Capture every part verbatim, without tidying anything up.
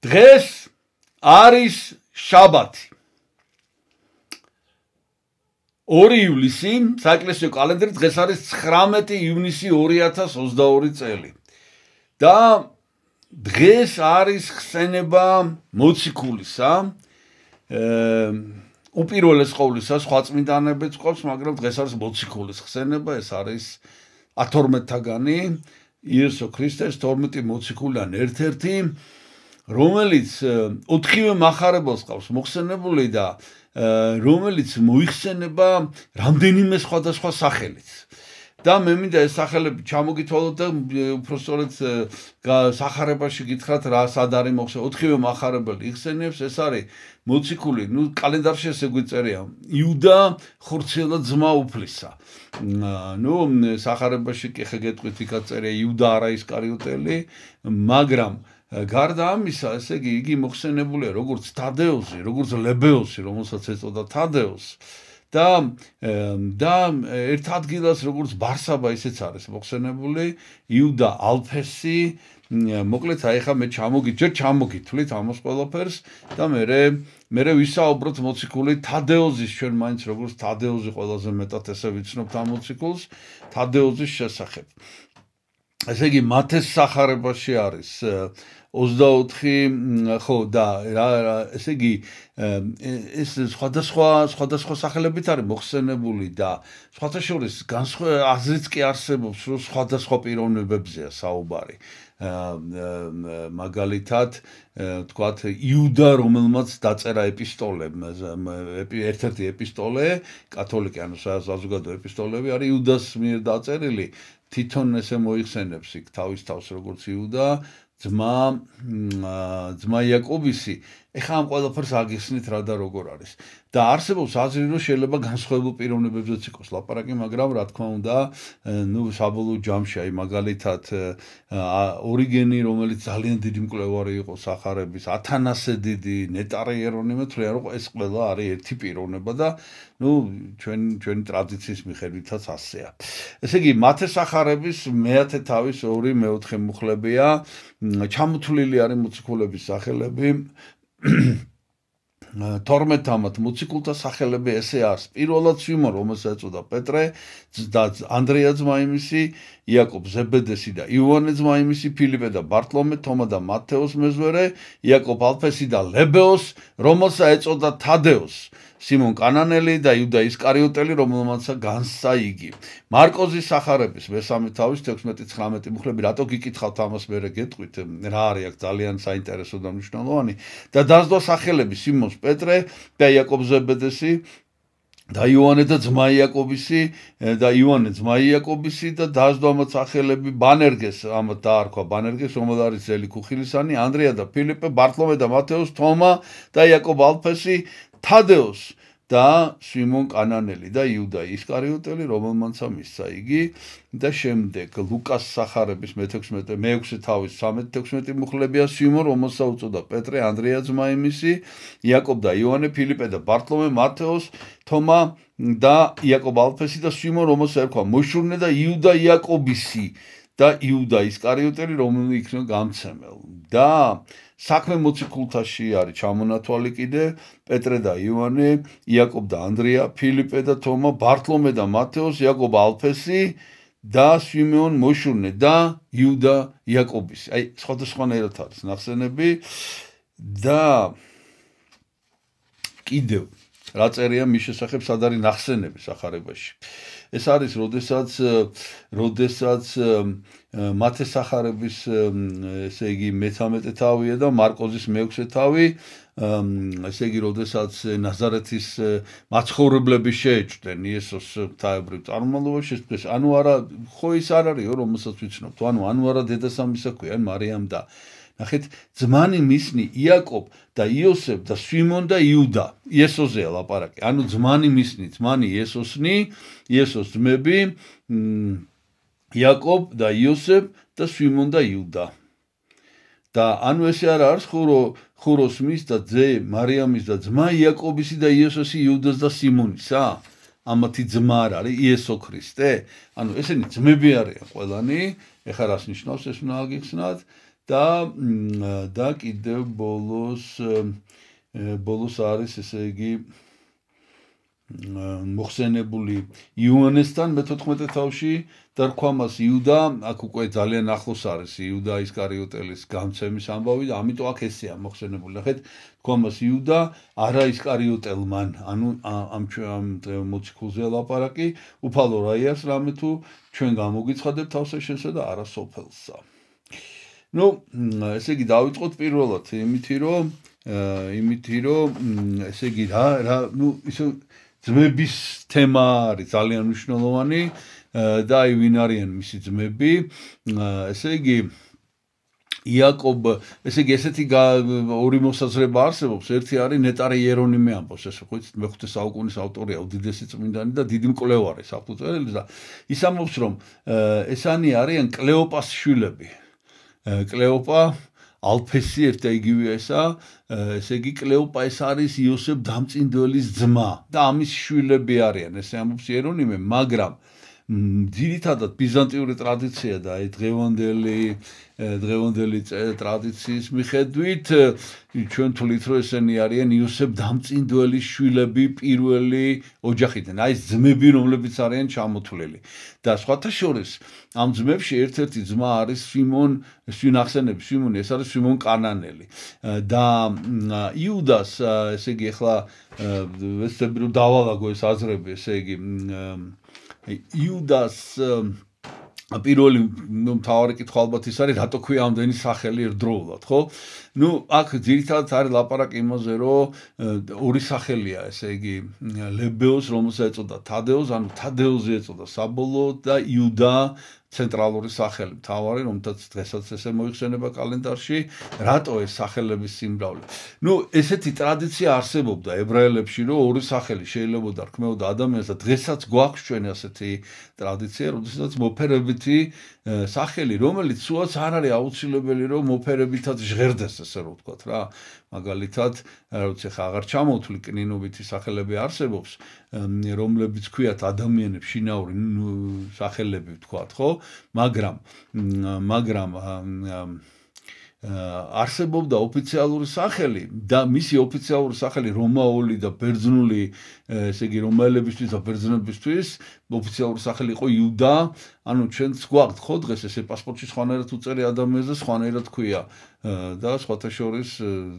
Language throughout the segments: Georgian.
დღეს არის შაბათი. ორი ივლისი, საეკლესიო კალენდარი დღეს არის ცხრამეტი ივნისი ორი ათას ოცდაორი წელი. და დღეს არის ხსენება მოციქულისა. უპირველეს ყოვლისა სხვა წმინდანებიც ყავს, მაგრამ დღეს არის მოციქულის ხსენება, ეს არის ათორმეტთაგანი იესო ქრისტეს თორმეტი მოციქულიდან ერთ-ერთი, რომელიც ოთხივე მახარებელს ყავს მოხსენებული და რომელიც მოიხსენება რამდენიმე სხვადასხვა სახელით. და მე მინდა ეს სახელები ჩამოგითვალოთ და უბრალოდ სახარებაში გითხრათ რა სად არის მოხსენებული. ოთხივე მახარებელი იხსენიებს, ეს არის მოციქული, ნუ კალენდარში ესე გვიწერია, იუდა ხორციელა ძმა უფლისა. ნუ სახარებაში კი ხე გეტყვით იქაც წერია იუდა არა ისკარიოტელი, მაგრამ გარდა ამისა, ესე იგი იგი მოხსენებულია როგორც თადეოსი, როგორც ლებეოსი, რომელსაც ეწოდა თადეოსი. და და ერთ ადგილას როგორც ბარსაბა ისეც არის მოხსენებული, იუდა ალფესი, მოკლედ აი ხა მე ჩამოგი ჯერ ჩამოგითვლით ამას ყველაფერს და მე მე ვისაუბროთ მოციქული თადეოზის, ჩვენ მაინც როგორც თადეოზი ყველაზე მეტად ესე ვიცნობთ ამ მოციქულს, თადეოზის შესახებ. ესე იგი მათეს სახარებაში არის ოცდაოთხი, ხო და რა ესე იგი ეს სხვადასხვა სხვადასხვა სახელებით არის მოხსენებული და სხვათა შორის აზრიც კი არსებობს, რომ სხვადასხვა პიროვნებებზეა საუბარი. მაგალითად, თქვათ იუდა, რომელმაც დაწერა ეპისტოლე, ერთ-ერთი ეპისტოლე, კათოლიკე, ანუ საზოგადო ეპისტოლები არის იუდას მიერ დაწერილი, თვითონ ესე მოიხსენებს იქ თავის თავს როგორც იუდა, ძმა ძმა იაკობისი. ეხლა ამ ყველაფერს აგიხსნით რა და როგორ არის. და არსებობს აზრი, რომ შეიძლება განსხვავებულ პიროვნებებზეც იყოს ლაპარაკი, მაგრამ რა თქმა უნდა, ნუ საბოლოო ჯამში, აი მაგალითად ორიგენი, რომელიც ძალიან დიდი მკვლევარი იყო სახარების, ათანასე დიდი, ნეტარი იერონიმე თვლიან, რომ ეს ყველა არის ერთი პიროვნება და ნუ ჩვენ ჩვენი ტრადიციის მიხედვითაც ასეა. ესე იგი, მათე სახარების მეათე თავის ორი მეოთხე მუხლებია, ჩამოთვლილი არის მოციქულების სახელები. თორმეტ მოციქულთა სახელები ესე არის. პირველად სიმონ, რომელსაც ეწოდა პეტრე და ანდრია ძმა იმისი, იაკობ ზებედესი და იოანე ძმა იმისი, ფილიპე და ბარტლომე, თომა და მათეოს მეზვერე, იაკობ ალფესი და ლებეოს, რომელსაც ეწოდა თადეოს, სიმონ კანანელი და იუდა ისკარიოტელი, რომელმაც განსცა იგი. მარკოზის სახარების მესამე თავის თექვსმეტი ცხრამეტი მუხლები, რატო გიკითხავთ ამას მერე გეტყვით, რა არის აქ ძალიან საინტერესო და მნიშვნელოვანი და დასდო სახელები სიმონს პეტრე და იაკობ ზებედესი და იოანე და ძმა იაკობისი და იოანე ძმა იაკობისი და დასდო ამათ სახელები ბანერგეს, ამათ დაარქვა ბანერგეს, რომელიც არის ძელი ქუხილისანი, ანდრია და ფილიპე, ბარტლომე და მათეოს, თომა და იაკობ ალფესი, თადეოს და სიმონ კანანელი და იუდა ისკარიოტელი, რომელმაც მისცა იგი და შემდეგ ლუკას სახარების მეექვსე თავის თექვსმეტი მუხლებია სიმონ, რომელსაც უწოდა პეტრე, ანდრია ძმა იმისი, იაკობ და იოანე, ფილიპე და ბარტლომე, მათეოს, თომა და იაკობ ალფესი და სიმონ, რომელსაც ერქვა მოშურნე და იუდა იაკობისი და იუდა ისკარიოტელი, რომელიც იქნება გამცემელ. და საქმე მოციქულთაში არის ჩამონათვალი კიდე პეტრე და იოანე, იაკობ და ანდრია, ფილიპე და თომა, ბარტლომე და მათეოს, იაკობ ალფესი და სიმეონ მოშურნე და იუდა იაკობისი. აი, სხვადასხვანაირად არის ნახსენები და კიდევ რა წერია მის შესახებ, სად არის ნახსენები სახარებაში. ეს არის, როდესაც როდესაც მათე სახარების ესე იგი მეთორმეტე თავია და მარკოზის მეექვსე თავი, ესე იგი, როდესაც ნაზარეთის მაცხოვრებლები შეეჭვდნენ იესოს ღვთაებრივ წარმომავლობაში, ეს ანუ არა, ხო ის არ არისო, რომელსაც ვიცნობთ, ანუ ანუ არა დედასამისა ქვიან მარიამ და ნახეთ, ძმანი მისნი იაკობ და იოსებ და სიმონ და იუდა. იესოზეა ლაპარაკი. ანუ ძმანი მისნი, ძმანი იესოსნი, იესოს ძმები, იაკობ და იოსებ და სიმონ და იუდა. და ანუ ესე არ არის ხურო ხუროს მის და ძე მარიამის და ძმა იაკობისი და იესოსი იუდას და სიმონისა? ამათი ძმა არ არის იესო ქრისტე? ანუ ესენი ძმები არიან ყველანი, ეხლა რას ნიშნავს ეს უნდა აგიხსნათ? და და კიდევ ბოლოს ბოლოს არის ესე იგი მოხსენებული იოანესთან მეთოთხმეტე თავში და რქვა მას იუდა, აქ უკვე ძალიან ახლოს არის იუდა ისკარიოტელის გამცემის ამბავი და ამიტომ აქ ესეა მოხსენებული. ნახეთ, რქვა მას იუდა, არა ისკარიოტელმან, ანუ ამ ამ მოციქულზე ლაპარაკი, უფალო რა იარს რამე თუ ჩვენ გამოგიცხადებთ თავსა შენსა და არა სოფელსა. ნუ, ესე იგი დავიწყოთ პირველად იმითი რომ იმითი რომ ესე იგი რა რა ნუ ისე ძმების თემა არის ძალიან მნიშვნელოვანი და აი ვინ არიან მისი ძმები ესე იგი იაკობ ესე იგი ესეთი ორი მოსაზრება არსებობს ერთი არის ნეტარი იერონიმე ამბობს ესე ხოც მეხუთე საუკუნის ავტორია უდიდესი წმინდანი და დიდი მკვლევარი საფუძველი და ის ამბობს რომ ესანი არიან კლეოპას შვილები კლეოპა ალფესი ერთ და იგივე ესა ესე იგი კლეოპა ეს არის იოსებ დამწინდელის ძმა და ამის შვილები არიან ესე ამბობს იერონიმე მაგრამ ძირითადად ბიზანტიური ტრადიცია და აი დღევანდელი დღევანდელი ტრადიციის მიხედვით ჩვენ თვლით რომ ესენი არიან იოსებ დამწინდელის შვილები პირველი ოჯახიდან აი ეს ძმები რომლებიც არიან ჩამოთვლილი და სხვათა შორის ამ ძმებში ერთ-ერთი ძმა არის სიმონ სვინ ახსენებს სიმონი ეს არის სიმონ კანანელი და იუდას ესე იგი ახლა ვეცდები რომ დავალაგო ეს აზრები ესე იგი იუდას პირველი მთავარი კითხვა ალბათ ის არის რატო ქვია ამდენი სახელი ერთდროულად ხო ნუ აქ ძირითადად არის ლაპარაკი იმაზე რომ ორი სახელია ესე იგი ლებეოს რომელსაც ეწოდა თადეოს ანუ თადეოზი ეწოდა საბოლოოდ და იუდა ცენტრალური სახელი მთავარი რომელთაც დღესაც ესე მოიხსენება კალენდარში რატო ეს სახელების სიმრავლე ნუ ესეთი ტრადიცია არსებობდა ებრაელებში რომ ორი სახელი შეიძლებოდა რქმეოდა ადამიანს და დღესაც გვაქვს ჩვენ ასეთი ტრადიცია როდესაც მოფერებითი სახელი რომელიც სულაც არ არის აუცილებელი რომ მოფერებითაც ჟღერდეს ესე რომ ვთქვათ რა მაგალითად როცა ხა აღარ ჩამოვთვლი კნინობითი სახელები არსებობს რომლებიც ქვიათ ადამიანებს შინაური სახელები ვთქვათ ხო მაგრამ მაგრამ არსებობდა ოფიციალური სახელი და მისი ოფიციალური სახელი რომაული და ბერძნული ესე იგი რომაელებისთვის და ბერძნებისთვის ოფიციალური სახელი იყო იუდა ანუ ჩვენც გვაქვს ხო დღეს ესე პასპორტში სხვანაირად უწერი ადამიანს და სხვანაირად ქვია და სხვათა შორის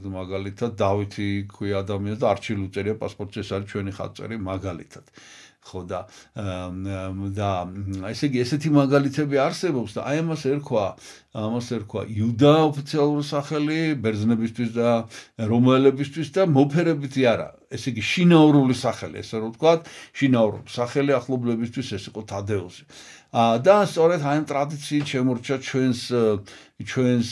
მაგალითად დავითი ქვია ადამიანს და არჩილი უწერია პასპორტში ეს არის ჩვენი ხატწერი მაგალითად ხო და და ესე იგი ესეთი მაგალითები არსებობს და აი ამას ერქვა ამას ერქვა იუდა ოფიციალური სახელი ბერძნებისთვის და რომაელებისთვის და მოფერებითი არა ესე იგი შინაურული სახელი ესე რომ ვთქვათ შინაურული სახელი ახლობლებისთვის ეს იყო თადეოზი და სწორედ აი ამ ტრადიციით შემორჩა ჩვენს ჩვენს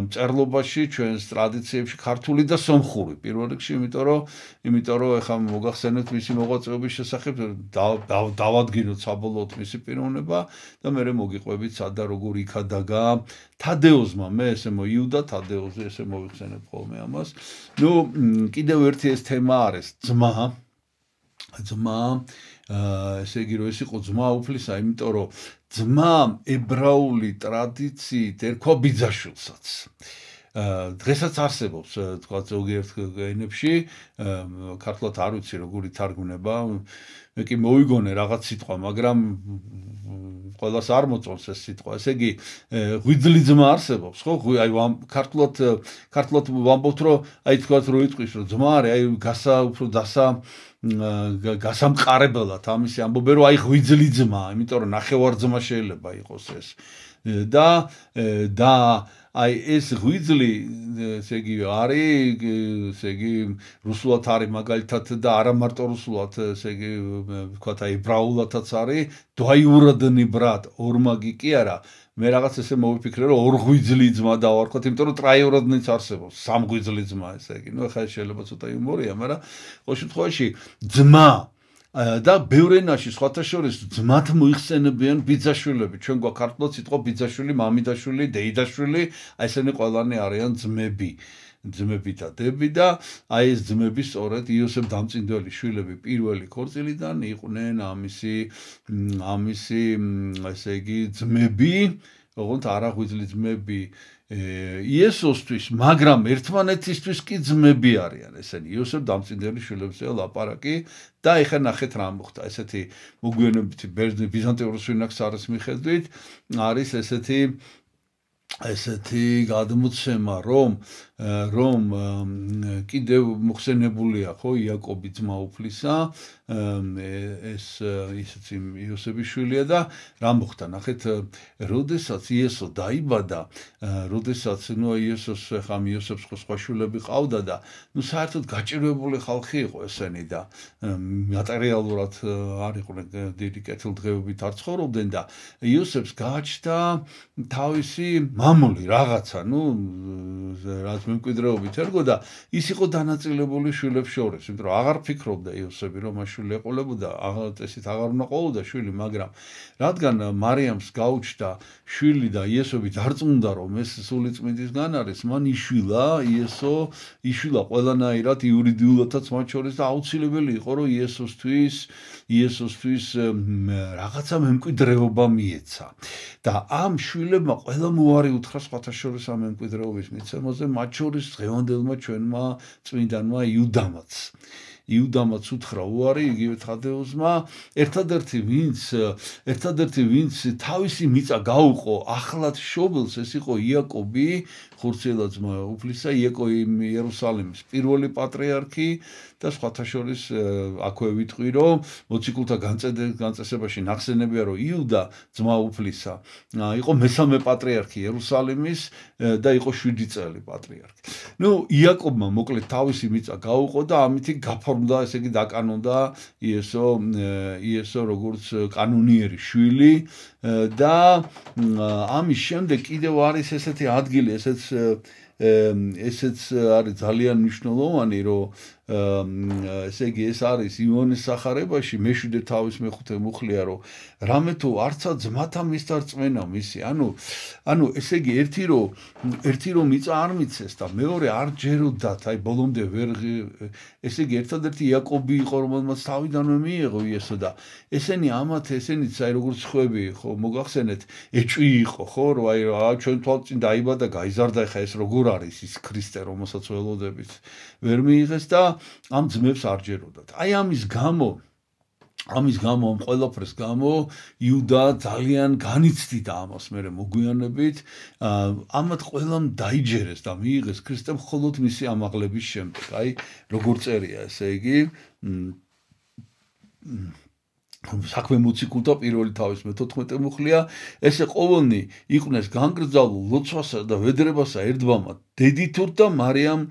მწერლობაში ჩვენს ტრადიციებში ქართული და სომხური პირველ რიგში იმიტომ რომ იმიტომ რომ ეხლა მოგახსენეთ მისი მოღვაწეობის შესახებ დავადგინოთ საბოლოოდ მისი პიროვნება და მე მოგიყვებით სადა როგორ იქადაგა თადეოზმა მე ესე მოიუდა თადეოზი ესე მოვიხსენებ ხოლმე ამას ნუ კიდევ ერთი ეს თემა არის ძმა ძმა ესე იგი რომ ეს იყო ძმა უფლისა იმიტომ რომ ძმა ებრაული ტრადიციით ერქვა ბიძაშვილსაც დღესაც არსებობს თქვა ზოგიერთ ენებში ქართულად არ ვიცი როგორი თარგმნება მე კი მოვიგონე რაღაც სიტყვა მაგრამ ყველას არ მოწონს ეს სიტყვა ესე იგი ღვიძლი ძმა არსებობს ხო აი ქართულად ქართულად ვამბობთ რომ აი თქვა რო იტყვის რომ ძმა არის აი გასა უფრო დასა გასამყარებლად ამისი ამბობენ რომ აი ღვიძლი ძმა იმიტომ რომ ნახევარძმა შეიძლება იყოს ეს და და აი ეს ღვიძლი ესე იგი არის ესე იგი რუსულად არის მაგალითად და არა მარტო რუსულად ესე იგი ვთქვათ აი ებრაულადაც არის დვაიურადნი ბრატ ორმაგი კი არა მე რაღაც ესე მოვიფიქრე რომ ორ ღვიძლი ძმა დავარქვათ იმიტომ რომ ტრაიურადნიც არსებობს სამ ღვიძლი ძმა ესე იგი ნუ ხა შეიძლება ცოტა იუმორია მაგრამ ყოველ შემთხვევაში ძმა და ბევრ ენაში სხვათა შორის ძმათ მოიხსენებიან ბიძაშვილები ჩვენ გვაქვს ქართულად სიტყვა ბიძაშვილი მამიდაშვილი დეიდაშვილი აი ესენი ყველანი არიან ძმები ძმები და დები და აი ეს ძმები სწორედ იოსებ დამწინდელის შვილები პირველი ქორწილიდან იყვნენ ამისი ამისი ესე იგი ძმები ოღონდ არა ღვიძლი ძმები იესოსთვის, მაგრამ ერთმანეთისთვის კი ძმები არიან ესენი. იოსებ დამწინდელი შვილებზეა ლაპარაკი და ეხლა ნახეთ რა მოხდა. ესეთი მოგვიანებითი ბიზანტიური სვინაქსარის მიხედვით არის ესეთი ესეთი გადმოცემა, რომ რომ კიდევ მოხსენებულია ხო იაკობი ძმა უფლისა, ეს ისიც იოსების შვილია და რა მოხდა? ნახეთ, როდესაც იესო დაიბადა, როდესაც ნუ იესოს ხა იოსებს სხვა შვილები ყავდა და ნუ საერთოდ გაჭირვებული ხალხი იყო ესენი და მატერიალურად არ იყვნენ დიდი კეთილდღეობით არ ცხოვრობდნენ და იოსებს გააჩნდა თავისი მამული რაღაცა, ნუ რაც მემკვიდრეობით ერგო და ის იყო დანაწილებული შვილებს შორის, იმიტომ რომ აღარ ფიქრობდა იოსები რომ მას შვილი ეყოლებოდა, აღარ წესით აღარ უნდა ყოლოდა შვილი, მაგრამ რადგან მარიამს გაუჩნდა შვილი და იესები დარწმუნდა რომ ეს სულიწმიდისგან არის, მან იშვილა იესო, იშვილა ყველანაირად იურიდიულადაც მათ შორის და აუცილებელი იყო რომ იესოსთვის იესოსთვის რაღაცა მემკვიდრეობა მიეცა. და ამ შვილებმა ყველა მოარი უთხრა სხვათა შორის ამ მემკვიდრეობის მიცემაზე, მათ შორის დღევანდელმა ჩვენმა წმინდანმა იუდამაც. იუდამაც უთხრა უარი იგივე თადეუსმა, ერთადერთი ვინც ერთადერთი ვინც თავისი მიწა გაუყო ახლად შობილს, ეს იყო იაკობი, ხურციელად ძმა უფლისა, იაკობი იერუსალიმის პირველი პატრიარქი და სხვათა შორის აქვე ვიტყვი რომ მოციქულთა განწესებაში ნახსენებია რომ იუდა ძმა უფლისა იყო მესამე პატრიარქი იერუსალიმის და იყო შვიდი წელი პატრიარქი. ნუ იაკობმა მოკლედ თავისი მიწა გაუყო და ამითი გაფორმდა, ესე იგი დაკანონდა იესო იესო როგორც კანონიერი შვილი და ამის შემდეგ კიდევ არის ესეთი ადგილი, ესეც ესეც არის ძალიან მნიშვნელოვანი, რომ ესე იგი ეს არის ივანეს სახარებაში მეშვიდე თავის მეხუთე მუხლია, რომ რამე თუ არცა ძმათა მისთა რწმენა მისი, ანუ ანუ ესე იგი ერთი რომ ერთი რომ მიწა არ მიცეს და მეორე არ ჯეროდათ, აი ბოლომდე ვერ ესე იგი ერთადერთი იაკობი იყო, რომელმაც თავიდანვე მიიღო იესო და ესენი ამათ ესენიც აი როგორც ხვები ხო მოგახსენეთ ეჭვი იყო ხო, რომ აი ჩვენ თვალწინ დაიბადა გაიზარდა, ხა ეს როგორ არის ის ქრისტე, რომელსაც ველოდებით ვერ მიიღეს და ამ ძმებს არ ჯეროდათ. აი ამის გამო ამის გამო ამ ყველაფრის გამო იუდა ძალიან განიცდიდა ამას მერე მოგვიანებით, ამათ ყველამ დაიჯერეს და მიიღეს ქრისტე მხოლოდ მისი ამაღლების შემდეგ. აი როგორ წერია ესე იგი საქმე მოციქულთა პირველი თავის მეთოთხმეტე მუხლია, ესე ყოველნი იყვნენ განგრძალულ ლოცვასა და ვედრებასა ერთბამად დედითურთ და მარიამ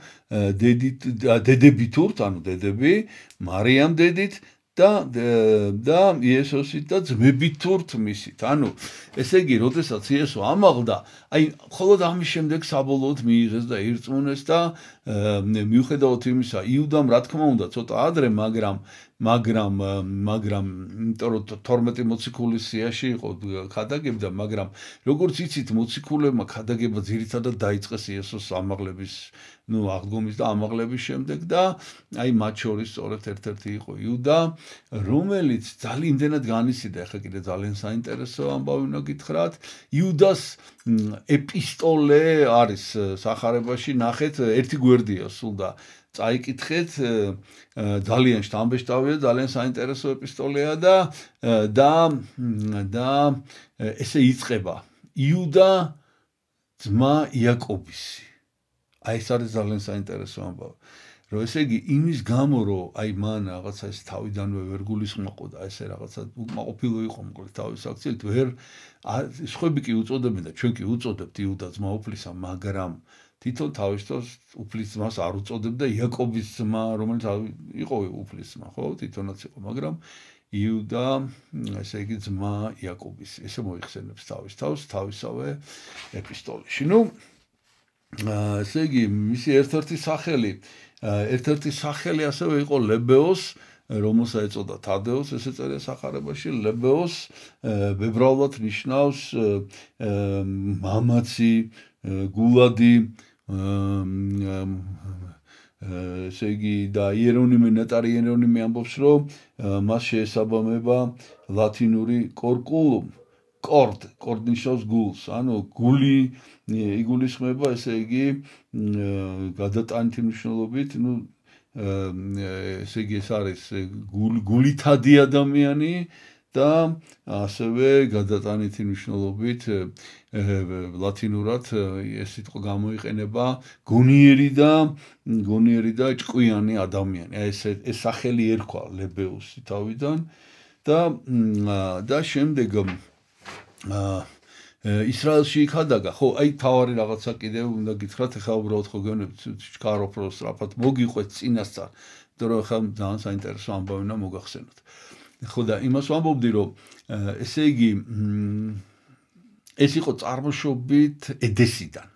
დედით დედებითურთ, ანუ დედები, მარიამ დედით და და იესოსით და ძმებითურთ მისით. ანუ ესე იგი, როდესაც იესო ამაღლდა, აი მხოლოდ ამის შემდეგ საბოლოოდ მიიღეს და ირწმუნეს და მიუხედავად იმისა, იუდამ რა თქმა უნდა ცოტა ადრე, მაგრამ მაგრამ მაგრამ იმიტომ რომ თორმეტი მოციქულის სიაში იყო ხადაგებდა, მაგრამ როგორც იცით მოციქულებმა ხადაგება ძირითადად დაიწყეს იესოს ამაღლების ნუ აღდგომის და ამაღლების შემდეგ და აი მათ შორის სწორედ ერთ-ერთი იყო იუდა, რომელიც ძალიან იმდენად განიცდიდა, ახლა კიდე ძალიან საინტერესო ამბავი უნდა გითხრათ, იუდას ეპისტოლე არის სახარებაში, ნახეთ, ერთი გვერდია სულ და წაიკითხეთ, ძალიან შთამბეჭდავია, ძალიან საინტერესო ეპისტოლეა და და და ესე იწყება იუდა ძმა იაკობისი. აი ეს არის ძალიან საინტერესო ამბავი. რომ ესე იგი იმის გამო რომ აი მან რაღაცა ეს თავიდანვე ვერ გულისხმოყო და ესე რაღაცა უკმაყოფილო იყო მოკლედ თავის აქციით, ვერ სხვები კი უწოდებენ და ჩვენ კი უწოდებთ იუდა ძმა უფლისა, მაგრამ თვითონ თავისთავად უფლის ძმას არ უწოდებდა იაკობის ძმა, რომელიც იყო უფლის ძმა, ხო? თვითონაც იყო, მაგრამ იუდა, ესე იგი ძმა იაკობის, ესე მოიხსენებს თავის თავს თავისავე ეპისტოლეში. ნუ ესე იგი მისი ერთ-ერთი სახელი, ერთ-ერთი სახელი ასევე იყო ლებეოს, რომელსაც ეწოდა თადეოს, ესე წერია სახარებაში, ლებეოს ბებრალად ნიშნავს მამაცი, გულადი, ესე იგი და იერონიმე ნეტარი იერონიმე ამბობს, რომ მას შეესაბამება ლათინური კორკულუმ, კორდ, კორდი ნიშნავს გულს, ანუ გული იგულისხმება, ესე იგი გადატანითი მნიშვნელობით, ну ესე იგი ეს არის გულითადი ადამიანი და ასევე გადატანითი მნიშვნელობით ლათინურად ეს სიტყვა გამოიყენება გონიერი და გონიერი და ჭკვიანი ადამიანი. ეს ეს სახელი ერქვა ლებეუსი თავიდან და და შემდეგ ისრაელში იქადაგა, ხო, აი თავარი რაღაცა კიდევ უნდა გითხრათ, ეხლა უბრალოდ ხო გეუბნებით, ჩქარობ რო სწრაფად მოგიყვეთ წინასწარ, იმიტომ რომ ეხლა ძალიან საინტერესო ამბავი უნდა მოგახსენოთ. ხო და იმას ვამბობდი, რომ ესე იგი ეს იყო წარმოშობით ედესიდან.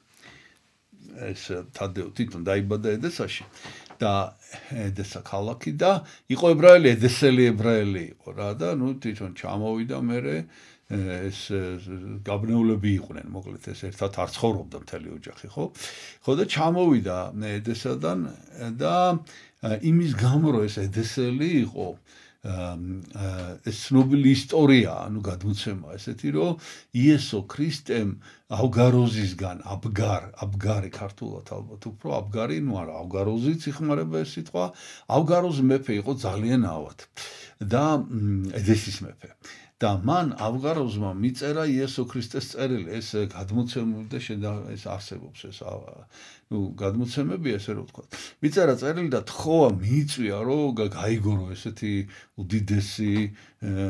ეს თადეო თვითონ დაიბადა ედესაში და ედესა ქალაქი და იყო ებრაელი, ედესელი ებრაელი იყო რა და ნუ თვითონ ჩამოვიდა მერე ეს გაბნეულები იყვნენ, მოკლედ ეს ერთად არ ცხოვრობდა მთელი ოჯახი, ხო? ხო და ჩამოვიდა ედესადან და იმის გამო რომ ეს ედესელი იყო ეს ცნობილი ისტორია, ანუ გადმოცემა ესეთი, რომ იესო ქრისტემ ავგაროზისგან, აბგარ, აბგარი ქართულად ალბათ უფრო, აბგარი, ну არა, ავგაროზიც იხმარება ეს სიტყვა, ავგაროზი მეფე იყო ძალიან ავად და ედესის მეფე. და მან ავგაროზმა მიწერა იესო ქრისტეს წერილი, ეს გადმოცემული და ეს არსებობს ეს ну გადმოცემები ესე რომ ვთქვა. მიწერა წერილი და თხოვა მიიწვია რომ გაიგორო ესეთი უდიდესი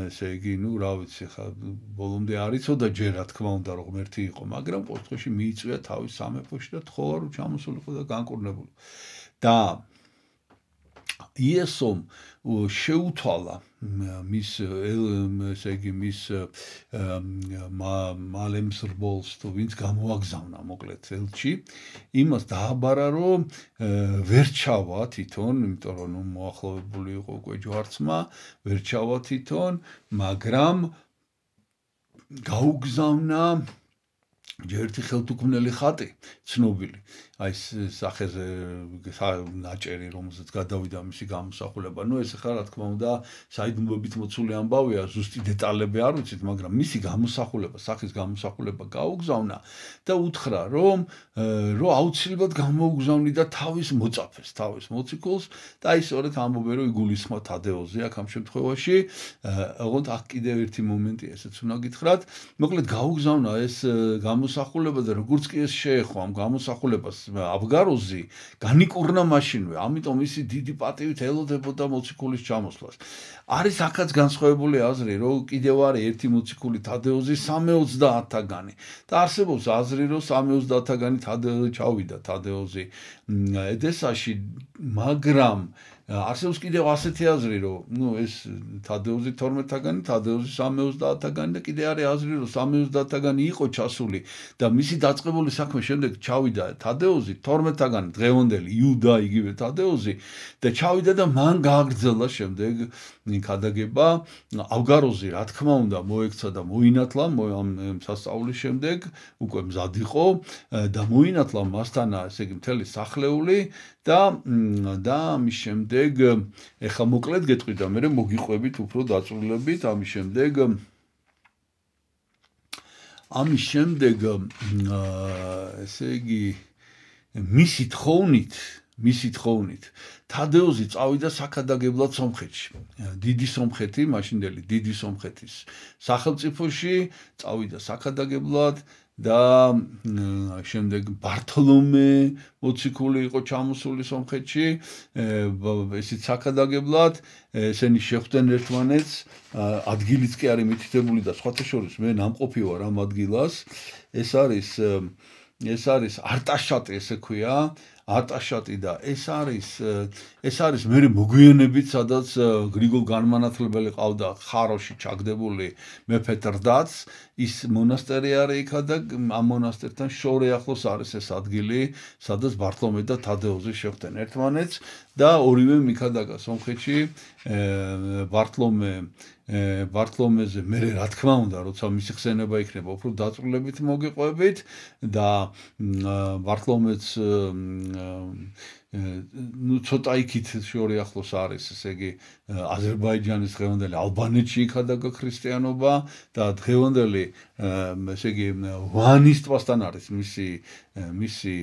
ესე იგი ну რა ვიცი ხა ბოლომდე არ იცოდა ჯერ რა თქმა უნდა რომ ღმერთი იყო, მაგრამ ყოველ შემთხვევაში მიიწვია თავის სამეფოში და თხოვა რომ ჩამოსულიყო და განკურნებულიყო. და იესომ შეუთვალა მის ესე იგი მის მალემსრბოლს თუ ვინც გამოაგზავნა მოკლედ ელჩი იმას დააბარა რომ ვერ ჩავა თვითონ იმიტომ რომ ნუ მოახლოვებული იყო უკვე ჯვარცმა ვერ ჩავა თვითონ მაგრამ გაუგზავნა ჯერთი ხელთუქმნელი ხატი ცნობილი აი სახეზე ნაჭერი რომელზეც გადავიდა მისი გამოსახულება ნუ ეს ხა რა თქმა უნდა საიდუმლოებით მოცული ამბავია ზუსტი დეტალები არ ვიცით მაგრამ მისი გამოსახულება სახის გამოსახულება გაუგზავნა და უთხრა რომ რომ აუცილებლად გამოუგზავნი და თავის მოწაფეს თავის მოციქულს და აი სწორედ ამბობენ რომ იგულისხმა თადეოზე აქ ამ შემთხვევაში ოღონდ აქ კიდევ ერთი მომენტი ესეც უნდა გითხრათ მოკლედ გაუგზავნა ეს გამოსახულება და როგორც კი ეს შეეხო ამ გამოსახულებას აბგაროზი განიკურნა მაშინვე ამიტომ ისი დიდი პატივით ელოდებოდა მოციქულის ჩამოსვლას არის აქაც განსხვავებული აზრი რომ კიდევ არის ერთი მოციქული თადეოზი სამეოცდაათთაგანი და არსებობს აზრი რომ სამეოცდაათთაგანი თადეოზი ჩავიდა თადეოზი ედესაში მაგრამ არსებობს კიდევ ასეთი აზრი რომ ნუ ეს თადეოზი თორმეტთაგანი თადეოზი სამეოცდაათთაგანი და კიდე არის აზრი რომ სამეოცდაათთაგანი იყო ჩასული და მისი დაწყებული საქმე შემდეგ ჩავიდა თადეოზი თორმეტთაგანი დღევანდელი იუდა იგივე თადეოზი და ჩავიდა და მან გააგრძელა შემდეგ ქადაგება ავგაროზი რა თქმა უნდა მოექცა და მოინათლა ამ სასწაულის შემდეგ უკვე მზად იყო და მოინათლა მასთან ესე იგი მთელი სახლეული და და ამის შემდეგ ეხა მოკლედ გეტყვი და მე მოგიყვებით უფრო დაწვრილებით ამის შემდეგ ამის შემდეგ ესე იგი მისი თხოვნით მისი თხოვნით თადეოზი წავიდა საქადაგებლად სომხეთში დიდი სომხეთი მაშინდელი დიდი სომხეთის სახელმწიფოში წავიდა საქადაგებლად და შემდეგ ბართოლომე მოციქული იყო ჩამოსული სომხეთში ესეც საქადაგებლად ესენი შეხვდნენ ერთმანეთს ადგილიც კი არის მითითებული და სხვათა შორის მე ნამყოფი ვარ ამ ადგილას ეს არის ეს არის არტაშატი ესე ქვია არტაშატი და ეს არის ეს არის მე მოგვიანებით სადაც გრიგოლ განმანათლებელი ყავდა ხაროში ჩაგდებული მეფე ტრდაც ის მონასტერი არის იქა და ამ მონასტერთან შორე ახლოს არის ეს ადგილი სადაც ბართლომე და თადეოზი შეხვდნენ ერთმანეთს და ორივე მიქადაგა სომხეთში ბართლომე ბართლომეზე მე რა თქმა უნდა როცა მისი ხსენება იქნება უფრო დაწვრილებით მოგიყვებით და ბართლომეც ნუ ცოტა იქით შორი ახლოს არის, ესე იგი აზერბაიჯანის დღევანდელი ალბანეთში იქადა ქრისტიანობა და დღევანდელი ესე იგი ვანის ტბასთან არის მისი მისი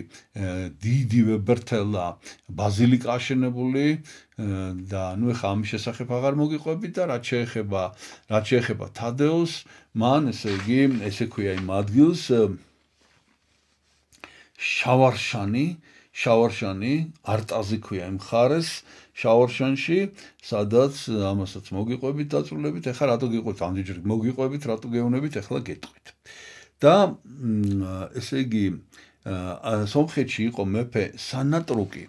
დიდი ვებერთელა ბაზილიკა აშენებული და ნუ ეხა ამის შესახებ აღარ მოგიყვებით და რაც შეეხება რაც შეეხება თადეოს მან ესე იგი ესე ქვია იმ ადგილს შავარშანი შავარშანი არტაზი ქვია იმ ხარეს შავარშანში სადაც ამასაც მოგიყვებით დაწვრილებით ეხლა რატო გიყვებით ამდენჯერ მოგიყვებით რატო გეუნებით ეხლა გეტყვით და ესე იგი სომხეთში იყო მეფე სანატრუკი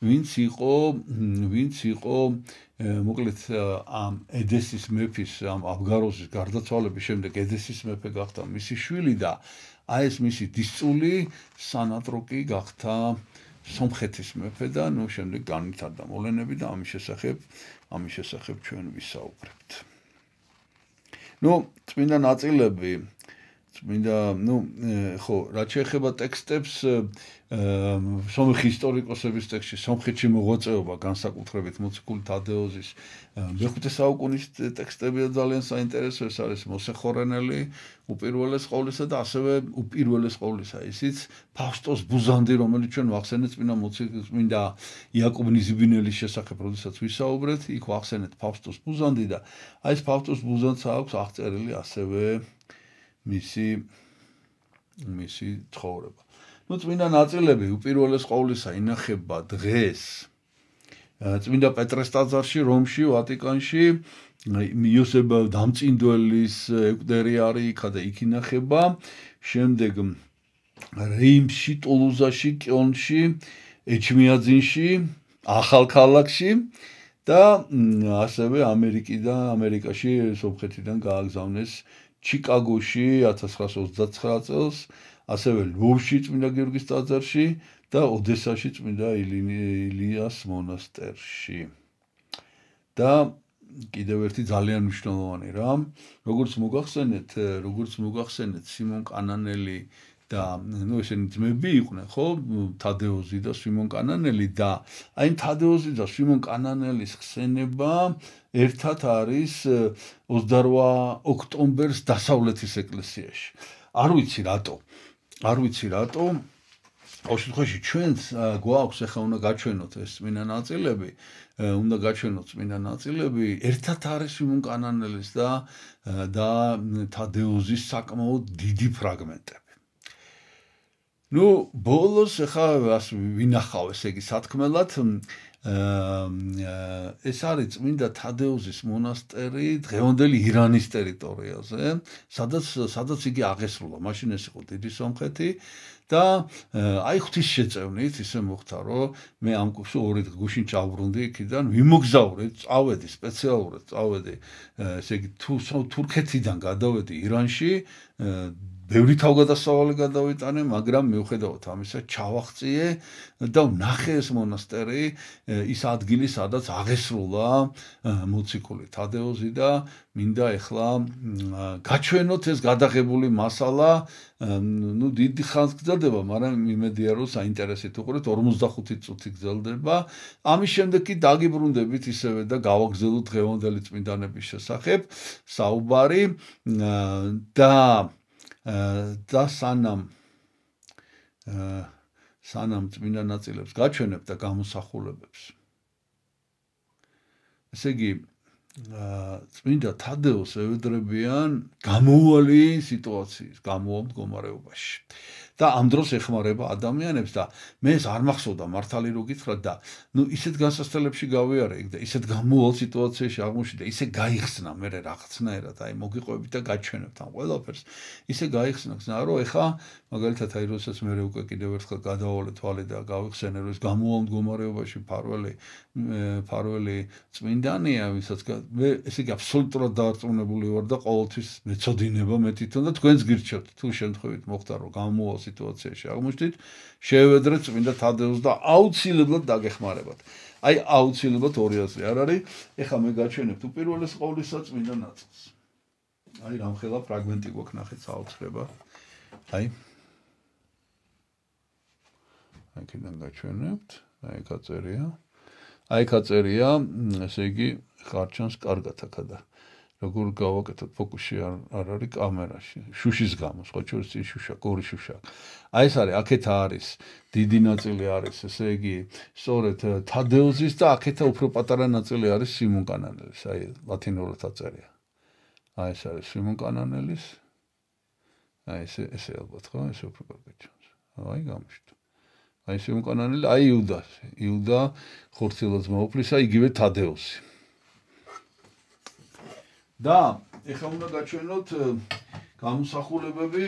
ვინც იყო ვინც იყო მოკლედ ამ ედესის მეფის ამ აბგაროზის გარდაცვალების შემდეგ ედესის მეფე გახდა მისი შვილი და აი ეს მისი დისწული სანატრუკი გახდა სომხეთის მეფე და ნუ შემდეგ განვითარდა მოვლენები და ამის შესახებ ამის შესახებ ჩვენ ვისაუბრებთ. ნუ წმინდა ნაწილები წმინდა ნუ ხო რაც შეეხება ტექსტებს სომხი ისტორიკოსების ტექსტში სომხეთში მოღვაწეობა განსაკუთრებით მოციქული თადეოზის მეხუთე საუკუნის ტექსტებია ძალიან საინტერესო ეს არის მოსეხორენელი უპირველეს ყოვლისა და ასევე უპირველეს ყოვლისა ისიც ფავსტოს ბუზანდი რომელიც ჩვენ ვახსენეთ წმინდა მოციქული წმინდა იაკობ ნიზიბინელის შესახებ როდესაც ვისაუბრეთ იქ ვახსენეთ ფავსტოს ბუზანდი და აი ეს ფავსტოს ბუზანდს აქვს აღწერილი ასევე მისი მისი ცხოვრება ნუ წმინდა ნაწილები უპირველეს ყოვლისა ინახება დღეს წმინდა პეტრეს ტაძარში რომში ვატიკანში იოსებ დამწინდველის ეკვდერიარი იქა და იქ ინახება შემდეგ რეიმსში ტულუზაში კიონში ეჩმიაძინში ახალქალაქში და ასევე ამერიკიდან ამერიკაში სომხეთიდან გააგზავნეს ჩიკაგოში ათას ცხრაას ოცდაცხრა წელს ასევე ლვოვში წმინდა გიორგის ტაძარში და ოდესაში წმინდა ილიას მონასტერში და კიდევ ერთი ძალიან მნიშვნელოვანი რამ როგორც მოგახსენეთ როგორც მოგახსენეთ სიმონ კანანელი და ნუ ესენი ძმები იყვნენ ხო თადეოზი და სიმონ კანანელი და აი თადეოზი და სიმონ კანანელის ხსენება ერთად არის ოცდარვა ოქტომბერს დასავლეთის ეკლესიაში არ ვიცი რატო არ ვიცი რატო ყოველ შემთხვევაში ჩვენც გვაქვს ახლა უნდა გაჩვენოთ ეს წმინდა ნაწილები უნდა გაჩვენოთ წმინდა ნაწილები ერთად არის სიმონ კანანელის და და თადეოზის საკმაოდ დიდი ფრაგმენტები ნუ ბოლოს ახლა ვინახავ ესე იგი სათქმელად ეს არის წმინდა თადეოზის მონასტერი დღევანდელი ირანის ტერიტორიაზე სადაც სადაც იგი აღესრულა მაშინ ეს იყო დიდი სომხეთი და აი ღვთის შეწევნით ისე მოხდა რომ მე ამ ორი გუშინ ჩავბრუნდი იქიდან ვიმოგზავრე წავედი სპეციალურად წავედი ესე იგი თურქეთიდან გადავედი ირანში ბევრი თავგადასავალი გადავიტანე, მაგრამ მიუხედავად ამისა ჩავახციე და ვნახე ეს მონასტერი, ის ადგილი, სადაც აღესრულა მოციქული თადეოზი და მინდა ეხლა გაჩვენოთ ეს გადაღებული მასალა, ნუ დიდი ხანს გრძელდება, მაგრამ იმედია რომ საინტერესით უყურეთ ორმოცდახუთი წუთი გრძელდება. ამის შემდეგ კი დაგიბრუნდებით ისევე და გავაგზავნოთ დღევანდელი წმინდანების შესახებ საუბარი და და სანამ სანამ წმინდა ნაწილებს გაჩვენებ და გამოსახულებებს. ესე იგი წმინდა თადეოს ევედრებიან გამოუვალი სიტუაციის, გამოუვალ მდგომარეობაში. და ამ დროს ეხმარება ადამიანებს და მე ეს არ მახსოვდა მართალი რო გითხრათ და ნუ ისეთ განსასწრებლებში გავიარე იქ და ისეთ გამოუვალ სიტუაციაში აღმოჩნდა ისე გაიხსნა მე რაღაცნაირად აი მოგიყვებით და გაჩვენებთ ამ ყველაფერს ისე გაიხსნა ხსნა რომ ეხა მაგალითად აი როდესაც მე უკვე კიდევ ერთხელ გადავალე თვალე და გავიხსენე რომ ეს გამოუვალ მდგომარეობაში ფარველი ფარველი წმინდანია ვისაც მე ესე იგი აბსოლუტურად დაარწმუნებული ვარ და ყოველთვის მეწოდინება მე თვითონ და თქვენს გირჩევთ თუ შემთხვევით მოხდა რომ გამოუვალ სიტუაციაში აღმოჩნდით შევედრეთ წმინდა თადეოს და აუცილებლად დაგეხმარებათ. აი აუცილებლად ორი აზრი არ არის. ეხლა მე გაჩვენებთ უპირველეს ყოვლისა წმინდა ნაწილს. აი რამხელა ფრაგმენტი გვაქვს ნახეთ საოცრება. აი აქედან გაჩვენებთ, აი აქ აწერია. აი აქ აწერია, ესე იგი, ხარჩანს კარგად აქადა. როგორ გავაკეთოთ ფოკუსი არ არის კამერაში. შუშის გამო, სხვა შორის ის შუშა, ორი შუშა. აი ეს არის, აქეთ არის დიდი ნაწილი არის, ესე იგი, სწორედ თადეოზის და აქეთა უფრო პატარა ნაწილი არის სიმონ კანანელის, აი ლათინურად აწერია. აი ეს არის სიმონ კანანელის. აი ესე ესე ალბათ ხო, ესე უფრო კარგად ჩანს. აი გამოჩნდა. აი სიმონ კანანელი, აი იუდა, იუდა ხორციელად მოუფლისა, იგივე თადეოზი. და ეხლა უნდა გაჩვენოთ გამოსახულებები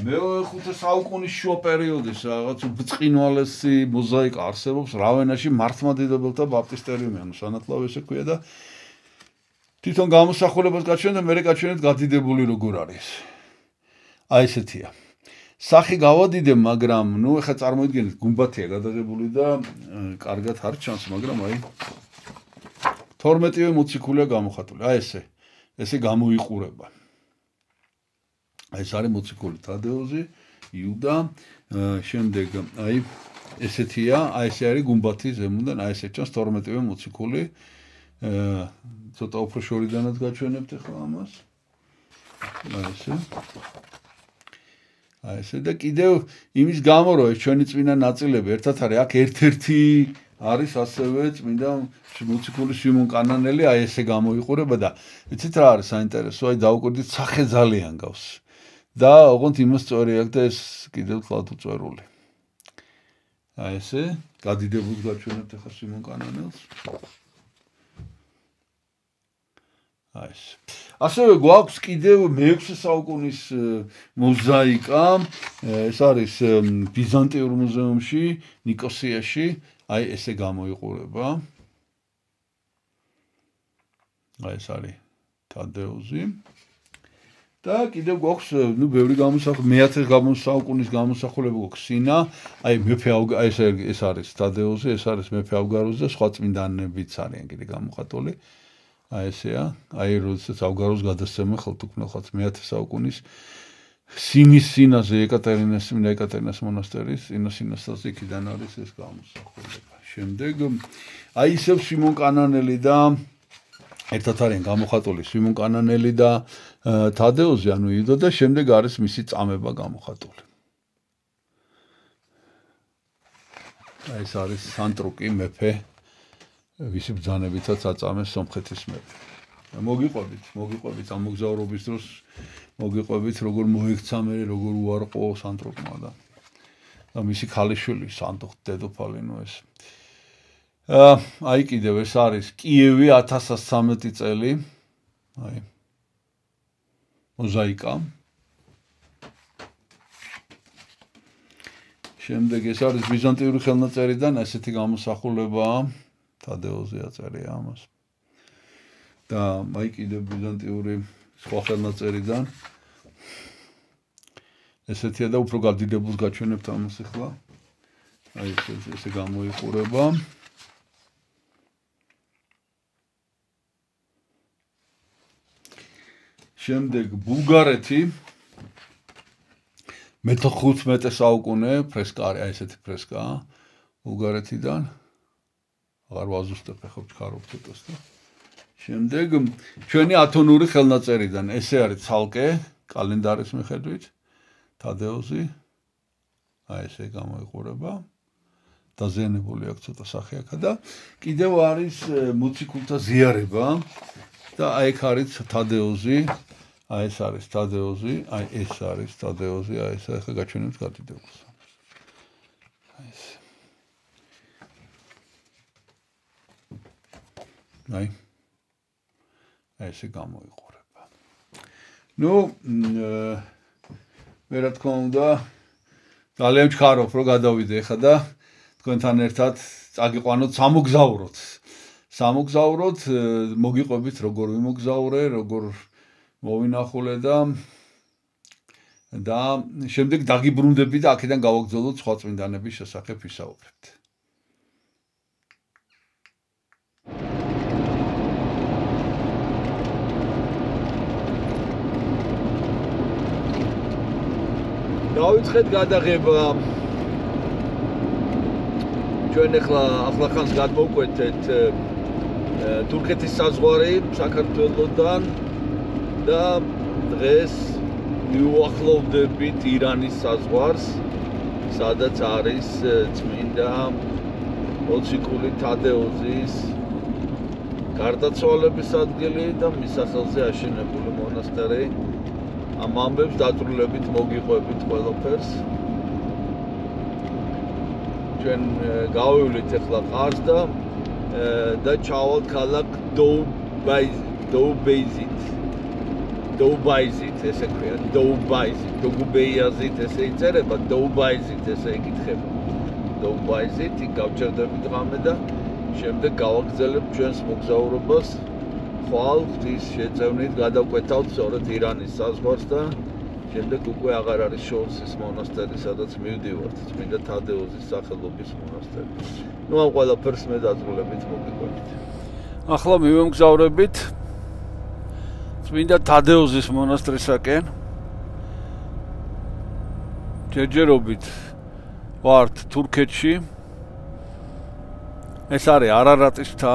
მეხუთე საუკუნის შუა პერიოდის რაღაც ბრწყინვალესი მოზაიკა არსებობს რავენაში მართლმადიდებელთა ბაპტისტერიუმი, ანუ სანათლავი ესე ქვია და თვითონ გამოსახულებას გაჩვენეთ და მერე გაჩვენეთ გადიდებული როგორ არის. აი ესეთია. სახი გავადიდე, მაგრამ ნუ ეხლა წარმოიდგინეთ გუმბათია გადაღებული და კარგად არ ჩანს, მაგრამ აი თორმეტივე მოციქულია გამოხატული. აი ესე ესე გამოიყურება. აი ეს არის მოციქული თადეოზი, იუდა, შემდეგ აი ესეთია, აი ესე არის გუმბათი ზემოდან, აი ესე ჩანს თორმეტივე მოციქული. ცოტა უფრო შორიდანაც გაჩვენებთ ახლა ამას. აი ესე. აი ესე და კიდევ იმის გამო რომ ეს ჩვენი წმინდა ნაწილები ერთად არის, აქ ერთ-ერთი არის ასევე წმინდა მოციქული სიმონ კანანელი, აი ესე გამოიყურება და იცით რა არის საინტერესო, აი დაუკვირდით სახე ძალიან გავს. და ოღონდ იმას სწორი აქვს და ეს კიდევ თლად უწვერული. აი ესე გადიდებულს გაჩვენებთ ახლა სიმონ კანანელს. აი ეს. ასევე გვაქვს კიდევ მეექვსე საუკუნის მოზაიკა, ეს არის ბიზანტიურ მუზეუმში, ნიკოსიაში, აი ესე გამოიყურება. აი ეს არის თადეოზი. და კიდევ გვაქვს, ნუ ბევრი გამოსახულება, მეათე საუკუნის გამოსახულება გვაქვს სინა, აი მეფე აი ეს ეს არის თადეოზი, ეს არის მეფე ავგაროზი და სხვა წმინდანებიც არიან კიდე გამოხატული. აი ესეა, აი როდესაც ავგაროს გადასცემა ხელთუქმნელხაც მეათე საუკუნის სინის სინაზე ეკატერინეს, წმინდა ეკატერინეს მონასტერის, სინა სინასაზე იქიდან არის ეს გამოსახულება. შემდეგ აი ისევ სიმონ კანანელი და ერთად არიან გამოხატული სიმონ კანანელი და თადეოზი, ანუ იუდა და შემდეგ არის მისი წამება გამოხატული. აი ეს არის სანტრუკი მეფე, ვისი ბრძანებითაც აწამეს სომხეთის მეფე. მოგიყვებით, მოგიყვებით ამ მოგზაურობის დროს, მოგიყვებით როგორ მოექცა მე, როგორ უარყო სანტრუკმა და და მისი ქალიშვილი სანდუხ დედოფალი ნუ ეს. აი კიდევ ეს არის კიევი ათას ცხრამეტი წელი. აი მოზაიკა. შემდეგ ეს არის ბიზანტიური ხელნაწერიდან ესეთი გამოსახულებაა. თადეოზი აწერია ამას. და აი კიდევ ბიზანტიური სხვა ხელნაწერიდან ესეთია და უფრო გადიდებულს გაჩვენებთ ამას ახლა. აი ეს ესე გამოიყურება. შემდეგ ბულგარეთი მეთოთხმეტე საუკუნე ფრესკა არის, აი ესეთი ფრესკაა ბულგარეთიდან. აღარ ვაზუსტებ ახლა ვჩქარობ ცოტას და შემდეგ ჩვენი ათონური ხელნაწერიდან ესე არის ცალკე კალენდარის მიხედვით თადეოზი აი ესე გამოიყურება დაზიანებული აქვს ცოტა სახე აქა და კიდევ არის მოციქულთა ზიარება და აი ეგ არის თადეოზი აი ეს არის თადეოზი აი ეს არის თადეოზი აი ეს ახლა გაჩვენებთ გადიდებულს აი ეს აი აი ესე გამოიყურება. ნუ მე რა თქმა უნდა ძალიან ვჩქარობ რომ გადავიდე ხა და თქვენთან ერთად წაგიყვანოთ სამოგზაუროთ. სამოგზაუროთ მოგიყვებით როგორ ვიმოგზაურე, როგორ მოვინახულე და და შემდეგ დაგიბრუნდები და აქედან გავაგრძელოთ სხვა წმინდანების შესახებ ვისაუბრებთ. დავიწყეთ გადაღება ჩვენ ახლა ახლახანს გადმოვკვეთეთ თურქეთის საზღვარი საქართველოსთან და დღეს მივუახლოვდებით ირანის საზღვარს, სადაც არის წმინდა მოციქული თადეოზის გარდაცვალების ადგილი და მის სახელზე აშენებული მონასტერი. ამ ამბებს დაწვრილებით მოგიყვებით ყველაფერს. ჩვენ გავივლით ახლა ყარს და და ჩავალთ ქალაქ დოუბეიზით. დოუბაიზით ესე ქვია, დოუბაიზით, დოგუბეიაზით ესე იწერება, დოუბაიზით ესე იკითხება. დოუბაიზით იქ გავჩერდებით ღამე და შემდეგ გავაგრძელებთ ჩვენს მოგზაურობას ხვალ ღვთის შეწევნით გადავკვეთავთ სწორედ ირანის საზღვარს და შემდეგ უკვე აღარ არის შორსის მონასტერი, სადაც მივდივართ, წმინდა თადეოზის სახელობის მონასტერი. ნუ ამ ყველაფერს მე დაწვრილებით მოგიყვებით. ახლა მივემგზავრებით წმინდა თადეოზის მონასტრისაკენ. ჯერჯერობით ვართ თურქეთში. ეს არის არარატის მთა,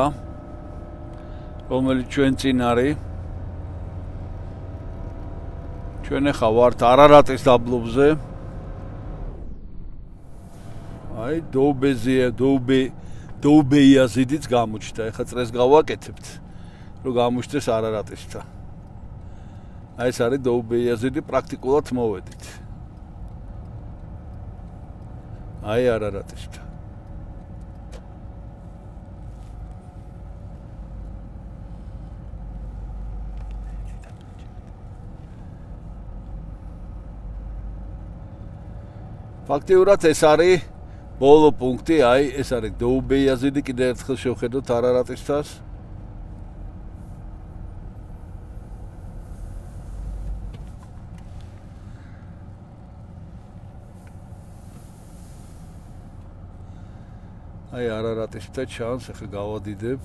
რომელიც ჩვენ წინ არის. ჩვენ ახლა ვართ არარატის დაბლობზე. აი დოუბეზია, დოუბე, დოუბეიაზიდიც გამოჩნდა. ახლა წრეს გავაკეთებთ, რომ გამოჩნდეს არარატის მთა. აი ეს არის დოუბეიაზიდი, პრაქტიკულად მოვედით. აი არარატის მთა. ფაქტიურად ეს არის ბოლო პუნქტი, აი ეს არის დოუბეიაზიდი, კიდევ ერთხელ შევხედოთ არარატის მთას. აი არარატის მთა ჩანს, ახლა გავადიდებ.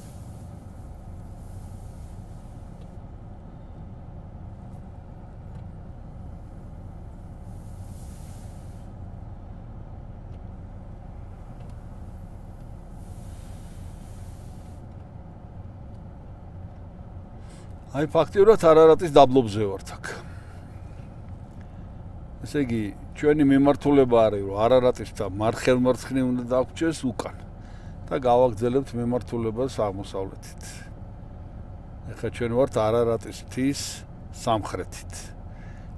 აი ფაქტიურად არარატის დაბლობზე ვართ აქ. ესე იგი, ჩვენი მიმართულება არის, რომ არარატის მთა მარხელ-მარცხნივ უნდა დაგვრჩეს უკან და გავაგრძელებთ მიმართულებას აღმოსავლეთით. ახლა ჩვენ ვართ არარატის მთის სამხრეთით.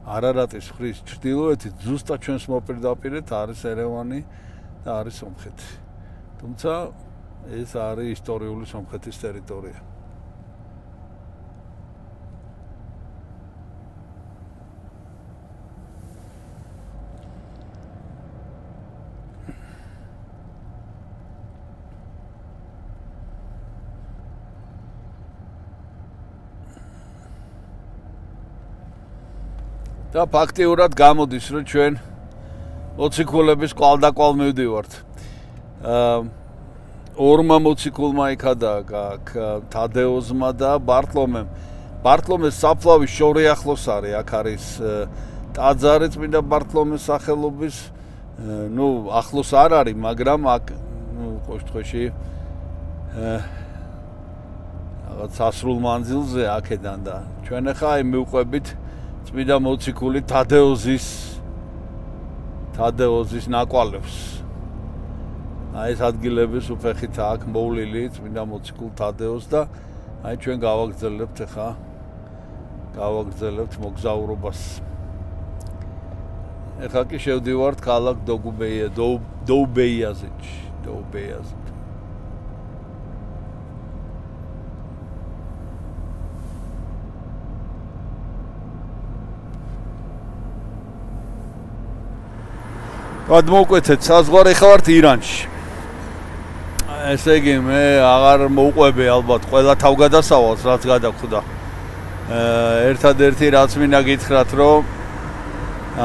არარატის მხრის ჩრდილოეთით ზუსტად ჩვენს მოპირდაპირედ არის ერევანი და არის სომხეთი. თუმცა ეს არის ისტორიული სომხეთის ტერიტორია. და ფაქტიურად გამოდის, რომ ჩვენ მოციქულების კვალდაკვალ მივდივართ. აა ორმა მოციქულმა იქადა აქ თადეოზმა და ბარტლომემ. ბარტლომეს საფლავის შორი ახლოს არის, აქ არის ტაძარი წმინდა ბარტლომეს სახელობის. ნუ ახლოს არ არის, მაგრამ აქ ნუ ყოველთვის აა რაღაც სასრულ მანძილზე აქედან და ჩვენ ახლა აი მივყვებით წმინდა მოციქული თადეოზის თადეოზის ნაკვალევს. აი ეს ადგილების უფეხით აქ მოვლილი წმინდა მოციქულ თადეოზს და აი ჩვენ გავაგრძელებთ ახლა გავაგრძელებთ მოგზაურობას. ახლა კი შევდივართ ქალაქ დოგუბეია დოუბეიაზეთში, დოუბეიაზეთ. გადმოვკვეთეთ საზღვარი, ახლა ვართ ირანში. ესე იგი მე აღარ მოვყვები ალბათ ყველა თავგადასავალს, რაც გადაგხვდა. ერთადერთი რაც მინდა გითხრათ, რომ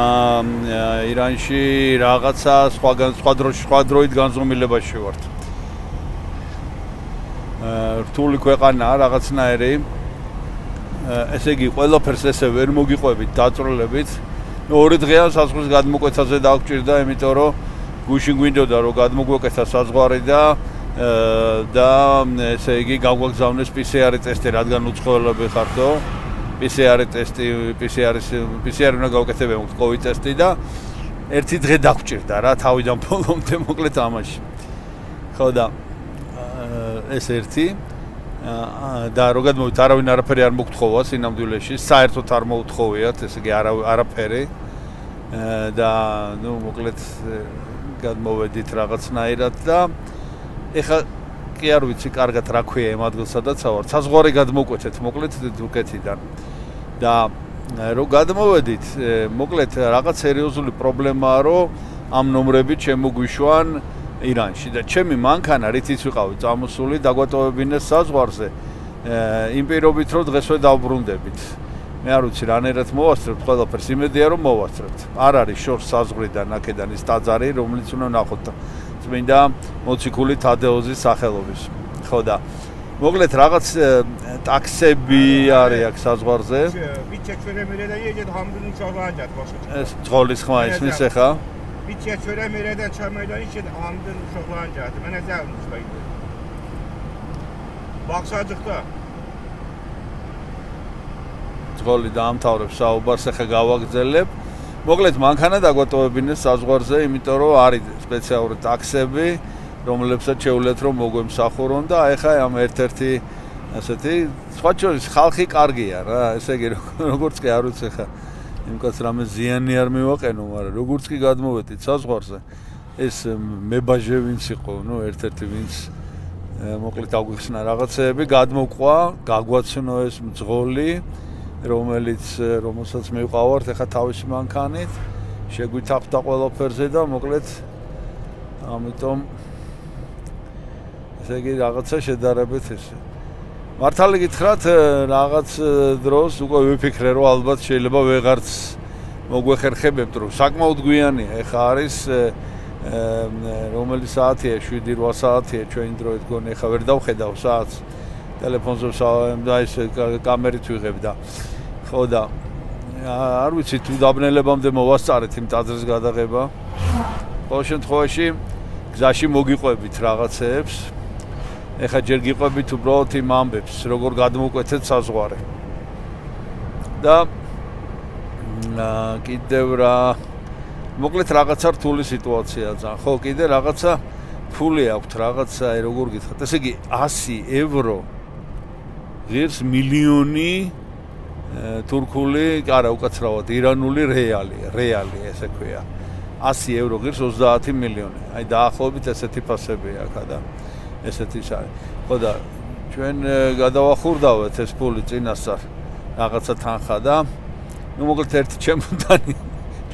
აა ირანში რაღაცა სხვაგან სხვა დროში სხვა დროით განზომილებაში ვართ. აა რთული ქვეყანაა რაღაცნაირი. ესე იგი ყველაფერს ესე ვერ მოგიყვებით, დაწვრილებით. ორი დღეა საზღვრის გადმოკვეთაზე დავჭირდა, იმიტომ რომ გუშინ გვინდოდა რომ გადმოგვეკეთა საზღვარი და და ესე იგი გავგვაგზავნეს პი სი არ ტესტი, რადგან უცხოელები ხარდო. პი სი არ ტესტი, პი სი არ პი სი არ უნდა გავკეთებია COVID ტესტი და ერთი დღე დაგვჭირდა რა თავიდან ბოლომდე მოკლედ ამაში. ხო და ეს ერთი და რო გადმოვით არავინ არაფერი არ მოგთხოვა სინამდვილეში, საერთოდ არ მოუთხოვიათ, ესე იგი არაფერი და ნუ მოკლედ გადმოვედით რაღაცნაირად და ეხა კი არ ვიცი კარგად რა ქვია იმ ადგილსა და ცავარ. საზღვარი გადმოკვეთეთ მოკლედ თურქეთიდან და რო გადმოვედით, მოკლედ რაღაც სერიოზული პრობლემაა, რომ ამ ნომრებით შემოგვიშვან ირანში და ჩემი მანქანა რითიც ვიყავი წამოსული დაგვატოვებინეს საზღვარზე იმ პირობით რომ დღესვე დავბრუნდებით. მე არ ვიცი რანაირად მოვასწრებთ ყველაფერს, იმედია რომ მოვასწრებთ. არ არის შორს საზღვრიდან აქედან ის ტაძარი, რომელიც უნდა ნახოთ წმინდა მოციქული თადეოზის სახელობის. ხო და მოკლედ რაღაც ტაქსები არის აქ საზღვარზე. ეს ძღოლის ხმა ისმის ეხა Biçe çöremireden çömeyden için hamdın uşaqlancadı. Mənə zəlmiş baydı. Baxsacıqda. ძღოლი დაამთავრებს საუბარს, ახლა გავაგრძელებ. მოკლედ მანქანა დაგვატოვებინეს საზღვარზე, იმიტომ რომ არის სპეციალური ტაქსები, რომლებსაც შეუძლიათ რომ მოგვემსახურონ და ახლა ამ ერთ-ერთი ასეთი სხვა შორის ხალხი კარგია რა, ესე იგი როგორც კი არ ვიცი ახლა იმკაც რამე ზიანი არ მივაყენო, მაგრამ როგორც კი გადმოვედით საზღვარზე, ეს მებაჟე ვინც იყო, ნუ ერთ-ერთი ვინც მოკლედ აგვიხსნა რაღაცეები, გადმოყვა, გაგვაცნო ეს მძღოლი, რომელიც რომელსაც მივყავართ ახლა თავისი მანქანით, შეგვითაფთა ყველაფერზე და მოკლედ ამიტომ ესე იგი რაღაცა შედარებით ესე მართალი გითხრათ, რაღაც დროს უკვე ვიფიქრე, რომ ალბათ შეიძლება ვეღარც მოგვეხერხებებთ, რომ საკმაოდ გვიანია. ეხა არის რომელი საათია, შვიდი რვა საათია ჩვენი დროით გონი, ეხა ვერ დავხედავ საათს. ტელეფონზე და ეს კამერით ვიღებ და ხო და არ ვიცი თუ დაბნელებამდე მოვასწარეთ იმ ტაძრის გადაღება. ყოველ შემთხვევაში გზაში მოგიყვებით რაღაცეებს. ეხა ჯერ გიყვებით უბრალოდ იმ ამბებს, როგორ გადმოკვეთეთ საზღვარი. და კიდევ რა მოკლედ რაღაცა რთული სიტუაციაა ძალიან. ხო, კიდე რაღაცა ფული აქვთ, რაღაცა როგორ გითხრათ, ესე იგი ასი ევრო ღირს მილიონი თურქული, არა უკაცრავად ირანული რეალი, რეალი ესე ქვია. ასი ევრო ღირს ოცდაათი მილიონი. აი დაახლოებით ესეთი ფასებია აქ და ესეთი ის არის. ხო და ჩვენ გადავახურდავთ ეს ფული წინასწარ რაღაცა თანხა და ნუ მოკლედ ერთი ჩემოდანი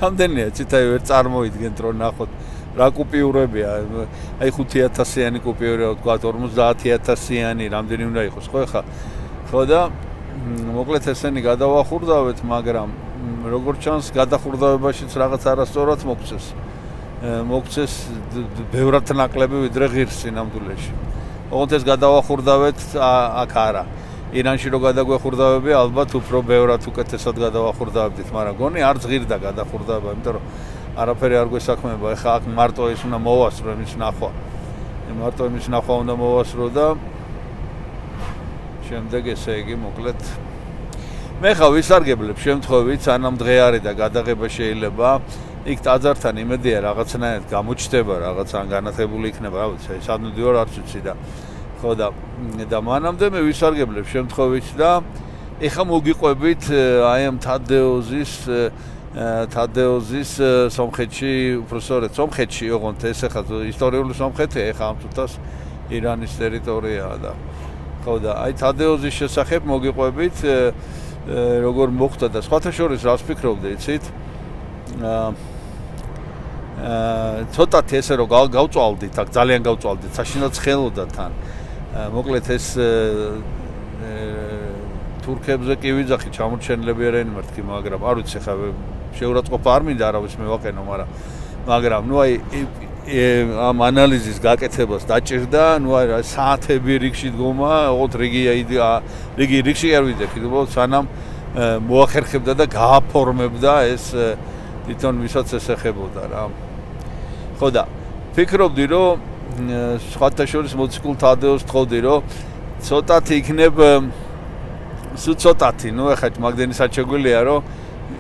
რამდენია ციტაი ვერ წარმოიდგენთ რომ ნახოთ რა კუპიურებია. აი ხუთი ათასიანი კუპიურია თქვა ორმოცდაათი ათასიანი რამდენი უნდა იყოს ხო ხა. ხო და მოკლედ ესენი გადავახურდავთ, მაგრამ როგორც ჩანს გადახურდავებაშიც რაღაც არასწორად მოგწეს. მოგწეს ბევრად ნაკლები ვიდრე ღირს სინამდვილეში. ოღონდ ეს გადავახურდავთ აქ არა. ირანში რო გადაგვეხურდავები, ალბათ უფრო ბევრად უკეთესად გადავახურდავებდით, მაგრამ გონი არ ზღირდა გადახურდავება, იმიტომ რომ არაფერი არ გვესაქმება. ეხა აქ მარტო ის უნდა მოვასწრო იმის ნახვა. მარტო იმის ნახვა უნდა მოვასწრო და შემდეგ ესე იგი მოკლედ მე ხა ვისარგებლებ შემთხვევით, სანამ დღე არის და გადაღება შეიძლება იქ ტაძართან იმედია რაღაცნაირად გამოჩნდება, რაღაც ან განათებული იქნება, რა ვიცი, სადმე დიო არც ვიცი და ხო და და მანამდე მე ვისარგებლებ შემთხვევით და ეხა მოგიყვებით აი ამ თადეოზის თადეოზის სომხეთში, უბრალოდ სომხეთში, ოღონდ ეს ეხა ისტორიული სომხეთი, ეხა ამ თუთას ირანის ტერიტორიაა და ხო და აი თადეოზის შესახებ მოგიყვებით როგორ მოხდა და სხვათა შორის რას ფიქრობდი, იცით? აა ცოტათი ესე რომ გავწვალდით, აქ ძალიან გავწვალდით, საშინელად ხელოდა თან. მოკლედ ეს თურქებზე კი ვიძახი ჩამორჩენილებიანი მართკი, მაგრამ არ ვიცი ხა შეურაცხყოფა არ მინდა არავის მევაყენო, მაგრამ მაგრამ ნუ აი ამ ანალიზის გაკეთებას დაჭირდა, ნუ აი საათები რიგში დგომა, ოღონდ რიგი რიგი რიგში არ ვიდექი, უბრალოდ სანამ მოახერხებდა და გააფორმებდა ეს თვითონ ვისაც ესეხებოდა რა. ხო და ფიქრობდი რომ სხვათა შორის მოციქულ თადეოს თხოვდი რომ ცოტათი იქნებ სულ ცოტათი ნუ ეხლა მაგდენი საჩეგვილია რომ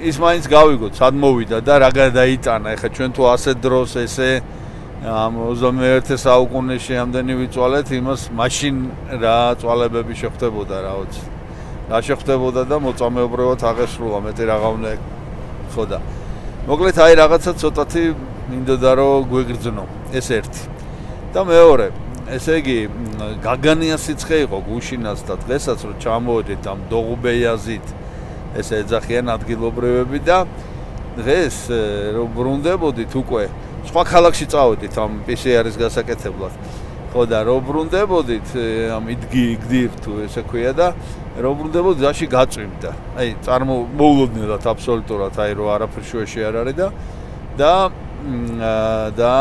ის მაინც გავიგოთ სად მოვიდა და რა გადაიტანა ეხლა ჩვენ თუ ასეთ დროს ესე ამ ოცდამეერთე საუკუნეში ამდენი ვიწვალეთ იმას მაშინ რა წვალებები შეხვდებოდა რაოც რა შეხვდებოდა და მოწამეობრივად აღესრულა მეტი რაღა უნდა ხო და მოკლედ აი რაღაცა ცოტათი მინდოდა რომ გვეგრძნო ეს ერთი და მეორე ესე იგი გაგანია სიცხე იყო გუშინაც და დღესაც რომ ჩამოვედით ამ დოღუბეიაზით ეს ეძახიან ადგილობრივები და დღეს რომ ბრუნდებოდით უკვე სხვა ქალაქში წავედით ამ პი სი არის გასაკეთებლად ხო და რომ ბრუნდებოდით ამ იდგი გდირ თუ ესე ქვია და რომ ბრუნდებოდით დაში გაწვიმდა აი წარმომოულოდნელად აბსოლუტურად აი რომ არაფერ შუაში არ არის და და და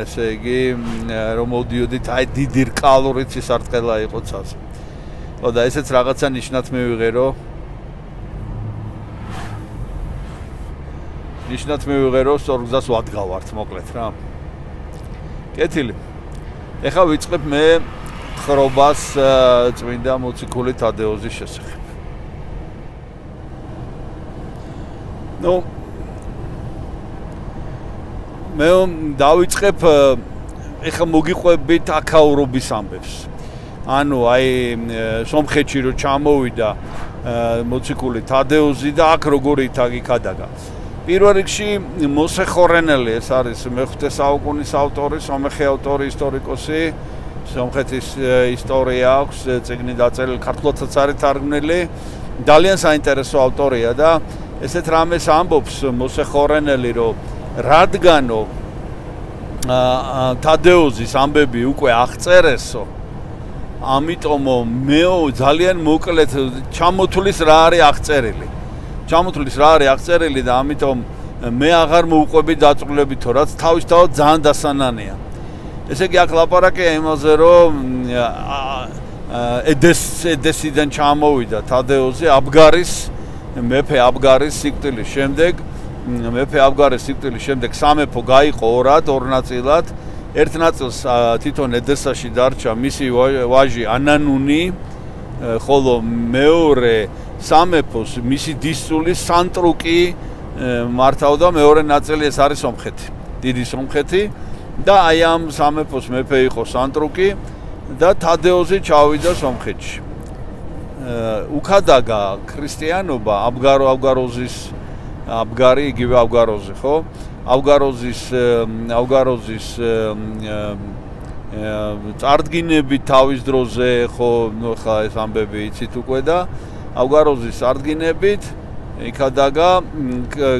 ესე იგი რომ მოდიოდით აი დიდი რკალურით სისარტყელა იყო ცაზე ხო და ესეც რაღაცა ნიშნად მივიღე რომ ნიშნად მივიღე რომ სწორ გზას ვადგავართ მოკლედ რა კეთილი ეხლა ვიწყებ მე ხრობას წმინდა მოციქული თადეოზის შესახებ ნუ მე დავიწყებ ეხლა მოგიყვებით აქაურობის ამბებს ანუ აი სომხეთში რო ჩამოვიდა მოციქული თადეოზი და აქ როგორი თაგი ქადაგა პირველ რიგში მოსე ხორენელი ეს არის მეხუთე საუკუნის ავტორი, სომეხი ავტორი, ისტორიკოსი, სომხეთის ისტორია აქვს, წიგნი დაწერილი, ქართულადაც არის თარგმნილი, ძალიან საინტერესო ავტორია და ესეთ რამეს ამბობს მოსე ხორენელი, რომ რადგანო თადეოზის ამბები უკვე აღწერესო, ამიტომ მე ძალიან მოკლედ ჩამოთulis რა არის აღწერილი. ჩამოთulis რა არის აღწერილი და ამიტომ მე აღარ მოვყვები დაწვრილებით თო რაც თავისთავად ძალიან დასანანია. ესე იგი აქ ლაპარაკია იმაზე რომ ედეს ედესიდან ჩამოვიდა თადეოზი აბგარის მეფე აბგარის სიკვდილის შემდეგ მეფე აბგარის სიკვდილის შემდეგ სამეფო გაიყო ორად ორ ნაწილად ერთ ნაწილს თვითონ ედესაში დარჩა მისი ვაჟი ანანუნი ხოლო მეორე სამეფოს მისი დისწული სანტრუკი მართავდა მეორე ნაწილი ეს არის სომხეთი დიდი სომხეთი და აი ამ სამეფოს მეფე იყო სანტრუკი და თადეოზი ჩავიდა სომხეთში უქადაგა ქრისტიანობა აბგარო აბგაროზის აბგარი იგივე აბგაროზი ხო აბგაროზის აბგაროზის წარდგინები თავის დროზე ხო ხა ეს ამბები იცით უკვე და აბგაროზის წარდგინებით იქადაგა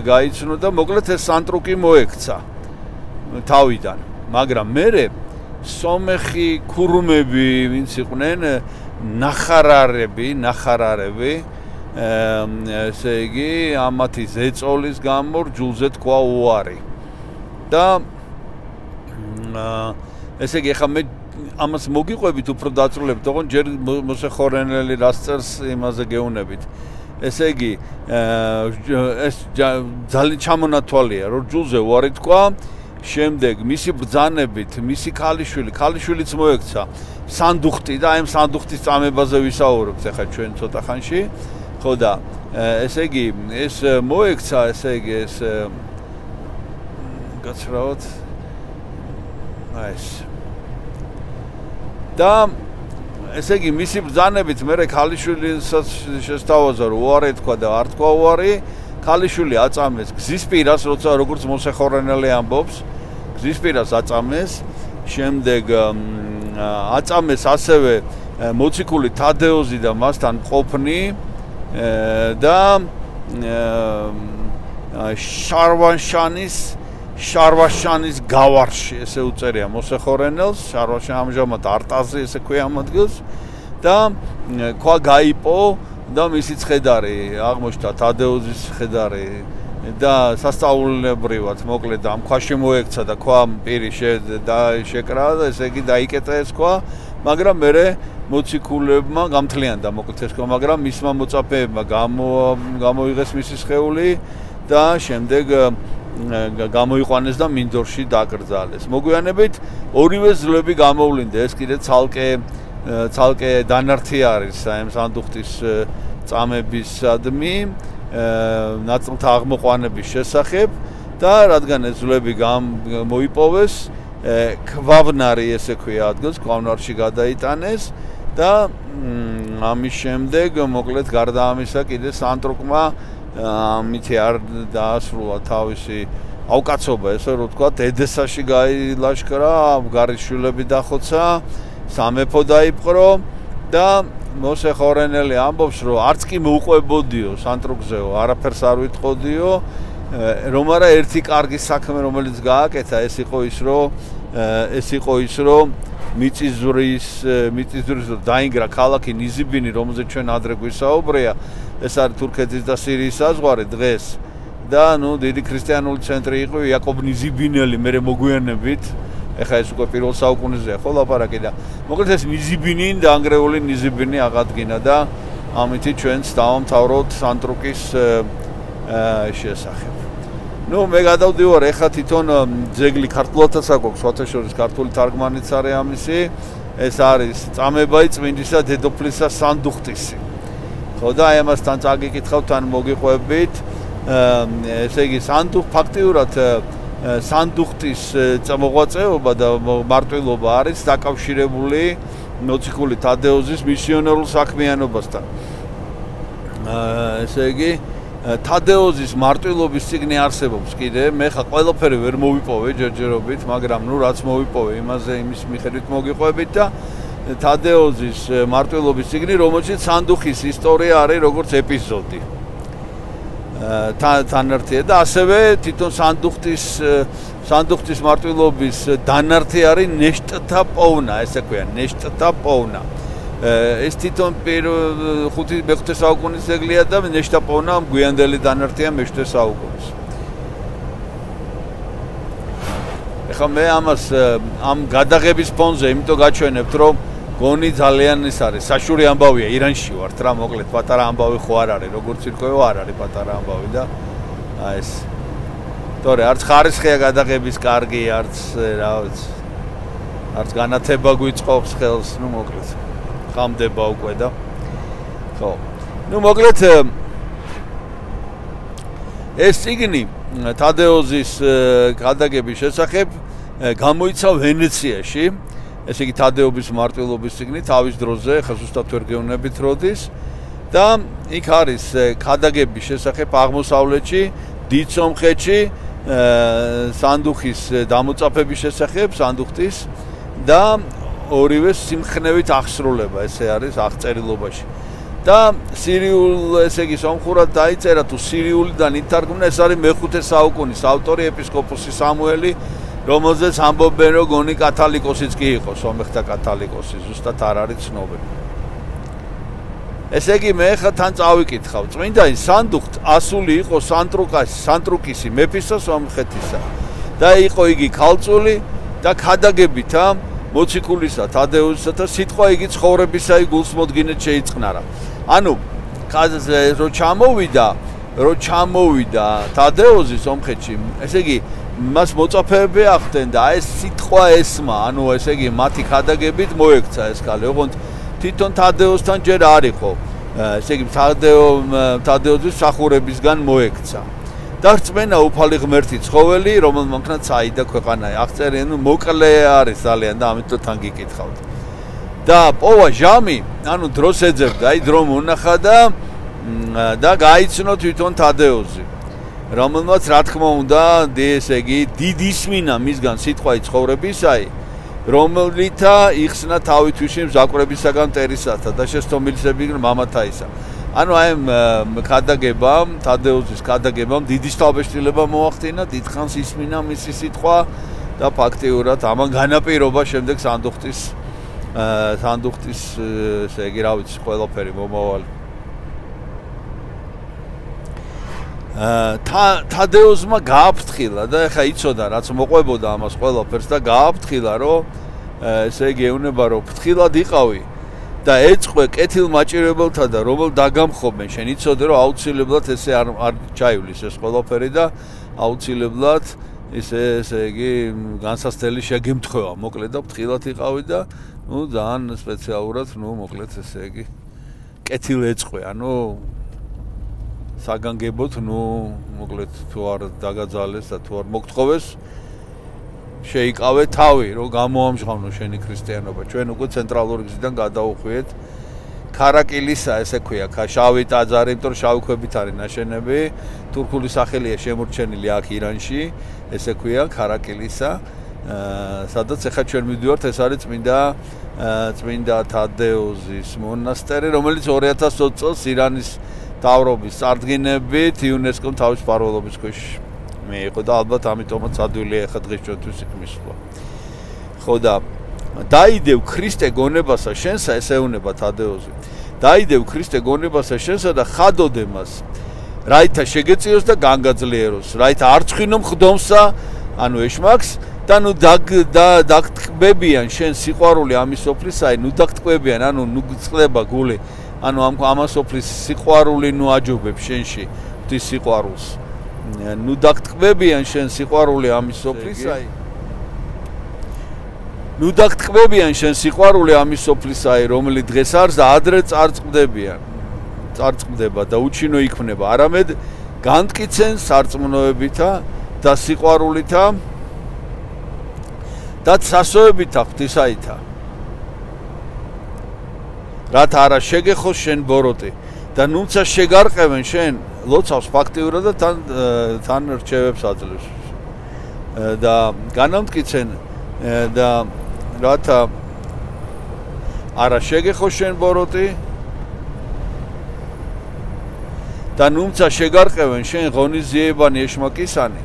გაიცნო და მოკლედ ეს სანტრუკი მოექცა თავიდან მაგრამ მერე სომეხი ქურუმები ვინც იყვნენ ნახარარები ნახარარები ესე იგი ამათი ზეწოლის გამო ჯულზე თქვა უარი და ესე იგი ხა მე ამას მოგიყვებით უფრო დაწვრილებით თქო ჯერ მოსე ხორენელი რას წერს იმაზე გეუნებით ესე იგი ეს ძალიან ჩამონათვალია რომ ჯულზე უარი თქვა შემდეგ მისი ბრძანებით მისი ქალიშვილი ქალიშვილიც მოექცა სანდუხტი და აი ამ სანდუხტის წამებაზე ვისაუბრებთ ახლა ჩვენ ცოტა ხანში ხო და ესე იგი ეს მოექცა ესე იგი ეს გაცრავთ აი ეს და ესე იგი მისი ბრძანებით მე ქალიშვილისაც შესთავაზა რომ უარი თქვა და არ თქვა უარი ქალიშვილი აწამეს გზის პირას როცა როგორც მოსე ხორენელი ამბობს გზის პირას აწამეს შემდეგ აწამეს ასევე მოციქული თადეოზი და მასთან ყოფნი და შარვაშანის შარვაშანის გავარში ესე უწერია მოსე ხორენელს შარვაშანი ამჟამად არტაზე ესე ქვია ამ ადგილს და ქვა გაიპო და მისი ცხედარი აღმოჩნდა თადეოზის ცხედარი და სასწაულებრივად მოკლედ ამ ქვაში მოექცა და ქვა პირი და შეკრა და ესე იგი დაიკეტა ეს ქვა მაგრამ მე მოციქულებმა გამთლიანდა მოკლედ ეს ქვა მაგრამ მისმა მოწაფეებმა გამოიღეს მისი სხეული და შემდეგ გამოიყვანეს და მინდორში დაკრძალეს. მოგვიანებით ორივე ძლები გამოვლინდა, ეს კიდე ცალკე ცალკე დანართი არის ამ სანდუხტის წამებისადმი, ნაწილთა აღმოყვანების შესახებ და რადგან ეს ძლები მოიპოვეს, ქვავნარი ესე ქვია ადგილს, ქვავნარში გადაიტანეს და ამის შემდეგ მოკლედ გარდა ამისა კიდე სანტრუკმა ამითი არ დაასრულა თავისი ავკაცობა, ესე რომ ვთქვა, ედესაში გაილაშქრა, გარიშვილები დახოცა, სამეფო დაიპყრო და მოსე ხორენელი ამბობს, რომ არც კი მოუყვებოდიო სანტრუკზეო, არაფერს არ ვიტყოდიო, რომ არა ერთი კარგი საქმე რომელიც გააკეთა, ეს იყო ის, რომ ეს იყო ის, რომ მიწისძვრის მიწისძვრის დაინგრა ქალაქი ნიზიბინი, რომელზეც ჩვენ ადრე გვისაუბრია, ეს არის თურქეთის და სირიის საზღვარი დღეს და ნუ დიდი ქრისტიანული ცენტრი იყო იაკობ ნიზიბინელი, მე მოგვიანებით, ეხლა ეს უკვე პირველ საუკუნეზეა ხო ლაპარაკი და მოკლედ ეს ნიზიბინი დაანგრეული ნიზიბინი აღადგინა და ამითი ჩვენც დავამთავროთ სანტრუკის შესახებ. ნუ მე გადავდივარ ეხლა თვითონ ძეგლი ქართულადაც აქვს, სხვათაშორის ქართული თარგმანიც არის ამისი, ეს არის წამებაი წმინდისა დედოფლისა სანდუხტისი. ხო და აი ამასთან წაგიკითხავთ ან მოგიყვებით, ესე იგი სანდუხ ფაქტიურად სანდუხტის მოღვაწეობა და მარტვილობა არის დაკავშირებული მოციქული თადეოზის მისიონერულ საქმიანობასთან. ესე იგი თადეოზის მარტვილობის წიგნი არსებობს კიდე, მე ხა ყველაფერი ვერ მოვიპოვე ჯერჯერობით, მაგრამ ნუ რაც მოვიპოვე, იმაზე იმის მიხედვით მოგიყვებით და თადეოზის მარტვილობის წიგნი, რომელშიც სანდუხის ისტორია არის როგორც ეპიზოდი. თანართია და ასევე თვითონ სანდუხტის სანდუხტის მარტვილობის დანართი არის ნეშტთა პოვნა, ესე ქვია, ნეშტთა პოვნა. ეს თვითონ ხუთი მეხუთე საუკუნის ძეგლია და ნეშტთა პოვნა გვიანდელი დანართია მეშვიდე საუკუნის. ეხლა მე ამას ამ გადაღების ფონზე იმიტომ გაჩვენებთ, რომ გონი ძალიან ის არის, საშური ამბავია, ირანში ვართ რა, მოკლედ პატარა ამბავი ხო არ არის, როგორც ირკვევა არ არის პატარა ამბავი და აი ეს. თორე არც ხარისხია გადაღების კარგი, არც რა ვიცი. არც განათება გვიწყობს ხელს, ნუ მოკლედ. ხამდება უკვე და ხო. ნუ მოკლედ ეს წიგნი თადეოზის გადაღების შესახებ გამოიცა ვენეციაში. ესე იგი თადეობის მარტვილობის წიგნი თავის დროზე, ხა ზუსტად ვერ გეუბნებით როდის და იქ არის ქადაგების შესახებ აღმოსავლეთში, დიდ სომხეთში, სანდუხის დამოწაფების შესახებ, სანდუხტის და ორივე სიმხნევით აღსრულება, ესე არის აღწერილობაში. და სირიულ, ესე იგი სომხურად დაიწერა თუ სირიულიდან ითარგმნა, ეს არის მეხუთე საუკუნის ავტორი ეპისკოპოსი სამუელი, რომელზეც ამბობენ, რომ გონი კათალიკოსიც კი იყო, სომეხთა კათალიკოსი, ზუსტად არ არის ცნობილი. ესე იგი მე ხა თან წავიკითხავ, წმინდა სანდუხტ ასული იყო სანტრუკას, სანტრუკისი მეფისა სომხეთისა და იყო იგი ქალწული და ქადაგებითა მოციქულისა თადეოზისა და სიტყვა იგი ცხოვრებისა იგულს მოდგინეთ შეიწყნარა. ანუ რო ჩამოვიდა, რო ჩამოვიდა თადეოზი სომხეთში, ესე იგი მას მოწაფეები ახდენ და ეს სიტყვა ესმა, ანუ ესე იგი მათი ქადაგებით მოექცა ეს ქალი, ოღონდ თვითონ თადეოზთან ჯერ არ იყო, ესე იგი თადეოზის მსახურებისგან მოექცა. და რწმენა უფალი ღმერთი ცხოველი, რომელმ მანქნა წაიდა ქვეყანა, აღწერენ, ნუ მოკლე არის ძალიან და ამიტომ თან გიკითხავთ. და პოვა ჟამი, ანუ დროს ეძებდა, აი დრო მონახა და და გაიცნო თვითონ თადეოზი. რომელმაც რა თქმა უნდა, ესე იგი დიდი ისმინა მისგან სიტყვაი ცხოვრებისაი, რომელითა იხსნა თავი თვიში მზაკვრებისაგან მტერისათა და შესტომილისები მამათაისა. ანუ აი ქადაგებამ, თადეოზის ქადაგებამ დიდი თავბეჭდილება მოახდინა, დიდხანს ისმინა მისი სიტყვა და ფაქტიურად ამან განაპირობა შემდეგ სანდუხტის სანდუხტის ესე იგი რა ვიცი ყველაფერი მომავალი. თადეოზმა გააფრთხილა და ეხა იცოდა რაც მოყვებოდა ამას ყველაფერს და გააფრთხილა რომ ესე იგი ეუნება რომ ფრთხილად იყავი და ეწყვე კეთილმაჭირებელთა და რომელ დაგამხობენ შენ იცოდე რომ აუცილებლად ესე არ არ ჩაივლის ეს ყველაფერი და აუცილებლად ისე ესე იგი განსასწრელი შეგემთხვევა მოკლედ და ფრთხილად იყავი და ნუ ძალიან სპეციალურად ნუ მოკლედ ესე იგი კეთილ ეწყვე ანუ საგანგებოდ ნუ მოკლედ თუ არ დაგაძალეს და თუ არ მოგთხოვეს შეიკავე თავი რომ გამოამჟღავნო შენი ქრისტიანობა ჩვენ უკვე ცენტრალური გზიდან გადავუხვიეთ ქარაკილისა ესე ქვია შავი ტაძარი იმიტომ რომ შავი ქვებით არის ნაშენები თურქული სახელია შემორჩენილი აქ ირანში ესე ქვია ქარაკილისა სადაც ახლა ჩვენ მივდივართ ეს არის წმინდა წმინდა თადეოზის მონასტერი რომელიც ორი ათას ოცი წელს ირანის თავრობის წარდგინებით იუნესკომ თავის მფარველობის ქვეშ მიიღო და ალბათ ამიტომაც ადვილია ახლა დღეს ჩვენთვის იქ მისვლა ხო და დაიდევ ქრისტე გონებასა შენსა ესეუნება თადეოზი დაიდევ ქრისტე გონებასა შენსა და ხადოდე მას რაითა შეგეწიოს და განგაძლიეროს რაითა არ წვინო მხდომსა ანუ ეშმაკს და ნუ დაგტკბებიან შენ სიყვარული ამის სოფლისაი ნუ დაგტკბებიან ანუ ნუ წყდება გული ანუ ამ ამას სოფლის სიყვარული ნუ აჯობებ შენში ღვთის სიყვარულს ნუ დაგტკბებიან შენ სიყვარული ამის სოფლისაი ნუ დაგტკბებიან შენ სიყვარული ამის სოფლისაი რომელი დღეს არის და ადრე წარწყდებიან წარწყდება და უჩინო იქმნება არამედ განტკიცენ სარწმუნოებითა და სიყვარულითა და სასოებითა ღვთისაითა რათა არა შეგეხოს შენ ბოროტი და ნუცა შეგარყევენ შენ ლოცავს ფაქტიურად და თან თან რჩევებს აძლევს და განამტკიცენ და რათა არა შეგეხოს შენ ბოროტი და ნუცა შეგარყევენ შენ ღონისძიებანი ეშმაკისანი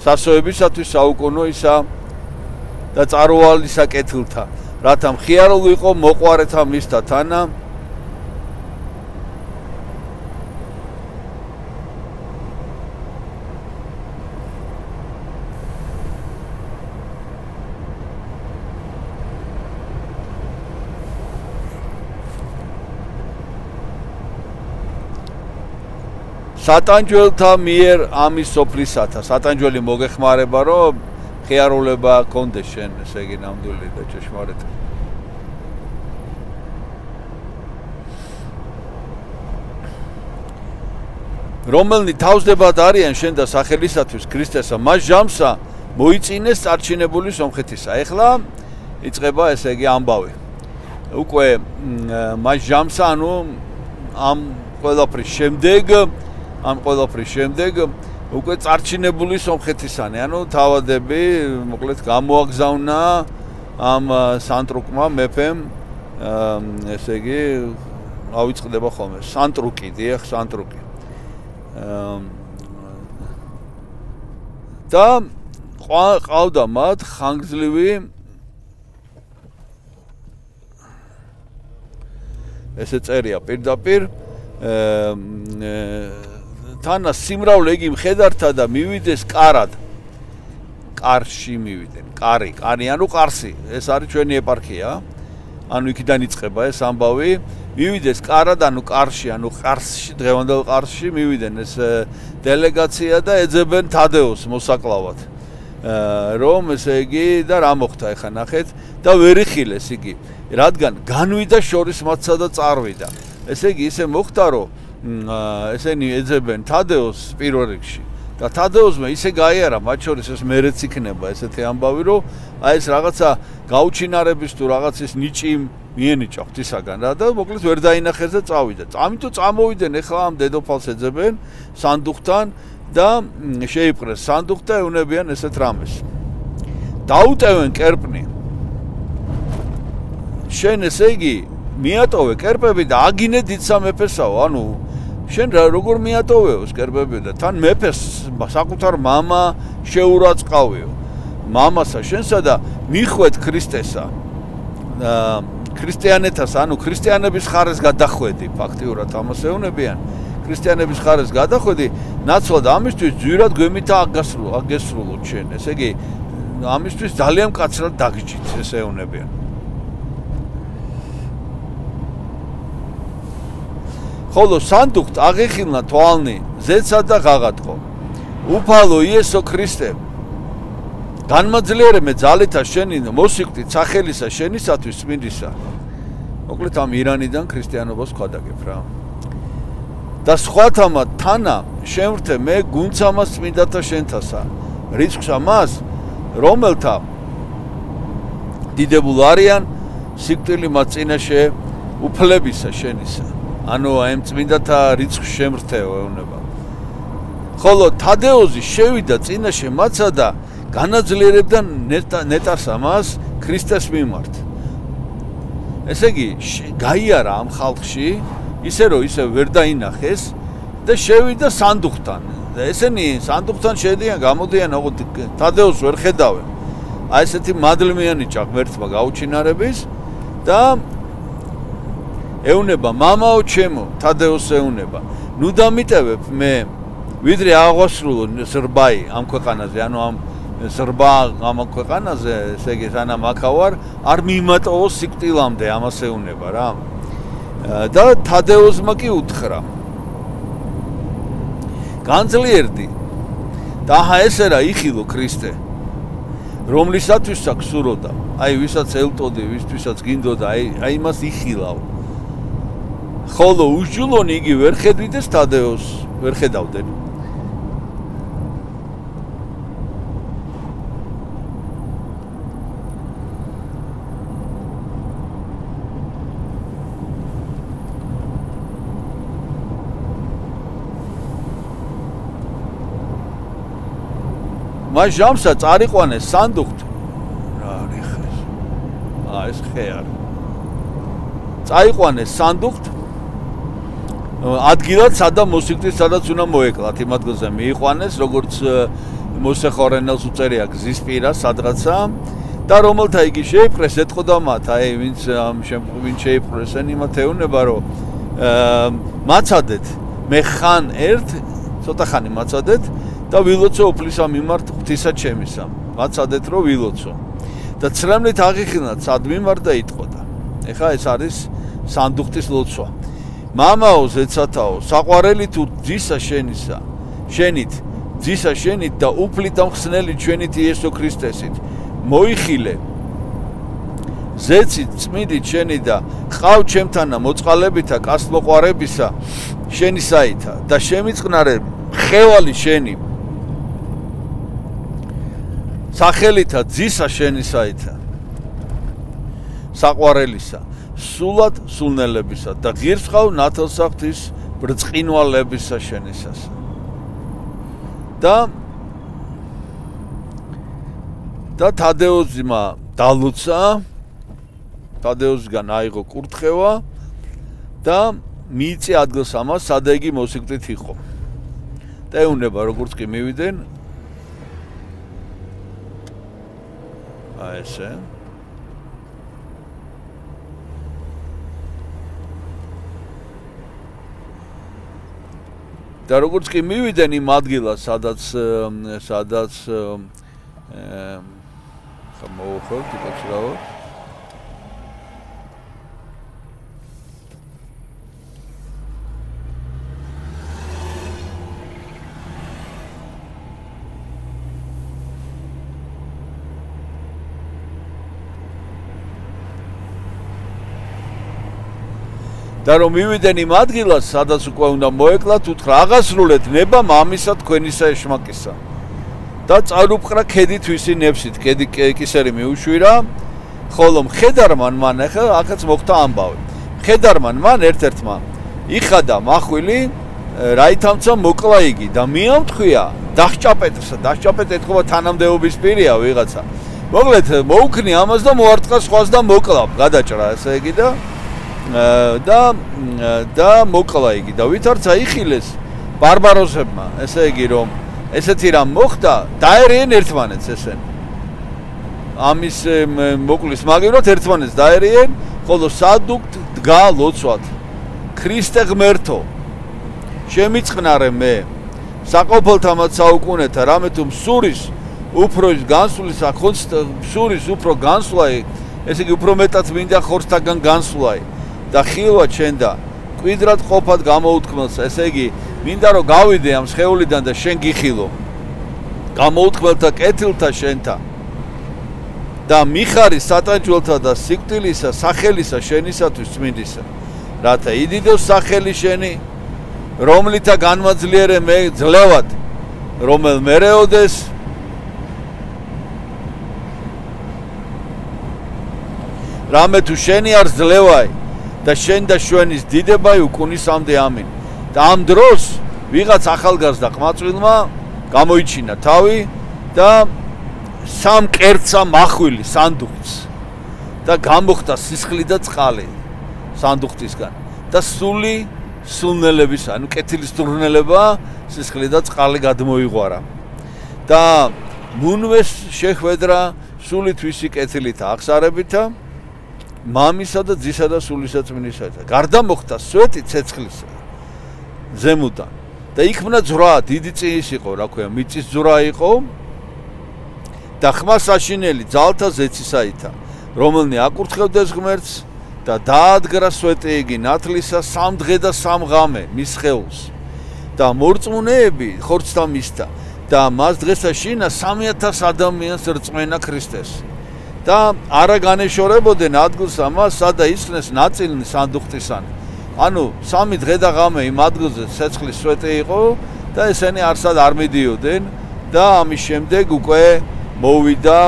სასოებისათვის საუკუნოისა და წარუვალისა კეთილთა რათა მხიარული იყო მოყვარეთა მისთა თანა სატანჯველთა მიერ ამის სოფლისათა სატანჯველი მოგეხმარება რომ ხიარულება კონდეს შენ ესე იგი ნამდვილი და ჭეშმარიტი რომელნი თავსდებად არიან შენ და სახელისათვის ქრისტესა მას ჟამსა მოიწინეს წარჩინებული სომხეთისა ეხლა იწყება ესე იგი ამბავი უკვე მას ჟამსა ანუ ამ ყველაფრის შემდეგ ამ ყველაფრის შემდეგ უკვე წარჩინებული სომხეთისანი ანუ თავადები მოკლედ გამოაგზავნა ამ სანტრუკმა მეფემ ესე იგი ავიწყდება ხოლმე სანტრუკი დიახ სანტრუკი და ყავდა მათ ხანგრძლივი ესე წერია პირდაპირ თანა სიმრავლე იგი მხედართა და მივიდეს კარად კარში მივიდნენ კარი კარი ანუ ყარსი ეს არის ჩვენი ეპარქია ანუ იქიდან იწყება ეს ამბავი მივიდეს კარად ანუ კარში ანუ ყარსში დღევანდელ ყარსში მივიდნენ ეს დელეგაცია და ეძებენ თადეოს მოსაკლავად რომ ესე იგი და რა მოხდა ეხა ნახეთ და ვერ იხილეს იგი რადგან განვიდა შორის მათსა და წარვიდა ესე იგი ისე მოხდა რომ ესენი ეძებენ თადეოს პირველ რიგში და თადეოსმა ისე გაიარა მათ შორის ეს მერეც იქნება ესეთი ამბავი რომ აი ეს რაღაცა გაუჩინარების თუ რაღაცის ნიჭი მიენიჭა ღვთისაგან რა და მოკლედ ვერ დაინახეს და წავიდა ამიტომ წამოვიდნენ ეხლა ამ დედოფალს ეძებენ სანდუხთან და შეიპყრეს სანდუხი და ეუნებიან ესეთ რამეს დაუტევენ კერპნი შენ ესე იგი მიატოვე კერპები და აგინე დიდსა მეფესაო ანუ შენ როგორ მიატოვეო კერპები და თან მეფეს საკუთარ მამა შეურაცხავეო მამასა შენსა და მიხვედ ქრისტესა ქრისტიანეთას ანუ ქრისტიანების ხარეს გადახვედი ფაქტიურად ამას ეუნებიან ქრისტიანების ხარეს გადახვედი ნაცვლად ამისთვის ძვირად გვემითა აგასრულო აგესრულოთ შენ ესე იგი ამისთვის ძალიან მკაცრად დაგჯით ეს ეუნებიან ხოლო სანდუხთ აღიხილნა თვალნი ზეცად და ღაღატყო უფალო იესო ქრისტე განმაძლიერე მე ძალითა შენი მოსიკვდით სახელისა შენისათვის წმინდისა მოკლედ ამ ირანიდან ქრისტიანობას ვხვდაგებ რა და სხვათამა თანა შემრთე მე გუნცამას წმინდათა შენთასა რიცხვს ამას რომელთა დიდებულ არიან სიკვდილი მათ წინაშე უფლებისა შენისა ანუ ამ წმინდათა რიცხვს შემრთეო ეუბნება ხოლო თადეოზი შევიდა წინაშე მათსა და განაძლიერებდა ნეტარს ამას ქრისტეს მიმართ ესე იგი გაიარა ამ ხალხში ისე რომ ისე ვერ დაინახეს და შევიდა სანდუხთან და ესენი სანდუხთან შედიან გამოდიან ოღონდ თადეოზს ვერ ხედავენ აი ესეთი მადლმიანი ჭაღმერთმა გაუჩინარების და ეუნება მამაო ჩემო თადეოს ეუნება ნუ დამიტევებ მე ვიდრე აღვასრულო ზრბაი ამ ქვეყანაზე ანუ ამ ზრბა ამ ქვეყანაზე ესე იგი სანამ აქავარ არ მიმატოვო სიკვდილამდე ამას ეუნება რა და თადეოსმა კი უთხრა განძლიერდი და აჰა ესე რა იხილო ქრისტე რომლისათვის აქვს სუროდა აი ვისაც ელტოდი ვისთვისაც გინდოდა აი აი მას იხილავ ხოლო უშჯულონი იგი ვერ ხედვიდეს თადეოს ვერ ხედავდნენ მას ჟამსა წარიყვანეს სანდუხთ რა არის ხეს აა ეს ხე არის წაიყვანეს სანდუხთ ადგილად სადაც მოსიკვდით სადაც უნდა მოეკლათ იმ ადგილზე მიიყვანეს როგორც მოსეხორენელს უწერია გზის პირას სადღაცა და რომელთა იგი შეიპყრეს ეთყოდა მათ აი ვინც ამ ვინც შეიპყრეს იმათ ეუნება რომ მაცადეთ მე ხან ერთ ცოტა ხანი მაცადეთ და ვილოცო უფლისა მიმართ ღვთისა ჩემისა მაცადეთ რომ ვილოცო და ცრემლით აღიხილნათ სად მიმართ და იტყოდა ეხა ეს არის სანდუხტის ლოცვა მამაო ზეცათაო საყვარელი თუ ძისა შენისა შენით ძისა შენით და უფლით ამხსნელი ჩვენით იესო ქრისტესით მოიხილე ზეცით წმინდით შენი და ყავ ჩემთანა მოწყალებითა კასტმოყვარებისა შენისაითა და შემიწყნარე ხევალი შენი სახელითა ძისა შენისაითა საყვარელისა სულად სულნელებისა და ღირს ყავ ნათელსახთის ბრწყინვალებისა შენისას და და თადეოზმა დალუცა თადეოზგან აიღო კურთხევა და მიიწე ადგილს ამას სადა იგი მოსიკვდით იყო და ეუნება როგორც კი მივიდნენ აი ესე და როგორც კი მივიდნენ იმ ადგილას სადაც სადაც მოუხევთ იქაც რაო და რომ მივიდნენ იმ ადგილას, სადაც უკვე უნდა მოეკლათ, უთხრა აღასრულეთ ნება მამისა თქვენისა ეშმაკისა. და წარუპყრა ქედი თვისი ნებსით, ქედი კისერი მიუშვირა, ხოლო მხედარმან მან ახლა აქაც მოხდა ამბავი. მხედარმან მან ერთ-ერთმა იხადა მახვილი, რაითამცა მოკლა იგი და მიამთხვია დაჰჭაპეტრსა, დაჰჭაპეთ ეთქობა თანამდებობის პირია ვიღაცა. მოკლედ მოუქნი ამას და მოარტყა სხვას და მოკლა, გადაჭრა ესე იგი და და და მოკლა იგი და ვითარც აიხილეს ბარბაროსებმა ესე იგი რომ ესეთი რამ მოხდა დაერიან ერთმანეთს ესენი ამის მოკლის მაგივრად ერთმანეთს დაერიან ხოლო სადუქთ დგა ლოცვად ქრისტე ღმერთო შემიწყნარე მე საყოფელთამაც საუკუნეთა რამე თუ მსურის უფროს განსulis ახონც მსურის უფრო განსვლაი ესე იგი უფრო მეტად მინდა ხორცთაგან განსვლაი და ხილვა ჩვენ და კვიდრად ყოფად გამოუთქმელს, ესე იგი, მინდა რომ გავიდე ამ სხეულიდან და შენ გიხილო. გამოუთქმელთა კეთილთა შენთა. და მიხარი სატანჯველთა და სიკვდილისა, სახელისა შენისათვის წმინდისა. რათა იდიდოს სახელი შენი, რომლითა განმაძლიერე მე ძლევად, რომელ მერეოდეს რამე თუ შენი არ ძლევაი და შენ და შვენის დიდებაი უკუნისამდე ამინ. და ამ დროს ვიღაც ახალგაზრდა ყმაწვილმა გამოიჩინა თავი და სამ კერძა მახვილი სანდუხს და გამოხდა სისხლი და წყალი სანდუხისგან და სული სულნელების, ანუ კეთილის სულნელება სისხლი და წყალი გადმოიღვარა. და მუნვეს შეხვედრა სული თვისი კეთილით აღსარებითა მამისა და ძისა და სულისა წმინდისა. გარდა მოხდა სვეტი ცეცხლისა ზემოდან და იქმნა ძვრა, დიდი წიის იყო, რა ქვია, მიწის ძვრა იყო და ხმა საშინელი ძალთა ზეცისაითა, რომელნი აკურთხევდეს ღმერთს და დაადგრა სვეტი იგი ნათლისა სამ დღე და სამ ღამე მის სხეულს და მორწმუნეები ხორცთა მისთა და მას დღესა შინა სამი ათას ადამიანს რწმენა ქრისტეს და არა განეშორებოდნენ ადგილს ამას, სადა ისხნეს ნაწილნი სანდუხტისანი. ანუ სამი დღე და ღამე იმ ადგილზე ცეცხლის სვეტი იყო და ესენი არსად არ მიდიოდნენ და ამის შემდეგ უკვე მოვიდა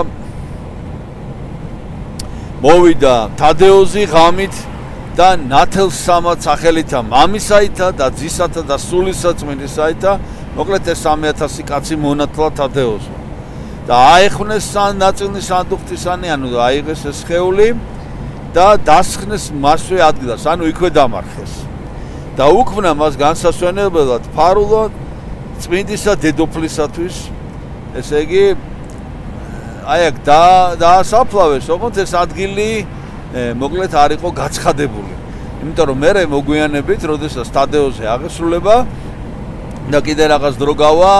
მოვიდა თადეოზი ღამით და ნათელსამად სახელითა მამისაითა და ძისათა და სულისა წმინდისაითა, მოკლედ ეს სამი ათასი კაცი მონათლა თადეოზმა. და აეხვნეს ნაწილნი სანდუხტისანი, ანუ აიღეს ეს სხეული და დასხნეს მასვე ადგილას, ანუ იქვე დამარხეს. და უქმნა მას განსასვენებლად ფარულად წმინდისა დედოფლისათვის, ესე იგი აი აქ და დაასაფლავეს, ოღონდ ეს ადგილი მოკლედ არ იყო გაცხადებული. იმიტომ რომ მე მოგვიანებით, როდესაც თადეოზე აღესრულება და კიდე რაღაც დრო გავა,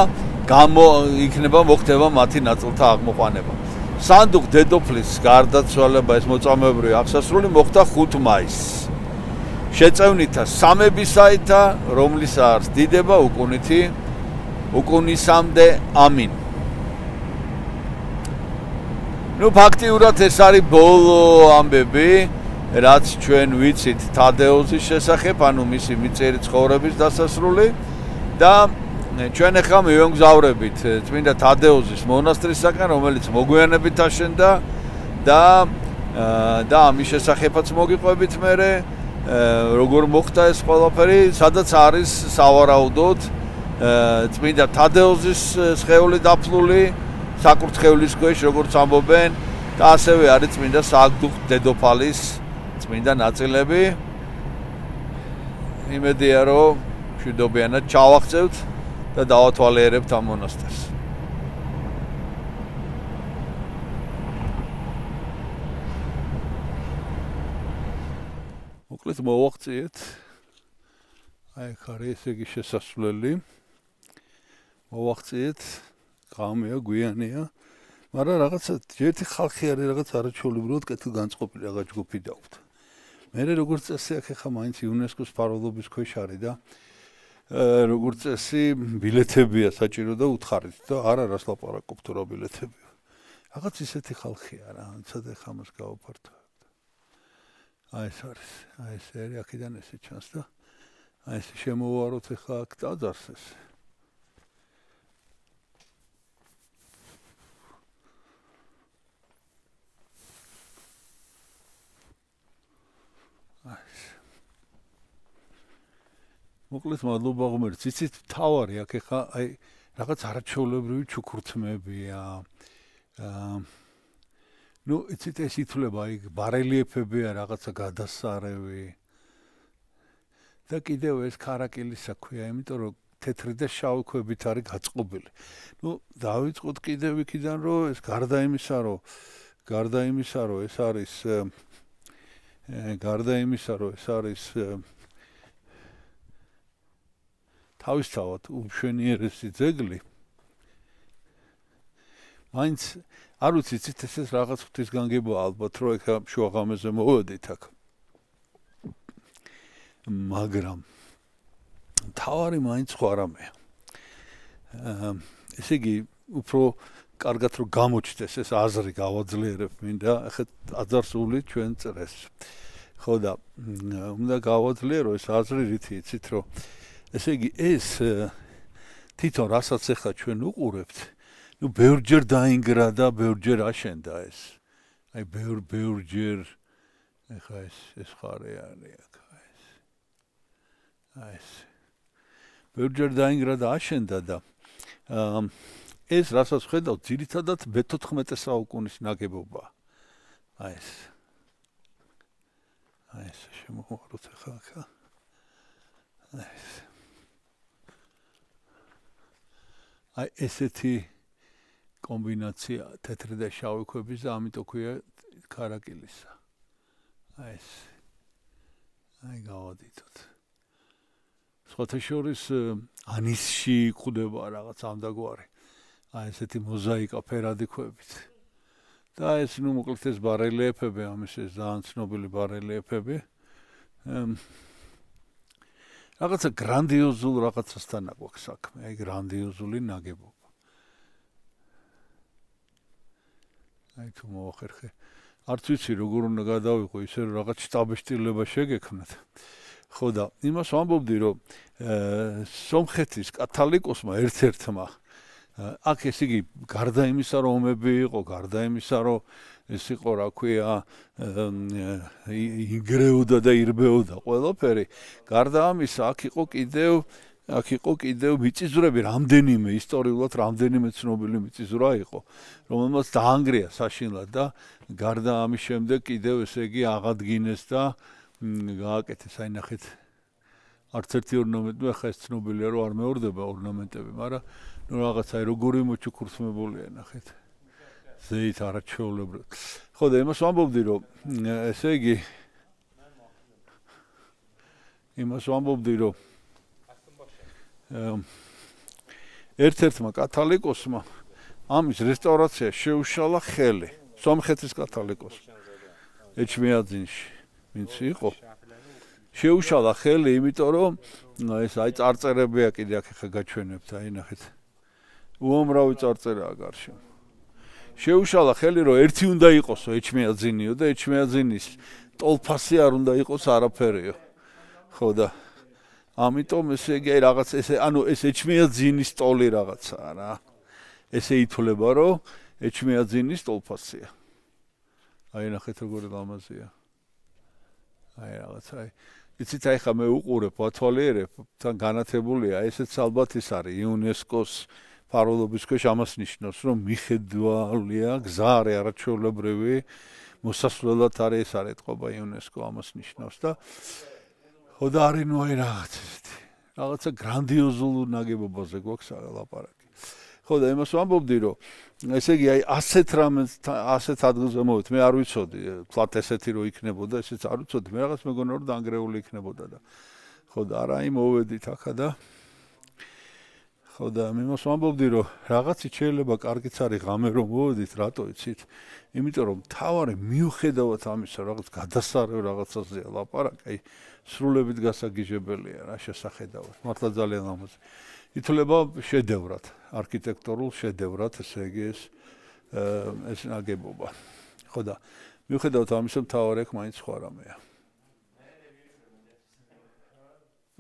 გამო იქნება მოხდება მათი ნაწილთა აღმოყვანება. სანდუხ დედოფლის გარდაცვალება ეს მოწამეობრივი აღსასრული მოხდა ხუთ მაისს. შეწევნითა სამებისაითა, რომლის არს დიდება უკუნითი უკუნისამდე ამინ. ნუ ფაქტიურად ეს არის ბოლო ამბები, რაც ჩვენ ვიცით თადეოზის შესახებ, ანუ მისი მიწიერი ცხოვრების დასასრული და ჩვენ ახლა მივემგზავრებით წმინდა თადეოზის მონასტრისაკენ, რომელიც მოგვიანებით აშენდა და და ამის შესახებაც მოგიყვებით მერე, როგორ მოხდა ეს ყველაფერი, სადაც არის სავარაუდოდ წმინდა თადეოზის სხეული დაფლული საკურთხევლის ქვეშ, როგორც ამბობენ, და ასევე არის წმინდა სააგდუხ დედოფალის წმინდა ნაწილები. იმედია, რომ მშვიდობიანად ჩავახცევთ და დავათვალიერებთ ამ მონასტერს. მოკლედ მოვახციეთ. აი აქ არის ესე იგი შესასვლელი. მოვახციეთ. ღამეა, გვიანია, მაგრამ რაღაცა ერთი ხალხი არის რაღაც არაჩვეულებრივად კეთილგანწყობილი რაღაც ჯგუფი დაუხდა. მე როგორც წესი აქ ახლა მაინც იუნესკოს ფარვალობის ქვეშ არის და როგორც წესი ბილეთებია საჭირო და უთხარით და არა რას ლაპარაკობთ რა ბილეთებია. რაღაც ისეთი ხალხია რა, ცოტა ხამას გავაფართოვებ. აი ეს არის, აი ეს არის აქედან ესე ჩანს და აი ეს შემოვაროთ ახლა აქ დაძარს ეს. მოკლედ მადლობა ღმერთს, იცით თავარი აქ ახლა აი რაღაც არაჩვეულებრივი ჩუქურთმებია. აა ნუ იცით ეს ითვლება აი ბარელიეფებია რაღაცა გადასარევი. და კიდევ ეს ქარაკილის საქვია, იმიტომ რომ თეთრი და შავი ქვებით არის გაწყობილი. ნუ დავიწყოთ კიდევ იქიდან რომ ეს გარდა იმისა რომ გარდა იმისა რომ ეს არის გარდა იმისა რომ ეს არის თავისთავად უმშვენიერესი ძეგლი. მაინც არ ვიცი, იცით ეს რაღაც ღვთისგანგებაა ალბათ, რომ ეხა შუაღამეზე მოვედით აქ. მაგრამ თავარი მაინც ხო არამეა. ესე იგი უფრო კარგად რომ გამოჩნდეს ეს აზრი გავაძლიერებ მინდა ახლა აძარსული ჩვენ წრეს. ხო და უნდა გავაძლიერო ეს აზრი რითი იცით რომ ესე იგი ეს თვითონ რასაც ახლა ჩვენ უყურებთ ნუ ბევრჯერ დაინგრა და ბევრჯერ აშენდა ეს. აი ბევრ ბევრჯერ ახლა ეს ეს ხარე არის ახლა ეს. აი ეს ბევრჯერ დაინგრა და აშენდა და ეს რასაც ხედავთ ძირითადად მეთოთხმეტე საუკუნის ნაგებობაა. აი ეს აი ეს შემოვაროთ ახლა ახლა. აი ეს აი ესეთი კომბინაცია თეთრი და შავი ქვების და ამიტომ ქვია ქარაკილისა. აი ეს აი გავადითოთ. სხვათა შორის ანისში გვხვდება რაღაც ამდაგვარი. აი ესეთი მოზაიკა ფერადი ქვებით. და ეს ნუ მოკლედ ეს ბარელიეფები ამის ეს ძალიან ცნობილი ბარელიეფები. რაღაცა გრანდიოზულ რაღაცასთან აქვს საქმე, აი გრანდიოზული ნაგებობა. აი თუ მოახერხე. არც ვიცი როგორ უნდა გადავიყო ისე რომ რაღაც შტაბეშტილება შეგექმნათ. ხო და იმას ვამბობდი რომ სომხეთის კათალიკოსმა ერთ-ერთმა აქ ესე იგი გარდა იმისა რომ ომები იყო, გარდა იმისა რომ ეს იყო რა ქვია იგრეოდა და ირბეოდა ყველაფერი, გარდა ამისა აქ იყო კიდევ აქ იყო კიდევ მიწისძვრები რამდენიმე ისტორიულად რამდენიმე ცნობილი მიწისძვრა იყო, რომელმაც დაანგრია საშინლად და გარდა ამის შემდეგ კიდევ ესე იგი აღადგინეს და გააკეთეს აი ნახეთ არც ერთი ორნამენტი ახლა ეს ცნობილია რომ არ მეორდება ორნამენტები, მაგრამ ნუ რაღაცა როგორი მოჩუქურთმებულია ნახეთ. ზეით არაჩვეულებრივ. ხო და იმას ვამბობდი რომ ესე იგი იმას ვამბობდი რომ ერთ-ერთმა კათალიკოსმა ამის რესტავრაცია შეუშალა ხელი სომხეთის კათალიკოსს ეჩმიაძინში ვინც იყო შეუშალა ხელი იმიტომ რომ ეს აი წარწერებია კიდე აქ ხა გაჩვენებთ აი ნახეთ უამრავი წარწერაა გარშემო შეუშალა ხელი რომ ერთი უნდა იყოსო ეჩმიაძინიო და ეჩმიაძინის ტოლფასი არ უნდა იყოს არაფერიო ხო და ამიტომ ესე იგი რაღაც ესე ანუ ეს ეჩმიაძინის ტოლი რაღაცაა რა ესე ითვლება რომ ეჩმიაძინის ტოლფასია აი ნახეთ როგორი ლამაზია აი რაღაც აი იცით აი ხა მე უყურებ ვათვალიერებ თან განათებულია ესეც ალბათ ის არის იუნესკოს ფაროლობის ქვეშ ამას ნიშნავს რომ მიხედვალია გზა არის არაჩვეულებრივი მოსასვლელად არის ეს არის ეთყობა იუნესკო ამას ნიშნავს და ხო და არის ნუ აი რაღაც ესეთი რაღაცა გრანდიოზულ ნაგებობაზე გვაქვს ლაპარაკი ხო და იმას ვამბობდი რომ ესე იგი აი ასეთ რამეს ასეთ ადგილზე მოვით მე არ ვიცოდი თლათ ესეთი რომ იქნებოდა ესეც არ ვიცოდი მე რაღაც მეგონა რომ დაანგრეული იქნებოდა და ხო და არა აი მოვედით ახლა და ხო და იმას ვამბობდი რომ რაღაცით შეიძლება კარგიც არის ღამე რომ მოვედით რატო იცით იმიტომ რომ თავარი მიუხედავად ამისა რაღაც გადასარევ რაღაცაზეა ლაპარაკი აი სრულებით გასაგიჟებელია რა შესახედავად მართლა ძალიან ლამაზი ითვლება შედევრად არქიტექტურულ შედევრად ესე იგი ეს ეს ნაგებობა ხო და მიუხედავად ამისა მთავარი აქ მაინც სხვა რამეა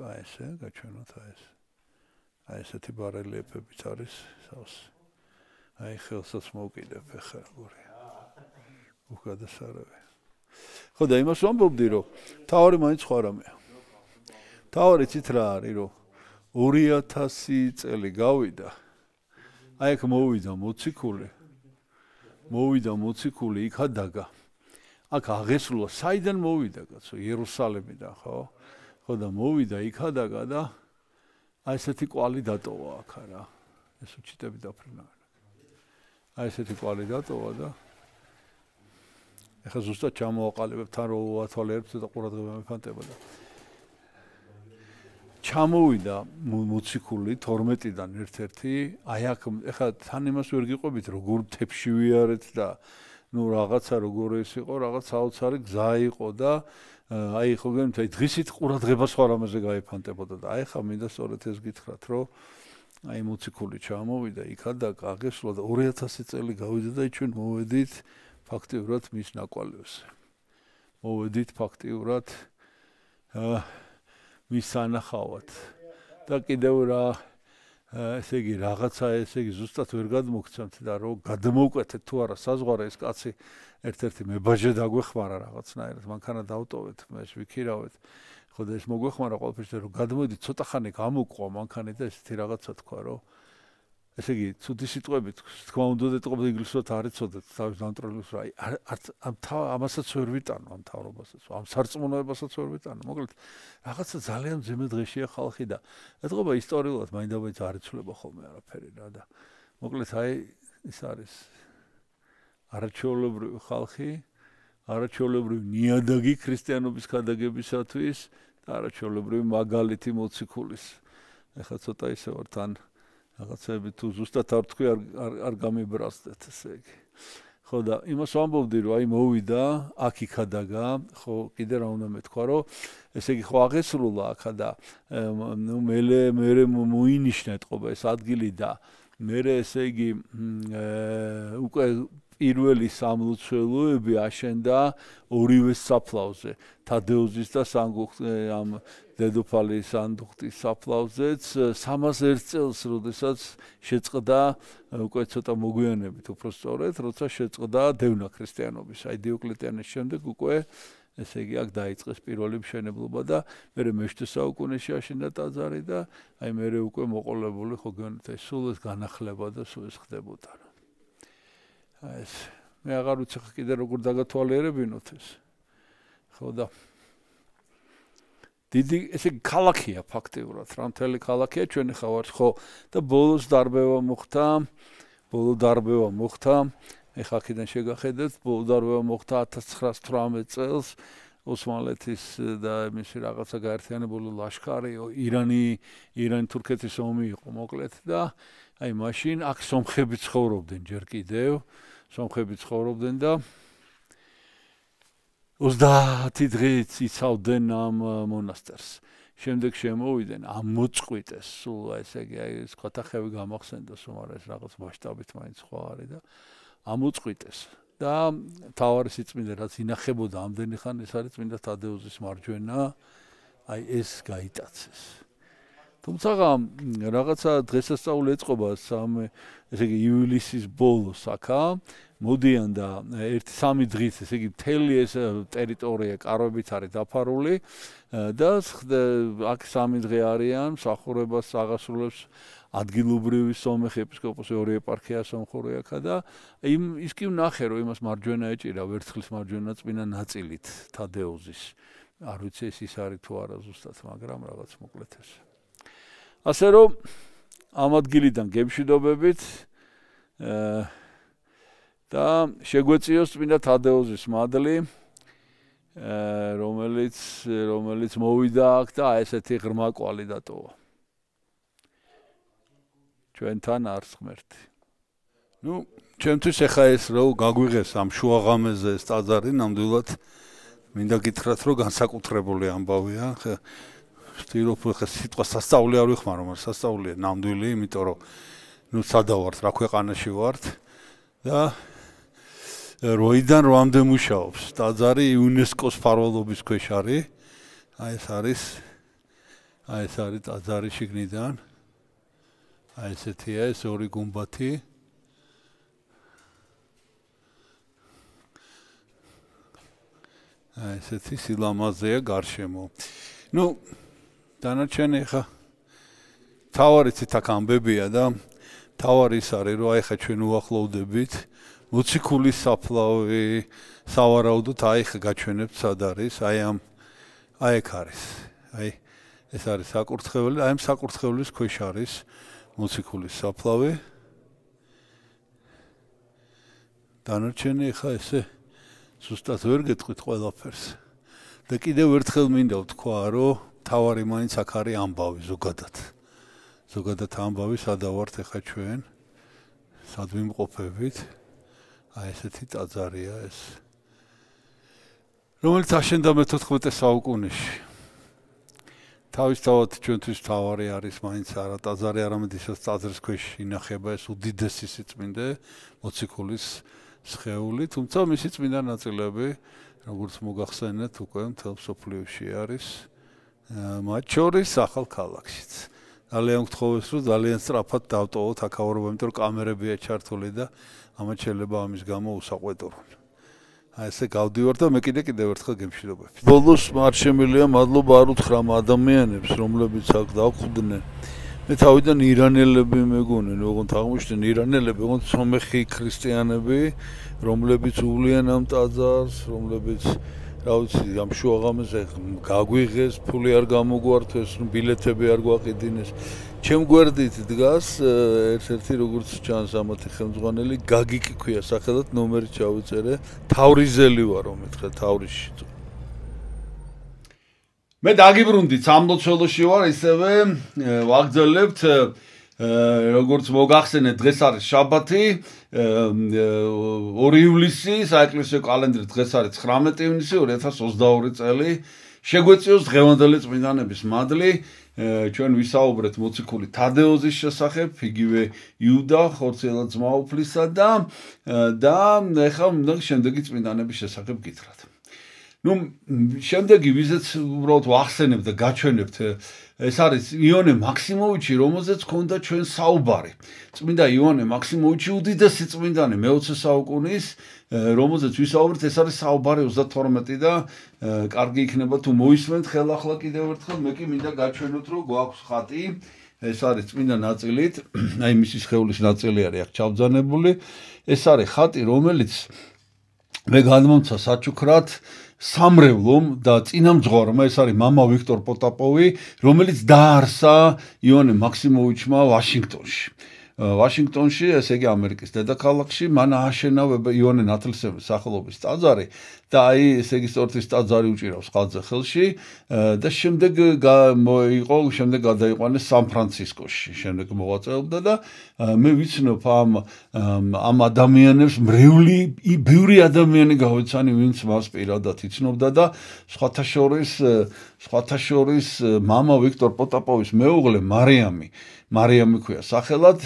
აი ესე გაჩვენოთ აი ეს აი ესეთი ბარელიეფებიც არის სავს აი ხელსაც მოვკიდებ ახლა როგორია უგადასარევი ხო და იმას ვამბობდი რომ მთავარი მაინც სხვა რამეა მთავარი ცით რა არის რომ ორი ათასი წელი გავიდა აი აქ მოვიდა მოციქული მოვიდა მოციქული იქ ადაგა აქ აღესრულა საიდან მოვიდა კაცო იერუსალიმიდან ხო ხო და მოვიდა იქ ადაგა და აი ესეთი კვალი დატოვა აქ რა ეს უჩიტები დაფრინა აი ესეთი კვალი დატოვა და ეხლა ზუსტად ჩამოვაყალიბებ თან რო ვათვალიერებ და ყურადღება მეფანტება და ჩამოვიდა მოციქული თორმეტიდან ერთ-ერთი აი აქ ეხლა თან იმას ვერ გიყვებით როგორ მთებში ვიარეთ და ნუ რაღაცა როგორ ეს იყო რაღაც საოცარი გზა იყო და აი ხო გემთი დღისით ყურადღება სხვა რამაზე გაიფანტებოდა და აი ხა მინდა სწორედ ეს გითხრათ რომ აი მოციქული ჩამოვიდა იქა და გაგესვლა და ორი ათასი წელი გავიდა და ჩვენ მოვედით ფაქტიურად მის ნაკვალევზე მოვედით ფაქტიურად მის სანახავად და კიდევ რა ესე იგი რაღაცა ესე იგი ზუსტად ვერ გადმოგცემთ და რომ გადმოვკვეთეთ თუ არა საზღვარი ეს კაცი ერთ-ერთი მებაჟე დაგვეხმარა რაღაცნაირად მანქანა დავტოვეთ მე ვიქირავეთ ხო და ეს მოგვეხმარა ყველაფერს რომ გადმოდი ცოტა ხანი გამოვყვა მანქანი და ესეთი რაღაცა თქვა რომ ესე იგი ცუდი სიტყვებით თქვა უნდა ეტყობოდა ინგლისურად არ იცოდეთ თავის დამტროლებს რა არც ამ ამასაც ვერ ვიტანო ამ თავრობასაც ამ სარწმუნოებასაც ვერ ვიტანო მოკლედ რაღაცა ძალიან ძიმე დღეშია ხალხი და ეტყობა ისტორიულად მაინდამაინც არ იცვლება ხოლმე არაფერი რა და მოკლედ აი ის არის არაჩვეულებრივი ხალხი არაჩვეულებრივი ნიადაგი ქრისტიანობის ქადაგებისათვის და არაჩვეულებრივი მაგალითი მოციქულის ეხლა ცოტა ისე ვარ თან რაღაცები თუ ზუსტად არ თქვი არ არ გამიბრასდეთ ესე იგი ხო და იმას ვამბობდი რომ აი მოვიდა აქ იქადაგა ხო კიდე რა უნდა მეთქვა რომ ესე იგი ხო აღესრულა აქა და ნუ მელე მერე მოინიშნა ეთყობა ეს ადგილი და მერე ესე იგი უკვე პირველი სამლოცველოები აშენდა ორივე საფლავზე თადეოზის და ამ დედოფალის სანდუხტის საფლავზეც სამას ერთ წელს როდესაც შეწყდა უკვე ცოტა მოგვიანებით უფრო სწორედ როცა შეწყდა დევნა ქრისტიანობის აი დიოკლეტიანეს შემდეგ უკვე ესე იგი აქ დაიწყეს პირველი მშენებლობა და მერე მე-შვიდმეტ საუკუნეში აშენდა ტაძარი და აი მერე უკვე მოყოლებული ხო გონეთ სულ ეს განახლება და სულ ეს ხდებოდა ეს მე აღარ ვიცი კიდე როგორ დაგათვალიერებინოთ ეს ხო და დიდი ესე ქალაქია ფაქტიურად რა მთელი ქალაქია ჩვენი ხავართ ხო და ბოლოს დარბევა მოხდა ბოლო დარბევა მოხდა ეხლა აქედან შეგახედეთ ბოლო დარბევა მოხდა ათას ცხრაას თვრამეტ წელს ოსმალეთის და მისი რაღაცა გაერთიანებული ლაშქარი ირანი ირანი თურქეთის ომი იყო მოკლედ და აი მაშინ აქ სომხები ცხოვრობდნენ ჯერ კიდევ სომხები ცხოვრობდნენ და ოცდაათი დღით იცავდნენ ამ მონასტერს. შემდეგ შემოვიდნენ ამ მოწყვიტეს სულ ესე იგი აი ეს ხათახევი გამახსენდა სულ ეს რაღაც მასშტაბით მაინც ხო არის და ამოწყვიტეს და თავარი სიწმინდე რაც ინახებოდა ამდენი ხანი ეს არის წმინდა თადეოზის მარჯვენა აი ეს გაიტაცეს. თუმცა რაღაცა დღესასწაული ეწყობა სამ ესე იგი ივლისის ბოლოს აქა მოდიან და ერთი სამი დღით ესე იგი მთელი ეს ტერიტორია კარვებით არის დაფარული და აქ სამი დღე არიან მსახურებას აღასრულებს ადგილობრივი სომეხი ეპისკოპოსი ორი ეპარქია სომხური აქა და იმ ის კი ვნახე რომ იმას მარჯვენა ეჭირა ვერცხლის მარჯვენა წინა ნაწილით თადეოზის არ ვიცი ეს ის არის თუ არა ზუსტად მაგრამ რაღაც მოკლედ ეს ასე რომ ამ ადგილიდან გემშვიდობებით და შეგვეციოს წმინდა თადეოზის მადლი რომელიც რომელიც მოვიდა აქ და ესეთი ღრმა კვალი დატოვა ჩვენთან არც ღმერთი ნუ ჩემთვის ახლა ეს რო გაგვიღეს ამ შუაღამეზე ეს ტაძარი ნამდვილად მინდა გითხრათ რომ განსაკუთრებული ამბავია ვთქვი ხა სიტყვა სასწაული არ ვიხმარო მაგრამ სასწაულია ნამდვილი იმიტომ რომ ნუ სადავართ რა ქვეყანაში ვართ და როიდან როამდე მუშაობს ტაძარი იუნესკოს მფარველობის ქვეშ არის აი ეს არის აი ეს არის ტაძარი შიგნიდან აი ესეთია ეს ორი გუმბათი აი ესეთი სილამაზეა გარშემო ნუ დანარჩენი ხა თავარიც აქ ამბებია და თავარი ის არის რომ აი ხა ჩვენ უახლოვდებით მოციქულის საფლავი სავარაუდოდ აი ხა გაჩვენებთ სად არის აი ამ აი ეგ არის აი ეს არის საკურთხეველი აი ამ საკურთხევლის ქვეშ არის მოციქულის საფლავი დანარჩენი ხა ესე ზუსტად ვერ გეტყვით ყველაფერს და კიდევ ერთხელ მინდა ვთქვა რომ თავარი მაინც აქ არის ამბავი ზოგადად ზოგადად ამბავი სადავართ ახლა ჩვენ სად ვიმყოფებით აი ესეთი ტაძარია ეს რომელიც აშენდა მეთოთხმეტე საუკუნეში. თავისთავად ჩვენთვის მთავარი არის მაინც არა ტაძარი, არამედ ისაც ტაძრის ქვეშ ინახება ეს უდიდესი სიწმინდე მოციქულის სხეული, თუმცა მისი წმინდა ნაწილები, როგორც მოგახსენეთ, უკვე მთელ მსოფლიოში არის, მათ შორის ახალ ქალაქშიც. ძალიან გთხოვეს, რომ ძალიან სწრაფად დავტოვოთ აქაურობა, იმიტომ რომ კამერებია ჩართული და ამათ შეიძლება ამის გამო უსაყვედურონ. აი ესე გავდივარ და მე კიდე კიდევ ერთხელ გემშვიდობებით. ბოლოს არ შემიძლია მადლობა არ უთხრა ამ ადამიანებს, რომლებიც აქ დაგვხვდნენ. მე თავიდან ირანელები მეგონენ, ოღონდ აღმოჩნდნენ ირანელები, ოღონდ სომეხი ქრისტიანები, რომლებიც უვლიან ამ ტაძარს, რომლებიც რა ვიცი, ამ შუაღამეზე გაგვიღეს, ფული არ გამოგვართეს, ბილეთები არ გვაყიდინეს. ჩემ გვერდით დგას ერთ-ერთი როგორც ჩანს ამათი ხელმძღვანელი, გაგიკი ქვია სახელად, ნომერი ჩავიწერე, თავრიზელი ვარ, მეთქე თავრიში. მე დაგიბრუნდით სამლოცველოში ვარ, ისევე ვაგრძელებთ როგორც მოგახსენეთ, დღეს არის შაბათი, ორი ივლისი, საეკლესიო კალენდრის დღეს არის ცხრამეტი ივნისი ორი ათას ოცდაორი წელი. შეგვეციოს დღევანდელი წმინდანების მადლი. ჩვენ ვისაუბრეთ მოციქული თადეოზის შესახებ, იგივე იუდა ხორციელად-ძმაუფლისა და და ეხლა უნდა შემდეგი წმინდანების შესახებ გითხრათ. ნუ შემდეგი ვიზეც უბრალოდ ვახსენებ და გაჩვენებთ, ეს არის იონე მაქსიმოვიჩი, რომელზეც ჰქონდა ჩვენ საუბარი. წმინდა იონე მაქსიმოვიჩი უდიდესი წმინდანი მეოცე საუკუნის, რომელზეც ვისაუბრეთ, ეს არის საუბარი ოცდათორმეტი და კარგი იქნება თუ მოისმენთ ხელახლა კიდევ ერთხელ, მე კი მინდა გაჩვენოთ, რომ გვაქვს ხატი, ეს არის წმინდა ნაწილით, აი მისი სხეულის ნაწილი არის აქ ჩავძანებული, ეს არის ხატი, რომელიც მე გადმომცა საჩუქრად სამრევლომ და წინამძღვარმა, ეს არის მამა ვიქტორ პოტაპოვი, რომელიც დაარსა იონე მაქსიმოვიჩმა ვაშინგტონში. ვაშინგტონში, ესე იგი ამერიკის დედაქალაქში, მან ააშენა იონე ნათლისმცემლის სახელობის ტაძარი და აი ესე იგი სწორედ ის ტაძარი უჭირავს ხალხზე ხელში და შემდეგ იყო, შემდეგ გადაიყვანეს სან-ფრანცისკოში, შემდეგ მოღვაწეობდა და მე ვიცნობ ამ ამ ადამიანებს მრევლი, ბევრი ადამიანი გავეცანი, ვინც მას პირადად იცნობდა და სხვათა შორის სხვათა შორის მამა ვიქტორ პოტაპოვის მეუღლე მარიამი მარიამი ქვია სახელად,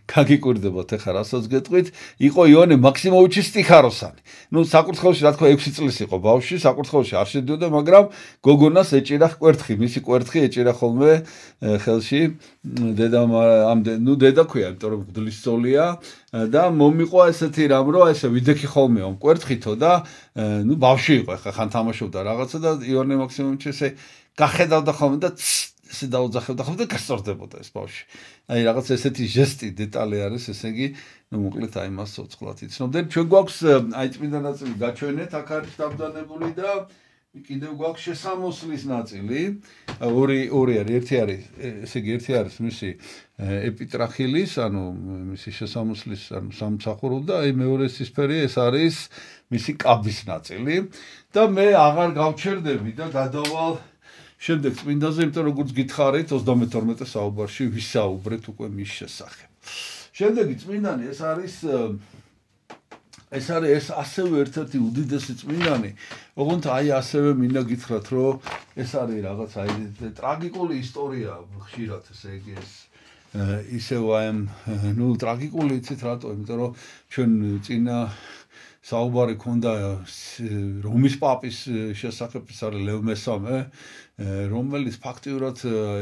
გაგიკვირდებათ ეხლა რასაც გეტყვით, იყო იონე მაქსიმოვიჩის სტიხაროსანი. ნუ საკურთხეველში რა თქვა ექვსი წლის იყო ბავშვი, საკურთხეველში არ შედიოდა, მაგრამ გოგონას ეჭირა კვერთხი, მისი კვერთხი ეჭირა ხოლმე ხელში, დედა ამ ნუ დედა ქვია, იმიტომ რომ გდლის ძოლია და მომიყვა ესეთი რამ, რომ ესე ვიდექი ხოლმე ამ კვერთხითო და ნუ ბავშვი იყო, ეხლა ხან თამაშობდა რაღაცა და იონე მაქსიმოვიჩი ესე გახედავდა ხოლმე და ესე დაუძახებდა ხოლმე და გასწორდებოდა ეს ბავშვი. აი რაღაც ესეთი ჟესტი დეტალი არის, ესე იგი, ნუ მოკლედ აი მას ცოცხლად იცნობდნენ. ჩვენ გვაქვს აი წმინდა ნაწილი გაჩვენეთ, აქ არის დამძანებული და კიდევ გვაქვს შესამოსლის ნაწილი. ორი ორი არის, ერთი არის, ესე იგი, ერთი არის მისი ეპიტრახილის, ანუ მისი შესამოსლის, ანუ სამსახურო და აი მეორე სისფერი ეს არის მისი კაბის ნაწილი და მე აღარ გავჩერდები და გადავალ შემდეგ წმინდაზე, იმიტომ როგორც გითხარით, ოცდამეთორმეტე საუბარში ვისაუბრეთ უკვე მის შესახებ. შემდეგი წმინდანი ეს არის ეს არის ეს ასევე ერთ-ერთი უდიდესი წმინდანი, ოღონდ აი ასევე მინდა გითხრათ, რომ ეს არის რაღაც აი ტრაგიკული ისტორია ხშირად, ესე იგი ეს ისევ აი ნუ ტრაგიკული იცით რატო? იმიტომ რომ ჩვენ წინა საუბარი ქონდა რომის პაპის შესახებ, ეს არის ლევ მესამე, რომელიც ფაქტიურად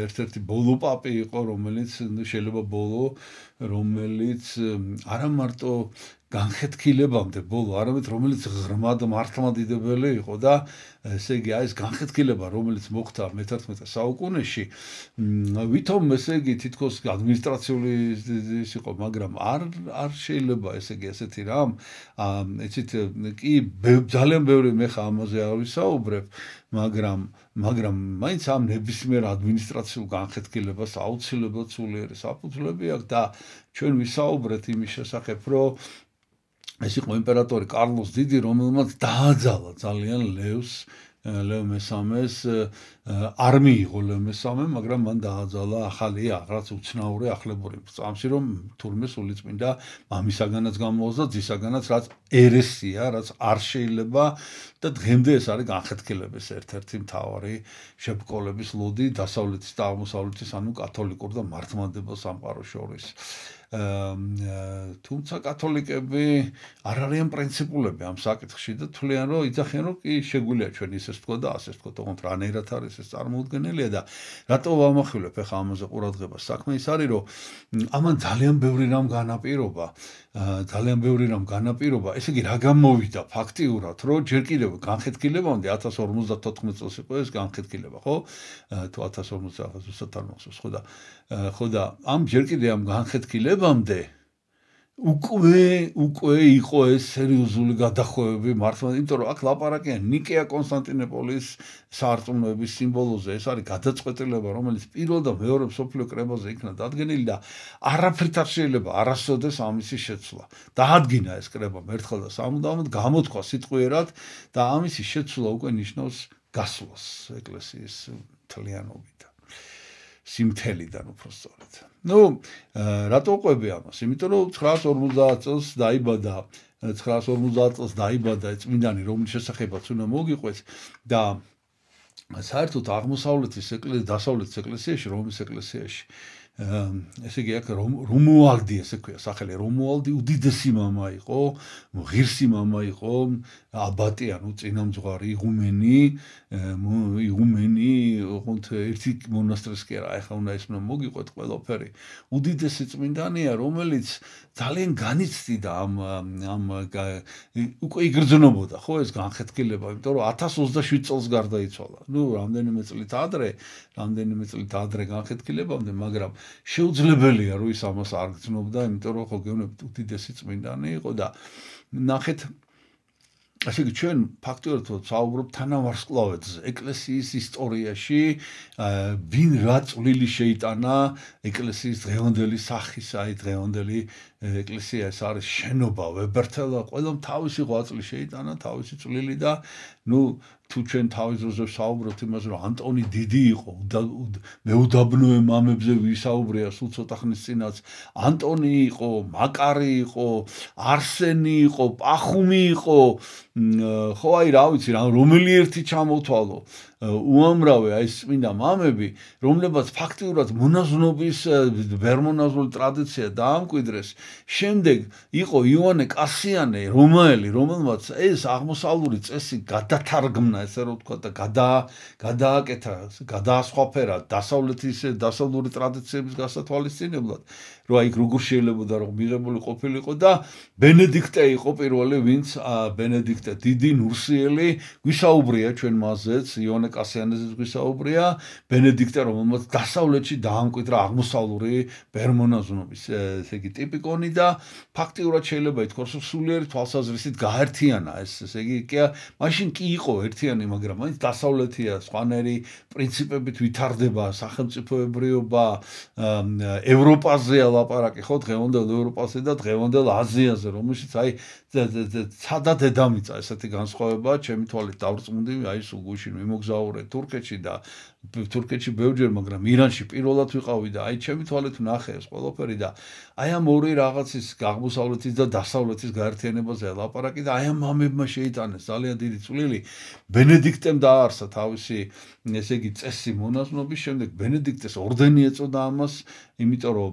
ერთ-ერთი ბოლო პაპი იყო, რომელიც შეიძლება ბოლო, რომელიც არა მარტო განხეთქილებამდე ბოლო, არამედ რომელიც ღრმად მართლმადიდებელი იყო და ესე იგი აი ეს განხეთქილება, რომელიც მოხდა მეთერთმეტე საუკუნეში, ვითომ ესე იგი თითქოს ადმინისტრაციული ის იყო, მაგრამ არ არ შეიძლება ესე იგი ესეთი რამ, იცით, კი ძალიან ბევრი მე ხა ამაზე არ ვისაუბრებ, მაგრამ მაგრამ მაინც ამ ნებისმიერ ადმინისტრაციულ განხეთქილებას აუცილებლად სულიერი საფუძვლები აქვს და ჩვენ ვისაუბრეთ იმის შესახებ, რომ ეს იყო იმპერატორი კარლოს დიდი, რომელმაც დააძალა ძალიან ლევს ლევ მესამეს არ მიიღო ლევ მესამე, მაგრამ მან დააძალა ახალი რაღაც უცნაური ახლებური წამსი, რომ თურმე სულიწმინდა მამისაგანაც გამოაქვს და ძისაგანაც, რაც ერესია, რაც არ შეიძლება და დღემდე ეს არის განხეთქილების ერთ-ერთი მთავარი შებრკოლების ლოდი დასავლეთის და აღმოსავლეთის, ანუ კათოლიკურ და მართლმადიდებლურ სამყაროს შორის. თუმცა კათოლიკები არ არიან პრინციპულები ამ საკითხში და თვლიან, რომ იძახიან, რომ კი შეგვიძლია ჩვენ ისეს თქვა და ასეს თქვა, თუმცა რანაირად არის ეს წარმოუდგენელია და რატო ვამახვილებ ახლა ამაზე ყურადღებას? საქმე ის არის, რომ ამან ძალიან ბევრი რამ განაპირობა, ძალიან ბევრი რამ განაპირობა, ესე იგი რა გამოვიდა ფაქტიურად, რომ ჯერ კიდევ განხეთქილებამდე ათას ორმოცდათოთხმეტ წელს იყო ეს განხეთქილება, ხო? თუ ათას ორმოცდაათი ზუსტად არ მახსოვს, ხო და ხო და ამ ჯერ კიდევ ამ განხეთქილებამდე უკვე უკვე იყო ეს სერიოზული გადახვევები მართლმადიდებლად, იმიტომ რომ აქ ლაპარაკია ნიკეა კონსტანტინოპოლის საარწმუნოების სიმბოლოზე, ეს არის გადაწყვეტილება, რომელიც პირველ და მეორე მსოფლიო კრებაზე იქნა დადგენილი და არაფრით არ შეიძლება არასოდეს ამისი შეცვლა. დაადგინა ეს კრება მერთხელ და სამუდამოდ გამოთქვა სიტყვიერად და ამისი შეცვლა უკვე ნიშნავს გასვლას ეკლესიის მთლიანობიდან. სიმთელიდან უბრალოდ. ნუ რატო ყვები ამას? იმიტომ რომ ცხრაას ორმოცდაათ წელს დაიბადა, ცხრაას ორმოცდაათ წელს დაიბადა წმინდანი, რომლის შესახებაც უნდა მოგიყვეს და საერთოდ აღმოსავლეთის ეკლესიის, დასავლეთის ეკლესიაში, რომის ეკლესიაში ესე იგი აქ რომუალდი ესე ქვია სახელი, რომუალდი უდიდესი მამა იყო, ღირსი მამა იყო, აბატი, ანუ წინამძღვარი, იღუმენი, იღუმენი, ოღონდ ერთი მონასტრის კი არა, ახლა უნდა ისმნა მოგიყვეთ ყველაფერი. უდიდესი წმინდანია, რომელიც ძალიან განიცდიდა ამ ამ უკვე იგრძნობოდა, ხო, ეს განხეთქილება, იმიტომ რომ ათას ოცდაშვიდ წელს გარდაიცვალა. ნუ რამდენიმე წლით ადრე, რამდენიმე წლით ადრე განხეთქილებამდე, მაგრამ შეუძლებელია რომ ის ამას არ გრძნობდა, იმიტომ რომ ხო გეუბნებით უდიდესი წმინდანი იყო და ნახეთ ასე იგი ჩვენ ფაქტობრივად საუბრობთ თანავარსკვლავედზე, ეკლესიის ისტორიაში ვინ რა წვლილი შეიტანა ეკლესიის დღევანდელი სახის, აი დღევანდელი ეკლესია ეს არის შენობა, ვებერთელა, ყველამ თავისი ღვაწლი შეიტანა, თავისი წვლილი და ნუ თუ ჩვენ თავის დროზე საუბრობთ იმაზე, რომ ანტონი დიდი იყო, მეუდაბნოე მამებზე ვისაუბრია სულ ცოტა ხნის წინაც, ანტონი იყო, მაკარი იყო, არსენი იყო, პახუმი იყო, ხო აი რა ვიცი, რომელი ერთი ჩამოთვალო, უამრავი აი წმინდა მამები, რომლებაც ფაქტიურად მონაზვნობის ვერმონაზული ტრადიცია დაამკვიდრეს. შემდეგ იყო იოანე კასიანე, რომაელი, რომელმაც ეს აღმოსავლური წესი გადათარგმნა, ესე რომ ვთქვა და გადააკეთა, გადაასხვაფერა დასავლეთის დასავლური ტრადიციების გასათვალისწინებლად, რომ აი როგორ შეიძლებოდა რომ მიღებული ყოფილიყო და ბენედიქტე იყო პირველი, ვინც ბენედიქტე დიდი ნურსიელი გვისაუბრია ჩვენ მასზეც, იოანე კასიანეზეც გვისაუბრია, ბენედიქტე რომელმაც დასავლეთში დაამკვიდრა აღმოსავლური ბერმონაზვნობის ესე იგი ტიპიკონი და ფაქტიურად შეიძლება ითქვას, რომ სულიერი თვალსაზრისით გაერთიანა ეს, ესე იგი კი მაშინ კი იყო ერთიანი, მაგრამ მაინც დასავლეთია, სხვანაირი პრინციპებით ვითარდება სახელმწიფოებრიობა, ევროპაზეა ლაპარაკი, ხო, დღევანდელ ევროპაზე და დღევანდელ აზიაზე, რომელშიც აი ცადა დედამიწა ესეთი განსხვავება, ჩემი თვალით დავრწმუნდი, აი სულ გუშინ ვიმოგზაურე თურქეთში და თურქეთში ბევრჯერ, მაგრამ ირანში პირველად ვიყავი და აი ჩემი თვალით ვნახე ეს ყველაფერი და აი ამ ორი რაღაცის აღმოსავლეთის და დასავლეთის გაერთიანებაზე ლაპარაკი და აი ამ მამებმა შეიტანეს ძალიან დიდი წვლილი. ბენედიქტემ დააარსა თავისი ესე იგი წესი მონაზვნობის, შემდეგ ბენედიქტეს ორდენი ეწოდა ამას, იმიტომ რომ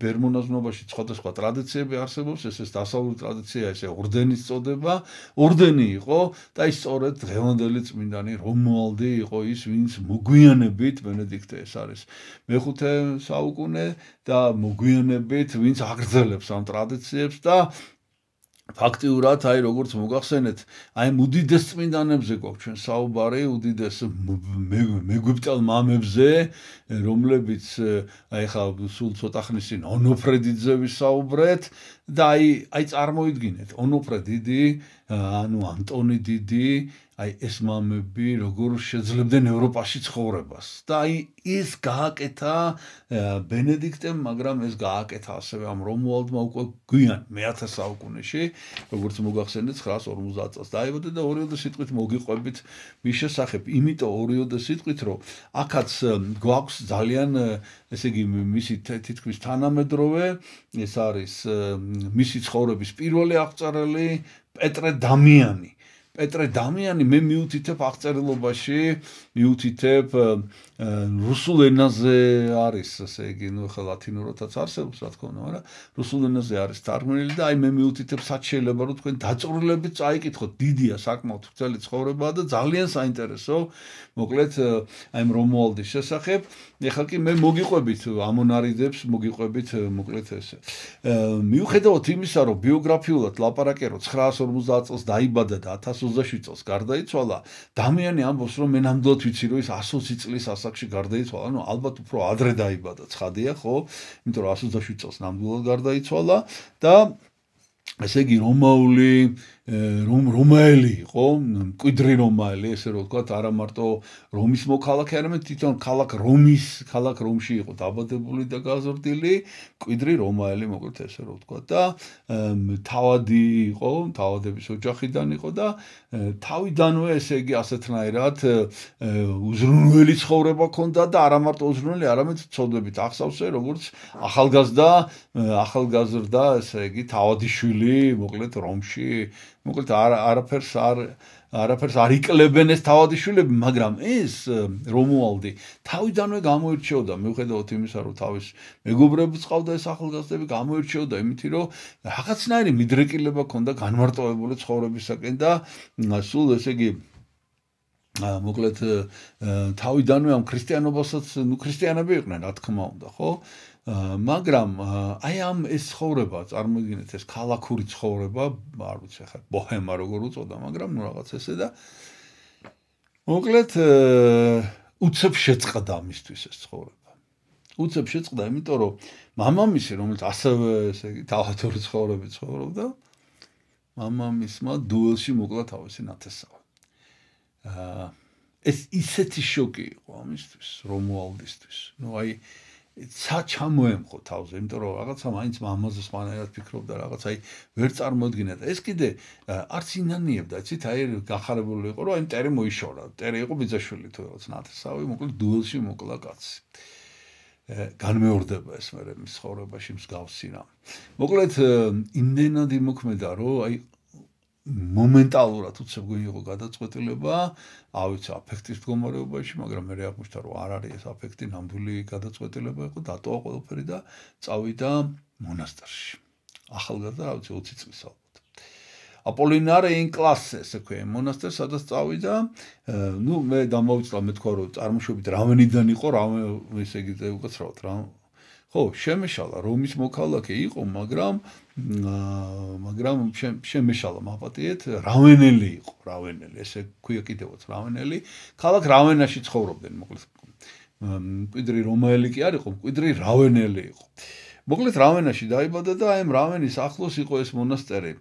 ბერმონაზვნობაში სხვადასხვა ტრადიციები არსებობს, ეს ეს დასავლური ტრადიცია, ესე ორდენის წოდება, ორდენი იყო და ის სწორედ დღევანდელი წმინდანი რომუალდი იყო ის, ვინც მოგვიანებით ბენედიქტე ეს არის მეხუთე საუკუნე და მოგვიანებით ვინც აგრძელებს ამ ტრადიციებს და ფაქტიურად აი როგორც მოგახსენეთ, აი უდიდეს წმინდანებზე გვაქვს ჩვენ საუბარი, უდიდეს მეგვიპტელ მამებზე, რომლებიც აი ხა სულ ცოტა ხნის წინ ონოფრედიძე ვისაუბრეთ და აი აი წარმოიდგინეთ ონოფრე დიდი ანუ ანტონი დიდი აი ეს მამები როგორ შეძლებდნენ ევროპაში ცხოვრებას და აი ის გააკეთა ბენედიქტემ მაგრამ ეს გააკეთა ასევე ამ რომუალდმა უკვე გვიან მეათე საუკუნეში როგორც მოგახსენეთ ცხრაას ორმოცდაათ წელს დაიბადა და ორიოდე სიტყვით მოგიყვებით მის შესახებ იმიტომ ორიოდე სიტყვით რომ აქაც გვაქვს ძალიან ესე იგი მისი თითქმის თანამედროვე ეს არის მისი ცხოვრების პირველი აღწერილი პეტრე დამიანი პეტრე დამიანი მე მიუთითებ აღწერილობაში მიუთითებ რუსულ ენაზე არის ესე იგი ნუ ხა ლათინურადაც არსებობს რა თქმა უნდა მაგრამ რუსულ ენაზე არის თარგმნილი და აი მე მიუთითებ სად შეიძლება რომ თქვენ დაწვრილებით წაიკითხოთ დიდია საკმაოდ ვრცელი ცხოვრებაა და ძალიან საინტერესო მოკლედ აი რომუალდის შესახებ ეხლა კი მე მოგიყვებით ამონარიდებს მოგიყვებით მოკლედ ესე მიუხედავად იმისა რომ ბიოგრაფიულად ლაპარაკე რომ ცხრაას ორმოცდაათ წელს დაიბადა და ათას ოცდაშვიდ წელს გარდაიცვალა დამიანი ამბობს რომ მე ნამდვილად ვიცი რომ ის ასი ოცი წლის ასაკში გარდაიცვალა ანუ ალბათ უფრო ადრე დაიბადა ცხადია ხო იმიტომ რომ ასი ოცდაშვიდ წელს ნამდვილად გარდაიცვალა და ესე იგი რომაული რომ რომაელი იყო მკვიდრი რომაელი ესე რომ ვთქვათ არა მარტო რომის მოქალაქე არამედ თვითონ ქალაქ რომის ქალაქ რომში იყო დაბადებული და გაზრდილი მკვიდრი რომაელი მოკლედ ესე რომ ვთქვათ და თავადი იყო თავადების ოჯახიდან იყო და თავიდანვე ესე იგი ასეთნაირად უზრუნველი ცხოვრება ჰქონდა და არა მარტო უზრუნველი არამედ ცოდვებით ახსავსე როგორც ახალგაზრდა ახალგაზრდა ესე იგი თავადიშვილი მოკლედ რომში მოკლედ არაფერს არ არაფერს არ იკლებენ ეს თავადიშვილები, მაგრამ ეს რომუალდი თავიდანვე გამოირჩეოდა, მიუხედავად იმისა, რომ თავის მეგობრებიც ყავდა ეს ახალგაზრდები, გამოირჩეოდა იმით, რომ რაღაცნაირი მიდრეკილება ჰქონდა განმარტოვებული ცხოვრებისაკენ და სულ ესე იგი მოკლედ თავიდანვე ამ ქრისტიანობასაც, ნუ ქრისტიანები იყვნენ, რა თქმა უნდა, ხო? მაგრამ აი ამ ეს ცხოვრება, წარმოიდგინეთ ეს ქალაქური ცხოვრება, არ ვიცი ხა ბოჰემა როგორ უწოდა, მაგრამ ნუ რაღაც ესე და მოკლედ უცებ შეწყდა მისთვის ეს ცხოვრება. უცებ შეწყდა, იმიტომ რომ მამამისი, რომელიც ასევე ესე იგი თავადური ცხოვრებით ცხოვრობდა, მამამისმა დუელში მოკლა თავისი ნათესავი. აა ეს ისეთი შოკი იყო ამისთვის, რომუალდისთვის. ნუ აი ცა ჩამოემხო თავზე, იმიტომ რომ რაღაცა მაინც მამაზე სხვანაირად ფიქრობდა, რაღაც აი ვერ წარმოედგინა და ეს კიდე არც ინანიებდა, იცით, აი გახარებული იყო, რომ აი მტერი მოიშორა, მტერი იყო ბიძაშვილი თუ რაღაც ნათესავი, მოკლედ დუელში მოკლა კაცი. განმეორდება ეს მერე მის ცხოვრებაში მსგავსი რამ. მოკლედ იმდენად იმოქმედა, რომ აი მომენტალურად უცებ გვიღო გადაწყვეტილება, ავიცი აფექტის მდგომარეობაში, მაგრამ მე აღმოჩნდა, რომ არ არის ეს აფექტი, ნამდვილი გადაწყვეტილება იყო, დატოვა ყველაფერი და წავიდა მონასტერში. ახალგაზრდა, ავიცი ოცი წლის ალბათ. აპოლინარე ინ კლასე, ესე ქვია, მონასტერს, სადაც წავიდა, ნუ მე დამოვიწყდა, მე თქვა, რომ წარმოშობით რავენიდან იყო, რავენ, ესე იგი, უკაცრავად რა. ხო, შემეშალა რომის მოქალაქე იყო, მაგრამ მაგრამ შემეშალა მაპატიეთ, რავენელი იყო, რავენელი, ესე ქვია კიდევაც რავენელი, ქალაქ რავენაში ცხოვრობდნენ, მოკლედ. მკვიდრი რომაელი კი არ იყო, მკვიდრი რავენელი იყო. მოკლედ რავენაში დაიბადა და აი რავენის ახლოს იყო ეს მონასტერი,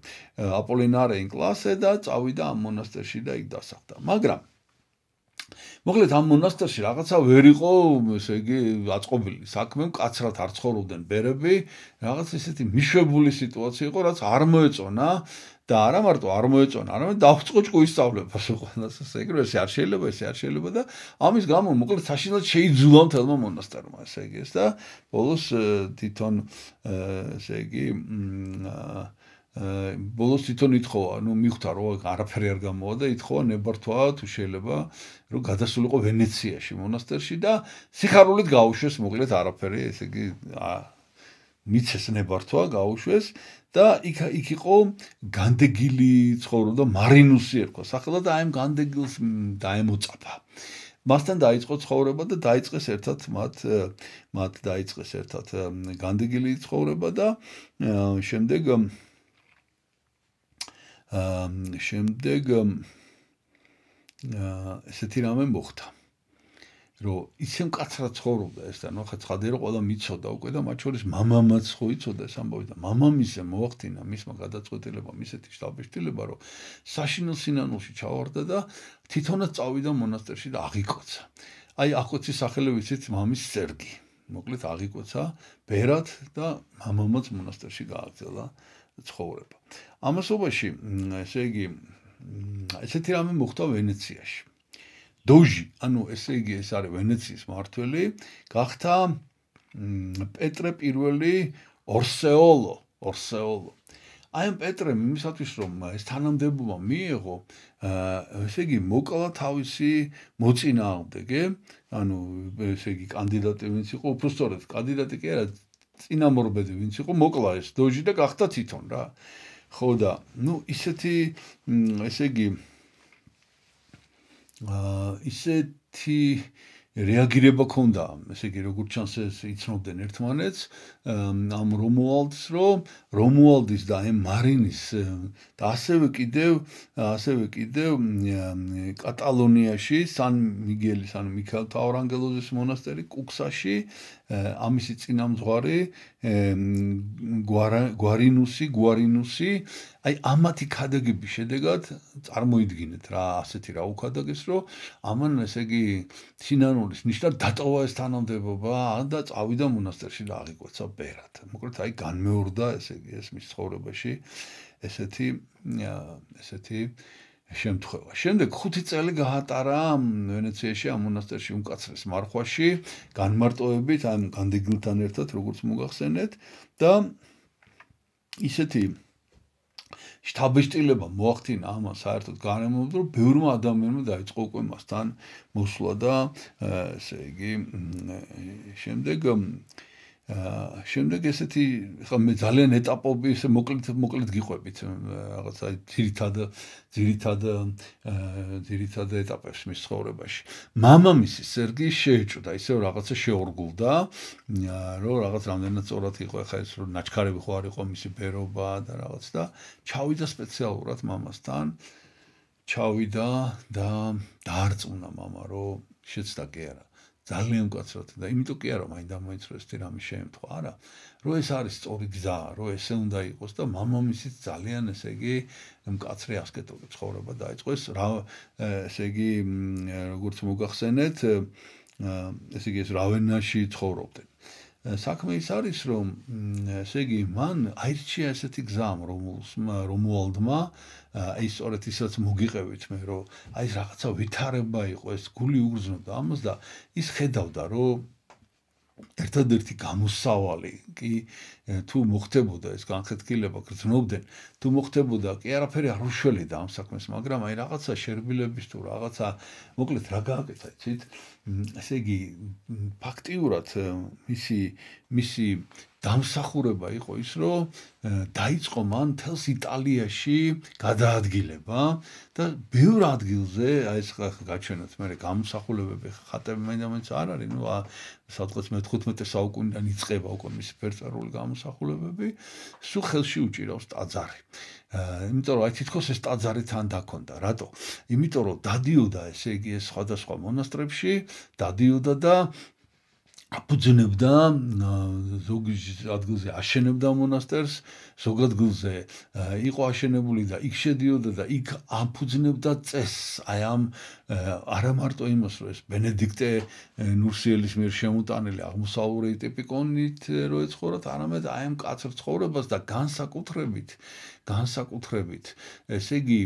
აპოლინარე ინ კლასე და წავიდა ამ მონასტერში და იქ დასახლდა. მაგრამ მოკლედ ამ მონასტერში რაღაცა ვერ იყო, ესე იგი, აწყობილი საქმე, მკაცრად არ ცხოვრობდნენ ბერები, რაღაც ისეთი მიშვებული სიტუაცია იყო, რაც არ მოეწონა და არა მარტო არ მოეწონა, არამედ დაუწყო ჭკუისწავლებას ყველას, ესე იგი, ესე არ შეიძლება, ესე არ შეიძლება და ამის გამო მოკლედ საშინელად შეიძულა მთელმა მონასტერმა, ესე იგი, ეს და ბოლოს თვითონ ესე იგი ბოლოს თვითონ ითხოვა, ნუ მიხვდა რომ არაფერი არ გამოვა და ითხოვა ნებართვა თუ შეიძლება რომ გადასულიყო ვენეციაში მონასტერში და სიხარულით გაუშვეს მოკლედ არაფერი, ესე იგი მიცეს ნებართვა, გაუშვეს და იქ იქ იყო განდეგილი ცხოვრობდა მარინუსი ერქვა სახელად და აი ამ განდეგილს დაემოწაფა. მასთან დაიწყო ცხოვრება და დაიწყეს ერთად მათ მათ დაიწყეს ერთად განდეგილი ცხოვრება და შემდეგ შემდეგ ესეთი რამე მოხდა. რომ ისე მკაცრად ცხოვრობდა ეს და ნუ ხა ცხადია რომ ყველა მიცოდა უკვე და მათ შორის მამამაც ხო იცოდა ეს ამბავი და მამამისე მოახდინა მისმა გადაწყვეტილებამ ისეთი შტაბეშტილება რომ საშინელ სინანულში ჩავარდა და თვითონაც წავიდა მონასტერში და აღიკვეცა. აი ახოცი სახელი ვიცით მამის სერგი. მოკლედ აღიკვეცა ბერად და მამამაც მონასტერში გააგრძელა ცხოვრება. ამასობაში ესე იგი ესეთი რამე მოხდა ვენეციაში. დოჟი, ანუ ესე იგი ეს არის ვენეციის მმართველი, გახდა პეტრე პირველი ორსეოლო, ორსეოლო. აი ამ პეტრემ იმისათვის რომ ეს თანამდებობა მიიღო, ესე იგი მოკლა თავისი მოწინააღმდეგე, ანუ ესე იგი კანდიდატი ვინც იყო, უბრალოდ კანდიდატი კი არა, წინამორბედი ვინც იყო, მოკლა ეს დოჟი და გახდა თვითონ რა. ხო და ნუ ისეთი ესე იგი ისეთი რეაგირება ქონდა, ესე იგი როგორც ჩანს ეს იცნობდნენ ერთმანეთს ამ რომუალდს, რომ რომუალდის და ამ მარინის და ასევე კიდევ ასევე კიდევ კატალონიაში სან მიგელის ანუ მიქაელ თავრანგელოზის მონასტერი კუქსაში ამისი წინამძღვარი გვარინუსი გვარინუსი აი ამათი ქადაგების შედეგად წარმოიდგინეთ რა ასეთი რა უქადაგეს რომ ამან ესე იგი სინანულის ნიშნად დატოვა ეს თანამდებობა და წავიდა მონასტერში და აღიკვეცა ბერად. მოკლედ აი განმეორდა ესე იგი ეს მის ცხოვრებაში ესეთი ესეთი შემთხვევა. შემდეგ ხუთი წელი გაატარა ვენეციაში ამ მონასტერში უმკაცრეს მარხვაში, განმარტოებით ამ განდეგილთან ერთად, როგორც მოგახსენეთ და ისეთი შთაბეჭდილება მოახდინა ამან საერთოდ გარემოებდა, რომ ბევრმა ადამიანმა დაიწყო უკვე მასთან მოსვლა და ესე იგი შემდეგ შემდეგ ესეთი ხა მე ძალიან ეტაპები ესე მოკლედ მოკლედ გიყვებით რაღაცა ძირითად ძირითად ძირითად ეტაპებს მის ცხოვრებაში. მამამისი სერგი შეეჭვდა, ისევ რაღაცა შეორგულდა, რომ რაღაც რამდენად სწორად იყო ხა ეს რომ ნაჩქარები ხო არ იყო მისი ბერობა და რაღაც და ჩავიდა სპეციალურად მამასთან. ჩავიდა და დაარწმუნა მამა, რომ შეცდა კი არა. ძალიან მკაცრად და იმიტომ კი არა მაინდა მოიწრო ეს რამე შეემთხვა არა რომ ეს არის სწორი გზა რომ ესე უნდა იყოს და მამამისიც ძალიან ესე იგი მკაცრი ასკეტური ცხოვრება დაიწყო ეს რა ესე იგი როგორც მოგახსენეთ ესე იგი ეს რავენაში ცხოვრობდნენ საქმე ის არის რომ ესე იგი მან აირჩია ესეთი გზა რომუალდმა აი სწორედ ისაც მოგიყევით მე რომ აი რაღაცა ვითარება იყო ეს გული უგრძნობდა ამას და ის ხედავდა რომ ერთადერთი გამოსავალი კი თუ მოხდებოდა ეს განხეთქილება გრძნობდნენ თუ მოხდებოდა კი არაფერი არ უშველიდა ამ საქმეს მაგრამ აი რაღაცა შერბილების თუ რაღაცა მოკლედ რა გააკეთა იცით ესე იგი ფაქტიურად მისი მისი დამსახურება იყო ის რომ დაიწყო მან თელს იტალიაში გადაადგილება და ბევრ ადგილზე აი ეს გაჩვენოთ მე გამოსახულებები ხატები მაინც არ არის ნუ სადღაც მეთერთმეტე საუკუნიდან იწყება უკვე მისი ფერწერული გამოსახულებები სულ ხელში უჭირავს ტაძარი იმიტომ რომ აი თითქოს ეს ტაძარი თან დაქონდა რატო იმიტომ რომ დადიოდა ესე იგი ეს სხვადასხვა მონასტრებში დადიოდა და აფუძნებდა ზოგ ადგილზე აშენებდა მონასტერს ზოგ ადგილზე იყო აშენებული და იქ შედიოდა და იქ აფუძნებდა წესს აი ამ არა მარტო იმას რომ ეს ბენედიქტე ნურსიელის მიერ შემოტანილი აღმოსავლური ტიპიკონით რო ეცხოვრათ არამედ აი ამ კაცრ ცხოვრებას და განსაკუთრებით განსაკუთრებით ესე იგი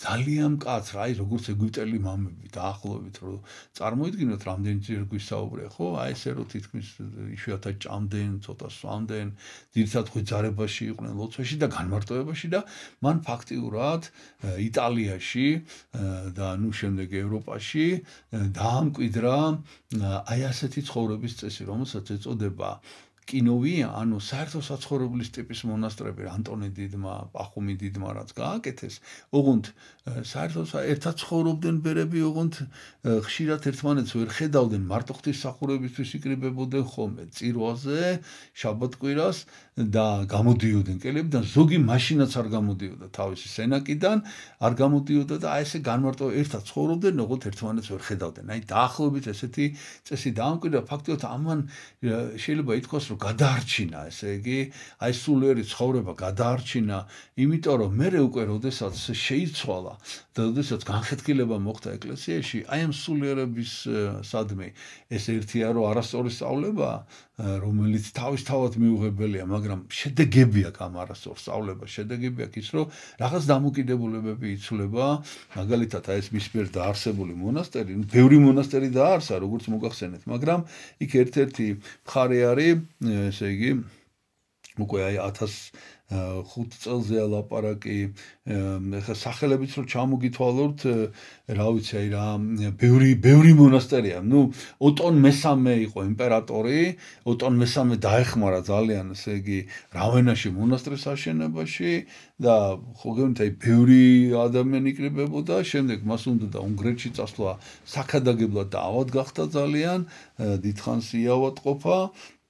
ძალიან მკაცრ აი როგორც ეგვიპტელი მამები დაახლოებით რომ წარმოიდგინოთ რამდენი ძირ გვისაუბრე ხო აი ესე რომ თითქმის იშვიათად ჭამდნენ ცოტა სვამდნენ ძირითადად ღვიძარებაში იყვნენ ლოცვაში და განმარტოებაში და მან ფაქტიურად იტალიაში და ნუ შემდეგ ევროპაში დაამკვიდრა აი ასეთი ცხოვრების წესი რომელსაც ეწოდება კინოვია, ანუ საერთო საცხოვრებლის ტიპის მონასტრები, ანტონი დიდმა, პახუმი დიდმა რაც გააკეთეს, ოღონდ საერთო ერთად ცხოვრობდნენ ბერები, ოღონდ ხშირად ერთმანეთს ვერ ხედავდნენ, მარტო ღვთისმსახურებისთვის იკრიბებოდნენ ხოლმე წირვაზე, შაბათ-კვირას და გამოდიოდნენ კელებიდან, ზოგი მაშინაც არ გამოდიოდა თავისი სენაკიდან, არ გამოდიოდა და აი ესე განმარტო ერთად ცხოვრობდნენ, ოღონდ ერთმანეთს ვერ ხედავდნენ. აი დაახლოებით ესეთი წესი დაამკვიდრა, ფაქტობრივად ამან შეიძლება ითქვას, რომ გადაარჩინა, ესე იგი, აი სულიერი ცხოვრება გადაარჩინა, იმიტომ რომ მე უკვე როდესაც შეიცვალა და როდესაც განხეთქილება მოხდა ეკლესიაში, აი ამ სულიერების სადმე ეს ერთია, რომ არასწორი სწავლება, რომელიც თავისთავად მიუღებელია, მაგრამ შედეგები აქვს ამ არასწორ სწავლებას, შედეგები აქვს ის, რომ რაღაც დამოკიდებულებები იცვლება, მაგალითად აი ეს მის მიერ დაარსებული მონასტერი, ბევრი მონასტერი დაარსა, როგორც მოგახსენეთ, მაგრამ იქ ერთ-ერთი მხარე არის, ესე იგი, უკვე აი ათას ხუთ წელზეა ლაპარაკი, ეხლა სახელებიც რომ ჩამოგითვალოთ, რა ვიცი, აი რა, ბევრი ბევრი მონასტერია. ნუ ოტონ მესამე იყო იმპერატორი, ოტონ მესამე დაეხმარა ძალიან, ესე იგი, რავენაში მონასტრის აშენებაში და ხო გეუბნით, აი ბევრი ადამიანი იკრიბებოდა, შემდეგ მას უნდა უნგრეთში წასვლა საქადაგებლად და ავად გახდა ძალიან, დიდხანს იავადყოფა.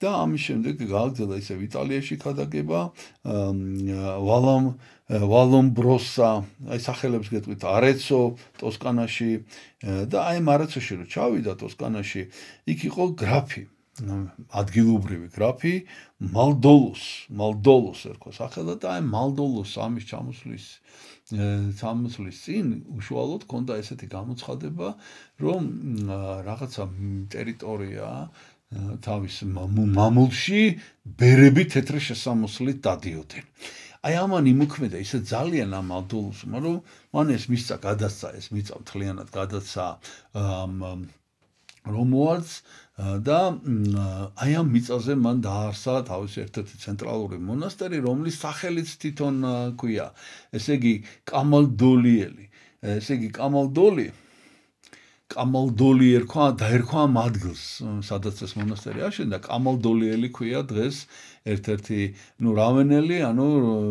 და ამის შემდეგ გააგრძელა ისევ იტალიაში ქადაგება, ვალამ ვალომბროსა, აი სახელებს გეტყვით, არეცო ტოსკანაში და აი ამ არეცოში რომ ჩავიდა ტოსკანაში, იქ იყო გრაფი, ადგილობრივი გრაფი მალდოლოს, მალდოლოს ერქვა სახელად და აი მალდოლოს ამის ჩამოსვლის ჩამოსვლის წინ უშუალოდ ჰქონდა ესეთი გამოცხადება, რომ რაღაცა ტერიტორია თავის მამულში ბერები თეთრი შესამოსლით დადიოდნენ. აი ამან იმოქმედა ისე ძალიან ამ მალდოლოსმა, რომ მან ეს მისცა გადასცა, ეს მიწა მთლიანად გადასცა რომუალდს და აი ამ მიწაზე მან დაარსა თავის ერთ-ერთი ცენტრალური მონასტერი, რომლის სახელიც თვითონ ქვია, ესე იგი კამალდოლიელი, ესე იგი კამალდოლი კამალდოლი ერქვა, დაერქვა ამ ადგილს, სადაც ეს მონასტერი აშენდა, კამალდოლიელი ქვია დღეს ერთ-ერთი, ნუ რავენელი, ანუ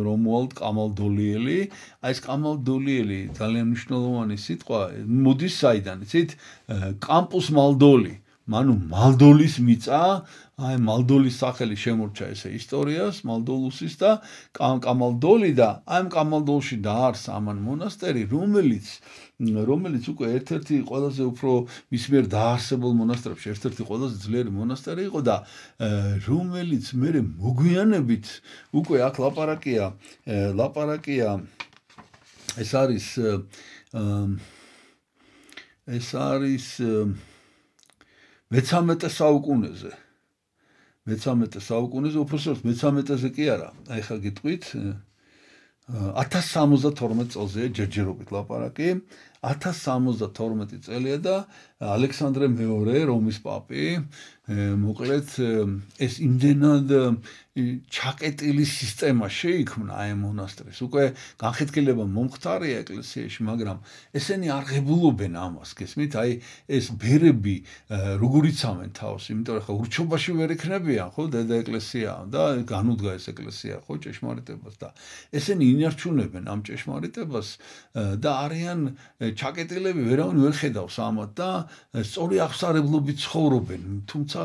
რომუალდ კამალდოლიელი, აი ეს კამალდოლიელი ძალიან მნიშვნელოვანი სიტყვა, მოდის საიდან, იცით? კამპუს მალდოლი, ანუ მალდოლის მიწა, აი მალდოლის სახელი შემორჩა ესე ისტორიას, მალდოლუსის და კამალდოლი და აი ამ კამალდოლში დაარსა ამან მონასტერი, რომელიც რომელიც უკვე ერთ-ერთი ყველაზე უფრო მის მიერ დაარსებულ მონასტრებში ერთ-ერთი ყველაზე ძლიერი მონასტერი იყო და რომელიც მერე მოგვიანებით უკვე აქ ლაპარაკია, ლაპარაკია ეს არის ეს არის მეთერთმეტე საუკუნეზე. მეთერთმეტე საუკუნეზე, უბრალოდ მეთერთმეტეზე კი არა. აი ხა გიტყვით ათას სამოცდათორმეტ წელზეა ჯერჯერობით ლაპარაკი. ათას სამოცდათორმეტი წელია და ალექსანდრე მეორე რომის პაპი მოკლედ ეს იმდენად ჩაკეტილი სისტემა შეიქმნა აი მონასტრის. უკვე განხეთქილება მომხდარია ეკლესიაში, მაგრამ ესენი არ ღებულობენ ამას, გესმით? აი ეს ბერები როგორ იცამენ თავს, იმიტომ რომ ხა ურჩობაში ვერ იქნებიან, ხო, დედა ეკლესია და განუდგა ეს ეკლესია, ხო, ჭეშმარიტებას და ესენი ინარჩუნებენ ამ ჭეშმარიტებას და არიან ჩაკეტილები, ვერავინ ვერ ხედავს ამათ და სწორი აღსარებლობით ცხოვრობენ, თუმცა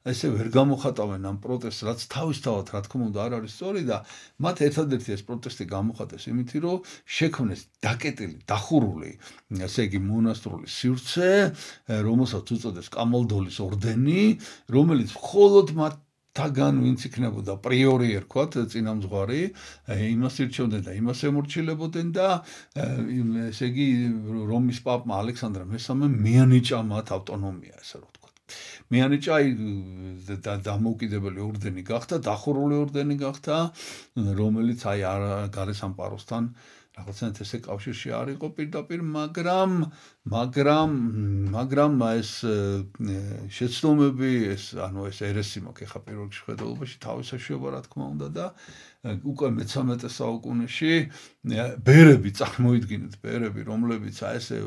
ესე ვერ გამოხატავენ ამ პროტესტს, რაც თავისთავად რა თქმა უნდა არ არის სწორი და მათ ერთადერთი ეს პროტესტი გამოხატეს იმით, რომ შექმნეს დაკეტილი, დახურული, ესე იგი მონასტრული სივრცე, რომელსაც უწოდეს კამალდოლის ორდენი, რომელიც მხოლოდ მათ თაგან ვინც იქნებოდა პრიორი ერქვათ, წინამძღვარი, იმას ირჩევდნენ და იმას ემორჩილებოდნენ და ესე იგი რომის პაპმა ალექსანდრე მესამემ მიანიჭა მათ ავტონომია, ესე რომ ვთქვათ. მიანიჭა დამოუკიდებელი ორდენი გახდა, დახურული ორდენი გახდა, რომელიც აი გარესამყაროსთან რაღაცნაირად ესე კავშირში არ იყო პირდაპირ, მაგრამ მაგრამ მაგრამ ეს შეცდომები, ეს ანუ ეს ერესი მაქვს ახლა პირველ რიგში ხედულობაში თავის საშუალება რა თქმა უნდა და უკვე მეთერთმეტე საუკუნეში ბერები წარმოიდგინეთ, ბერები, რომლებიც აი ესე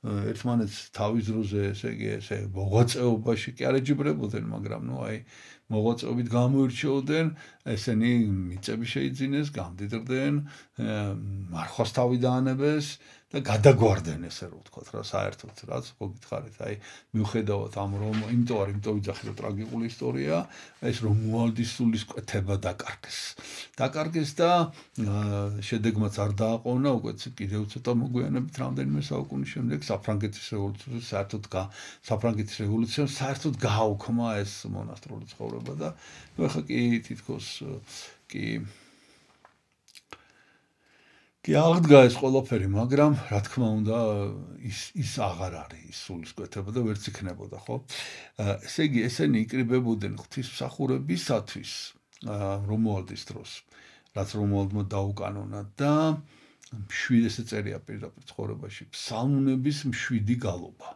ერთმანეთს თავის დროზე, ესე იგი, ესე მოღვაწეობაში კი არ ეჯიბრებოდნენ, მაგრამ ნუ აი მოღვაწეობით გამოირჩეოდნენ, ესენი მიწები შეიძინეს, გამდიდრდნენ, მარხვას თავი დაანებეს და გადაგვარდნენ ესე რომ ვთქვათ რა საერთოდ რაც გოგითხარით აი მიუხედავად ამ რომ იმიტომ არ იმიტომ ვიძახი რომ ტრაგიკული ისტორია ეს რომუალდის სულისკვეთება დაკარგეს დაკარგეს და შედეგმაც არ დააყოვნა უკვე კიდევ ცოტა მოგვიანებით რამდენიმე საუკუნის შემდეგ საფრანგეთის რევოლუციას საერთოდ საფრანგეთის რევოლუციამ საერთოდ გააუქმა ეს მონასტრული ცხოვრება და ეხლა კი თითქოს კი კი აღდგა ეს ყველაფერი, მაგრამ რა თქმა უნდა ის ის აღარ არის ის სულისკვეთება და ვერც იქნებოდა, ხო? ესე იგი, ესენი იკრიბებოდნენ ღვთისმსახურებისათვის რომუალდის დროს, რაც რომუალდმა დაუკანონა და შვიდი ესე წერია პირდაპირ ცხოვრებაში, ფსალმუნების მშვიდი გალობა.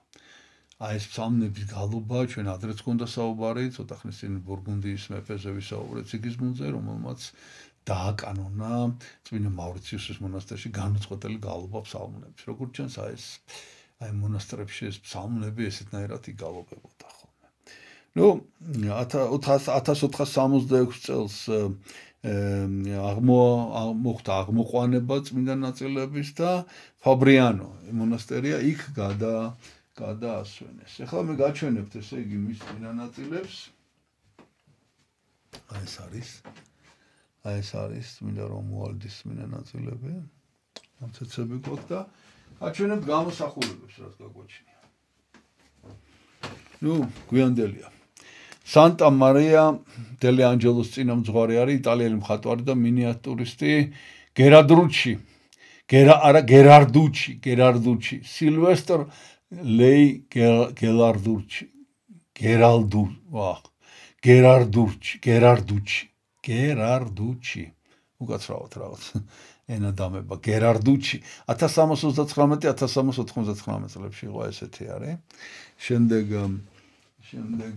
აი ეს ფსალმუნების გალობა ჩვენ ადრეც გქონდა საუბარი, ცოტა ხნის წინ ბურგუნდიის მეფეზე ვისაუბრეთ სიგიზმუნდზე, რომელმაც დააკანონა წმინდა მავრიციუსის მონასტერში განუწყვეტელი გალობა ფსალმუნების. როგორც ჩანს, აი ეს აი მონასტრებში ეს ფსალმუნები ესეთნაირად იგალობებოდა ხოლმე. ნუ ათას ოთხას სამოცდაექვსი წელს აღმოხდა აღმოყვანება წმინდა ნაწილების და ფაბრიანო მონასტერია იქ გადა გადაასვენეს. ეხლა მე გაჩვენებთ ესე იგი მის წმინდა ნაწილებს. აი ეს არის აი ეს არის წმინდა რომუალდის წმინდა ნაწილები. ამცეცები გვაქვს და აჩვენებთ გამოსახულებებს, რაც გაგვაჩნია. ნუ გვიანდელია. სანტა მარია დელი ანჯელოს წინამძღვარი არის იტალიელი მხატვარი და მინიატურისტი გერარდუჩი. გერა არა გერარდუჩი, გერარდუჩი. სილვესტრ ლეი გელარდუჩი. გერალდუ, ვახ. გერარდუჩი, გერარდუჩი. გერარდუჩი. უკაცრავად რაღაც ენა დამება გერარდუჩი. ათას სამას ოცდათხრამეტი ათას სამას ოთხმოცდათხრამეტ წლებში იყო ესეთი არის. შემდეგ შემდეგ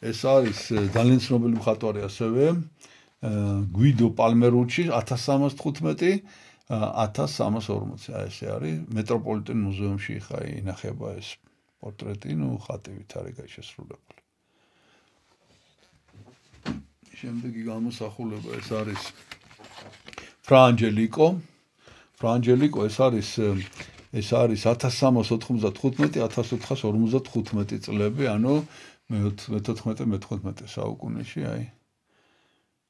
ეს არის ძალიან ცნობილი მხატვარი ასევე გვიდო პალმერუჩი ათას სამას თხუთმეტი ათას სამას ორმოცი. აი ესე არის მეტროპოლიტენ მუზეუმში ხა ინახება ეს პორტრეტი, ნუ ხატივით არის გაიშესრულებული. შემდეგი გამოსახულება ეს არის ფრანჯელიკო. ფრანჯელიკო ეს არის ეს არის ათას სამას ოთხმოცდათხუთმეტი ათას ოთხას ორმოცდათხუთმეტი წლები, ანუ მეთოთხმეტე მეთოთხმეტე საუკუნეში, აი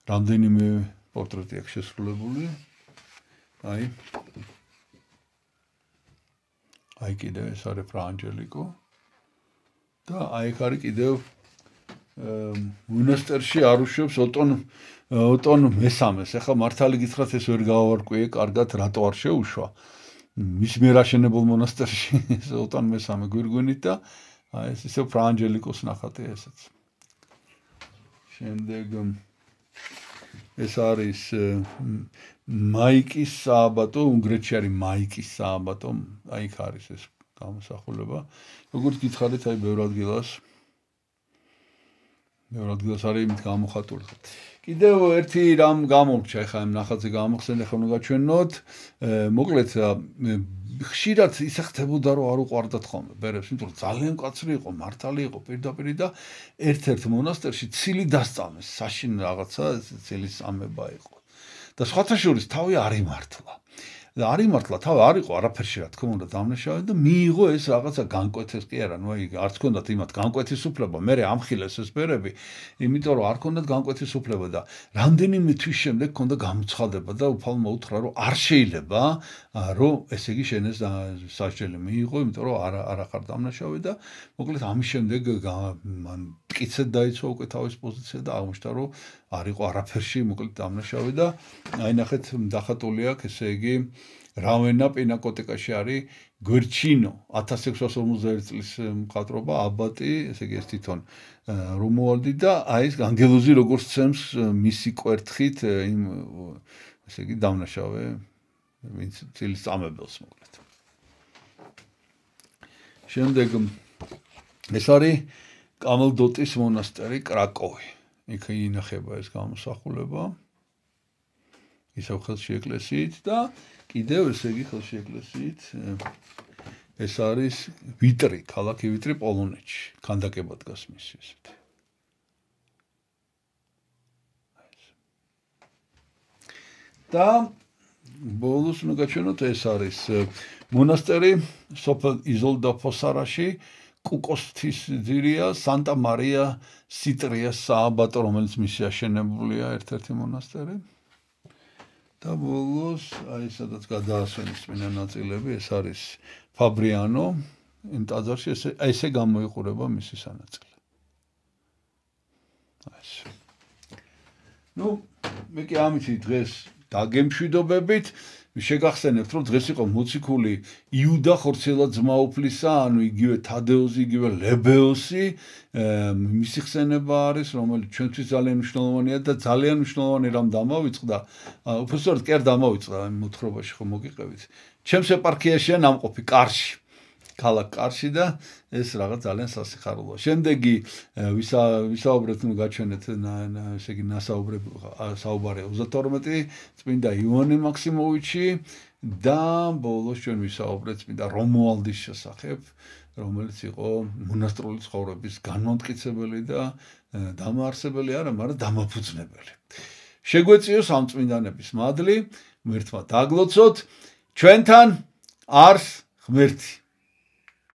რამდენიმე პორტრეტი აქვს შესრულებული. აი აი კიდევ ეს არის ფრანჯელიკო და აი აქ არის კიდევ მონასტერში არუშევს ოტონ ოტონ მესამეს. ეხლა მართალი გითხრათ ეს ვერ გავარკვიე კარგად რატო არ შეუშვა. მის მიერ აშენებულ მონასტერში ეს ოტონ მესამე გვირგვინით და აი ეს ისე ფრანჯელიკოს ნახატია ესეც. შემდეგ ეს არის მაიკის სააბატო, უნგრეთში არის მაიკის სააბატო, აი იქ არის ეს გამოსახულება. როგორც გითხარით, აი ბევრ ადგილას ბევრ ადგილას არის იმით გამოხატული. კიდევ ერთი რამ გამორჩა, ეხლა ამ ნახატზე გამახსენე, ეხლა უნდა გაჩვენოთ. მოკლედ ხშირად ისე ხდებოდა, რომ არ უყვარდათ ხოლმე ბერებს, იმიტომ რომ ძალიან მკაცრი იყო, მართალი იყო პირდაპირ და ერთ-ერთ მონასტერში ცილი დასწამეს, საშინ რაღაცა ცილის წამება იყო. და სხვათა შორის თავი არ იმართლა. და არ იმართლა, თავი არ იყო არაფერში რა თქმა უნდა დამნაშავე და მიიღო ეს რაღაცა განკვეთეს კი არა, ნუ აი არც ჰქონდათ იმათ განკვეთის უფლება, მე ამხილეს ეს ბერები, იმიტომ რომ არ ჰქონდათ განკვეთის უფლება და რამდენიმე თვის შემდეგ ჰქონდა გამოცხადება და უფალმა უთხრა, რომ არ შეიძლება, რომ ესე იგი შენეს სასჯელი მიიღო, იმიტომ რომ არა არ ახარ დამნაშავე და მოკლედ ამის შემდეგ მან მტკიცედ დაიცვა უკვე თავის პოზიცია და აღმოჩნდა, რომ არ იყო არაფერში მოკლედ დამნაშავე და აი ნახეთ დახატული აქვს, ესე იგი რავენა პინაკოტეკაში არის გვერჩინო ათას ექვსას ორმოცდაერთი წლის მხატვრობა აბატი, ესე იგი ეს თვითონ რომუალდი და აი ეს ანგელოზი როგორც ცემს მისი კვერთხით იმ ესე იგი დამნაშავე ვინც ცილის წამებელს მოკლედ. შემდეგ ეს არის კამელდოტის მონასტერი კრაკოვი. იქ ინახება ეს გამოსახულება. ისევ ხელში ეკლესიით და კიდევ ესე იგი ხელში ეკლესიით ეს არის ვიტრი, ქალაქი ვიტრი პოლონეთში, ქანდაკება დგას მისი ესეთი. და ბოლოს უნდა გაჩვენოთ ეს არის მონასტერი სოფელ იზოლდა-ფოსარაში კუკოსთის ძირია სანტა მარია სიტრიას სააბატო რომელიც მისი აშენებულია ერთ-ერთი მონასტერი და ბოლოს აი სადაც გადაასვენის წმინდა ნაწილები ეს არის ფაბრიანო იმ ტაძარში ესე ესე გამოიყურება მისი სანაწილე ეს ნუ მე კი ამითი დღეს დაგემშვიდობებით შეგახსენებთ რომ დღეს იყო მოციქული იუდა ხორცელა ძმაუფლისა ანუ იგივე თადეოზი იგივე ლებეოსი მისი ხსენება არის რომელიც ჩვენთვის ძალიან მნიშვნელოვანია და ძალიან მნიშვნელოვანი რამ დამავიწყდა უბრალოდ კი არ დამავიწყდა ამ მოთხრობაში ხო მოგიყევით ჩემს ეპარქიაშია ნამყოფი კარში ქალაქ კარში და ეს რაღაც ძალიან სასიხარულოა. შემდეგი ვისაუბრეთ, ნუ გაჩვენეთ ესე იგი ნასაუბრები საუბარია ოცდათორმეტი წმინდა ივანე მაქსიმოვიჩი და ბოლოს ჩვენ ვისაუბრეთ წმინდა რომუალდის შესახებ, რომელიც იყო მონასტრული ცხოვრების განმტკიცებელი და დამაარსებელი არა, მაგრამ დამაფუძნებელი. შეგვეციოს ამ წმინდანების მადლი, ღმერთმა დაგლოცოთ, ჩვენთან არს ღმერთი